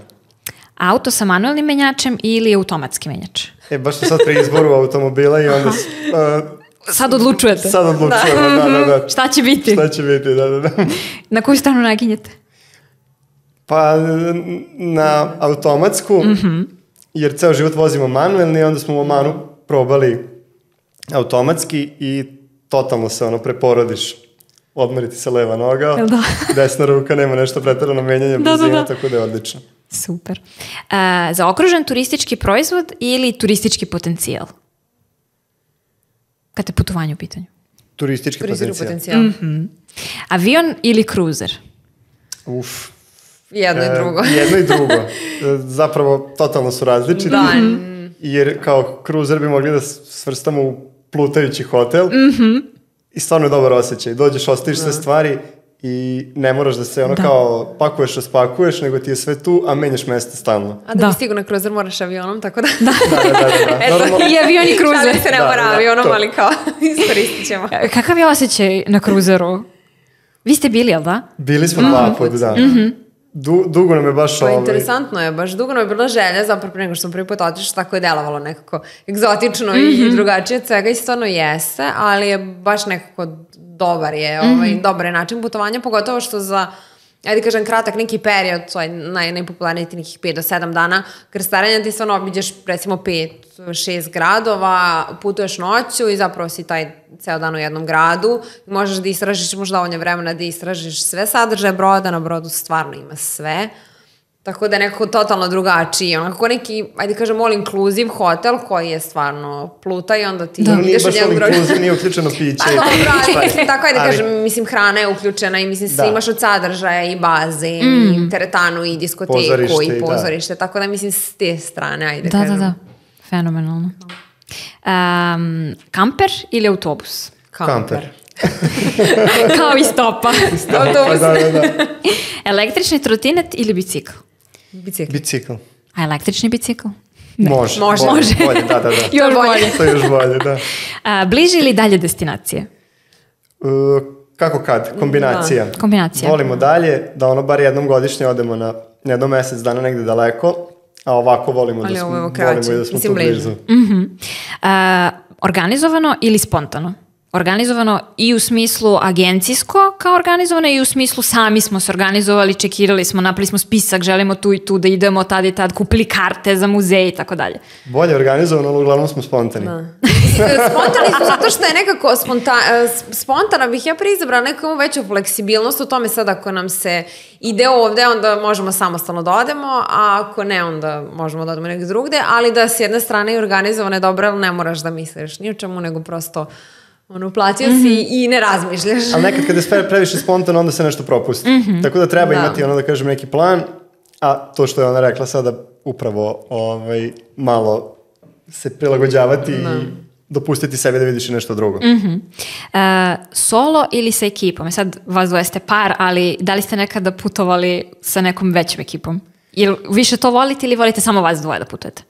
Auto sa manuelnim menjačem ili automatski menjač? Baš smo sad pri izboru automobila i onda... Sad odlučujete. Sad odlučujemo, da. Šta će biti? Da. Na koju stranu naginjete? Pa na automatsku, jer ceo život vozimo manuelni, onda smo u Omanu probali automatski i totalno se preporodiš. Odmeriti se leva noga, desna ruka, nema nešto preterano menjanje brzina, tako da je odlično. Super. Zaokružen turistički proizvod ili turistički potencijal? Kad je putovanje u pitanju? Turistički potencijal. Avion ili kruzer? Jedno i drugo. Jedno i drugo. Zapravo, totalno su različiti. Jer kao kruzer bi mogli da svrstamo u plutajući hotel. I stvarno je dobar osjećaj. Dođeš, ostaviš sve stvari i ne moraš da se kao pakuješ, raspakuješ, nego ti je sve tu, a menjaš mesta stalno. A da bi stigu na kruzer moraš avionom, tako da... Da. I avion i kruzer. Šalim se ne mora avionom, ali kao iskoristit ćemo. Kakav je osjećaj na kruzeru? Vi ste bili, jel da? Bili smo 2 puta, da. Dugo nam je baš interesantno je, baš dugo nam je bila želja, zapravo pre nego što sam prvi put otišla, tako je delovalo nekako egzotično i drugačije od svega i stvarno jeste, ali je baš nekako dobar je način putovanja, pogotovo što za, ajde kažem, kratak neki period, to je najpopularniji ti nekih 5 do 7 dana krstarenja, ti stvarno obiđeš recimo 5-6 gradova, putuješ noću i zapravo si taj ceo dan u jednom gradu, možeš da istražiš, možda dovoljno vremena da istražiš sve sadržaje broda, na brodu stvarno ima sve Tako da je nekako totalno drugačiji, onako neki, ajde kažem, all inclusive hotel koji je stvarno pluta i onda ti ideš od jednog druga. Nije uključeno piće. Pa dobro, ali tako ajde kažem, mislim, hrana je uključena i mislim, sve imaš od sadržaja i bazen, i teretanu, i diskoteku, i pozorište, tako da mislim s te strane, ajde kažem. Da, fenomenalno. Kamper ili autobus? Kamper. Kao i stopa. Autobus. Da. Električni trotinet ili bicikl? Bicikl. A električni bicikl? Može. Bolje, da. Još bolje. To je još bolje, da. Bliže ili dalje destinacije? Kako kad? Kombinacija. Kombinacija. Volimo dalje, da ono bar jednom godišnje odemo na jednom mesec dana negde daleko, a ovako volimo da smo tu blizu. Organizovano ili spontano? Organizovano i u smislu agencijsko kao organizovano i u smislu sami smo se organizovali, čekirali smo, napravili smo spisak, želimo tu i tu da idemo tad i tad, kupili karte za muzej i tako dalje. Bolje organizovano, ali uglavnom smo spontani. Spontani smo zato što je nekako spontana bih ja preizabrala neku veću fleksibilnost u tome sad ako nam se ide ovde, onda možemo samostalno da odemo, a ako ne, onda možemo da odemo negdje drugde, ali da s jedne strane je organizovano je dobro, ali ne moraš da misliš ni o čemu, nego prosto uplatio si i ne razmišljaš. Ali nekad kada je previše spontano, onda se nešto propusti. Tako da treba imati, da kažem, neki plan, a to što je ona rekla sada, upravo malo se prilagođavati i dopustiti sebi da vidiš i nešto drugo. Solo ili sa ekipom? Sad vas dvoje ste par, ali da li ste nekada putovali sa nekom većom ekipom? Ili više to volite ili volite samo vas dvoje da putujete?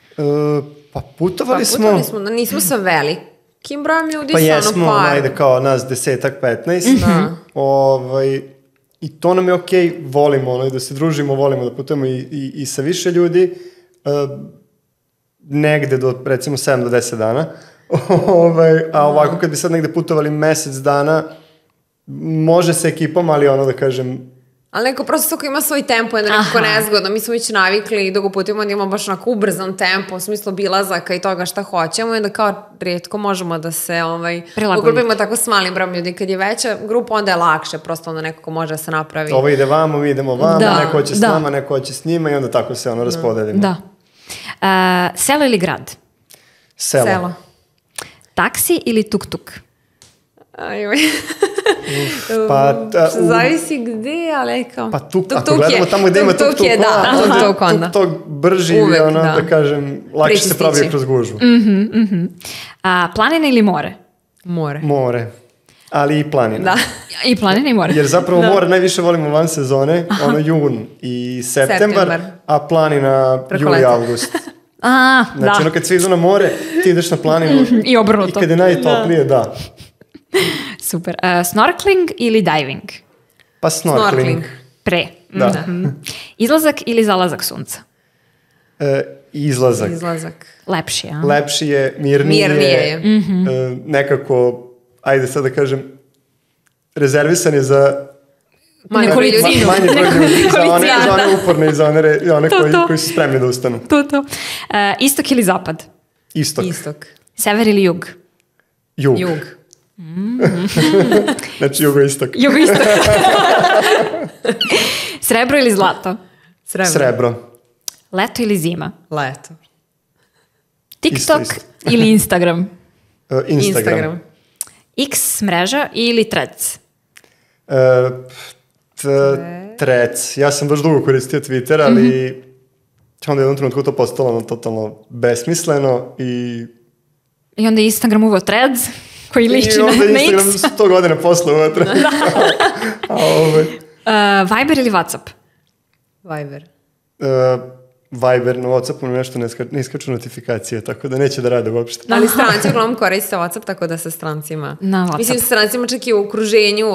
Pa putovali smo, nismo sa velikim brojem ljudi, pa jesmo, ajde kao nas 10-15. I to nam je okej, volimo da se družimo, volimo da putujemo i sa više ljudi, negde do recimo 7 do 10 dana. A ovako kad bi sad negde putovali mesec dana, može sa ekipom, ali da kažem... Ali neko prosto ako ima svoj tempo, je nekako nezgodno. Mi smo već navikli dok putujemo da imamo baš onako ubrzan tempo, u smislu bilazaka i toga šta hoćemo i onda kao rijetko možemo da se ugrupimo tako s malim brojem ljudi. Kad je veća grupa, onda je lakše, prosto onda nekako može da se napravi. Ovo ide vamo, mi idemo vamo, neko hoće s nama, neko hoće s njima i onda tako se raspodelimo. Da. Selo ili grad? Selo. Taksi ili tuk-tuk? Zavisi gde, ali kao... Pa ako gledamo tamo gde ima tuk-tuk brži i da kažem, lakše se pravi kroz gužvu. Planina ili more? More. Ali i planina. I planina i more. Jer zapravo more najviše volimo van sezone, jun i septembar, a planina juli i august. Znači kad svi idu na more, ti ideš na planinu i obrnuto. I kad je najtoplije, da. Super. Snorkeling ili diving? Pa snorkeling. Pre. Da. Izlazak ili zalazak sunca? Izlazak. Lepši, a? Lepši je, mirnije je. Nekako, ajde sad da kažem, rezervisan je za manje broj ljudi, za one uporne i za one koji su spremni da ustanu. To. Istok ili zapad? Istok. Sever ili jug? Jug. Znači jugoistok. Srebro ili zlato? Srebro. Leto ili zima? Leto. TikTok ili Instagram? Instagram. X mreža ili Threads? Threads. Ja sam baš dugo koristio Twitter, ali onda jednom trenutku to postalo totalno besmisleno i onda je Instagram uveo Threads koji liči na X. I onda Instagram 100 godina posle uvetra. Viber ili WhatsApp? Viber na WhatsAppu nešto ne iskaču notifikacije, tako da neće da rade uopšte. Ali stranci uglavnom koriste WhatsApp, tako da sa strancima... Mislim, sa strancima čak i u okruženju,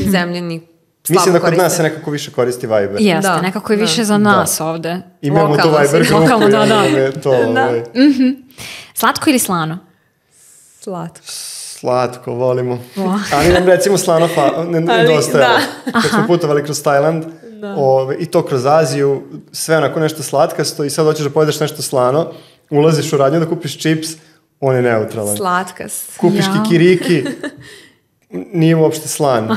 zemljeni mislim da kod nas se nekako više koristi Viber. Jeste, nekako je više za nas ovde. Imamo tu Viber grupu. Lokalno, da. Slatko ili slano? Slatko, volimo. Ali nam recimo slano nedostajalo. Kad smo putovali kroz Tajland i to kroz Aziju, sve onako nešto slatkasto i sad hoćeš da pojedeš nešto slano, ulaziš u radnju da kupiš čips, on je neutralan. Slatkas. Kupiš kikiriki, nije uopšte slan.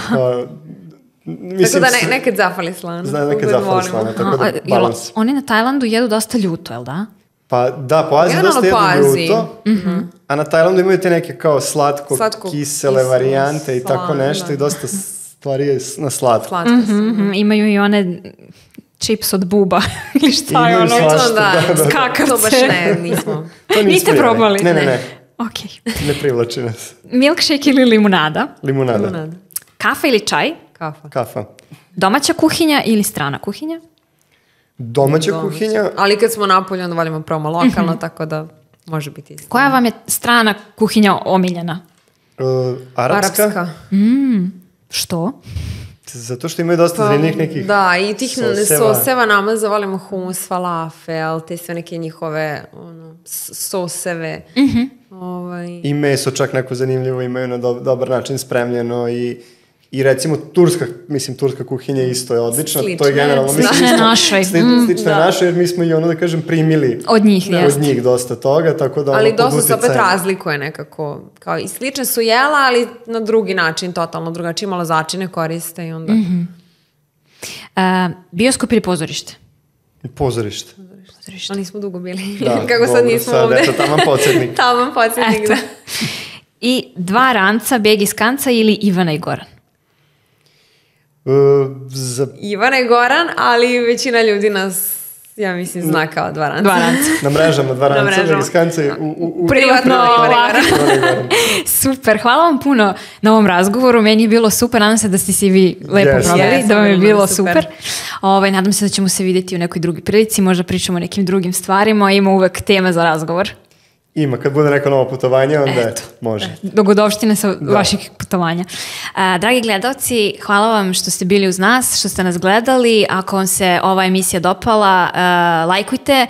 Mislim, tako da nekad zafali slana. Nekad zafali slana, tako da balans. Oni na Tajlandu jedu dosta ljuto, jel da? Pa da, po Aziji dosta jedu ljuto, a na Tajlandu imaju te neke kao slatko-kisele varijante i tako nešto i dosta stvari je na slatko. Imaju i one čips od buba ili šta je ono? Skakavce. To baš ne, nismo. Niste probali? Ne. Okay. Ne privlači nas. Milkshake ili limunada? Limunada. Kafa ili čaj? Kafa. Domaća kuhinja ili strana kuhinja? Domaća kuhinja. Ali kad smo napolje, onda volimo probamo lokalno, tako da može biti isto. Koja vam je strana kuhinja omiljena? Arapska. Što? Zato što imaju dosta zanimljivih nekih i tih soseva namaza, volimo humus, falafel, te sve neke njihove soseve. I meso čak neko zanimljivo imaju na dobar način spremljeno i recimo turska kuhinja isto je odlična. Slična. To je generalno. Slična je našoj. Slična je našoj jer mi smo i da kažem primili od njih dosta toga. Tako da ali dosta se opet razlikuje nekako. Kao i slične su jela, ali na drugi način, totalno drugačije, malo začine koriste i onda... Bioskop ili pozorište? Pozorište. Ali nismo dugo bili. Da, kako sad nismo ovde. Eto, taman podsjetnik. Taman podsjetnik, da. I dva ranca, Beg iz Kanca ili Ivana i Goran? Ivana i Goran, ali većina ljudi nas, ja mislim, zna kao dva ranca. Na mrežama dva ranca, Beg iz Kanca i u privatno Ivana i Goran. Super, hvala vam puno na ovom razgovoru, meni je bilo super, nadam se da ste si vi lepo proveli, da vam je bilo super. Nadam se da ćemo se vidjeti u nekoj drugoj prilici, možda pričamo o nekim drugim stvarima, ima uvek teme za razgovor. Ima, kad bude neko novo putovanje, onda može. Dogodovštine sa vaših putovanja. Dragi gledalci, hvala vam što ste bili uz nas, što ste nas gledali. Ako vam se ova emisija dopala, lajkujte,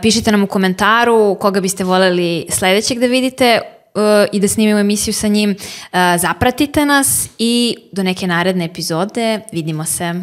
pišite nam u komentaru koga biste voljeli sledećeg da vidite i da snimimo emisiju sa njim. Zapratite nas i do neke naredne epizode. Vidimo se.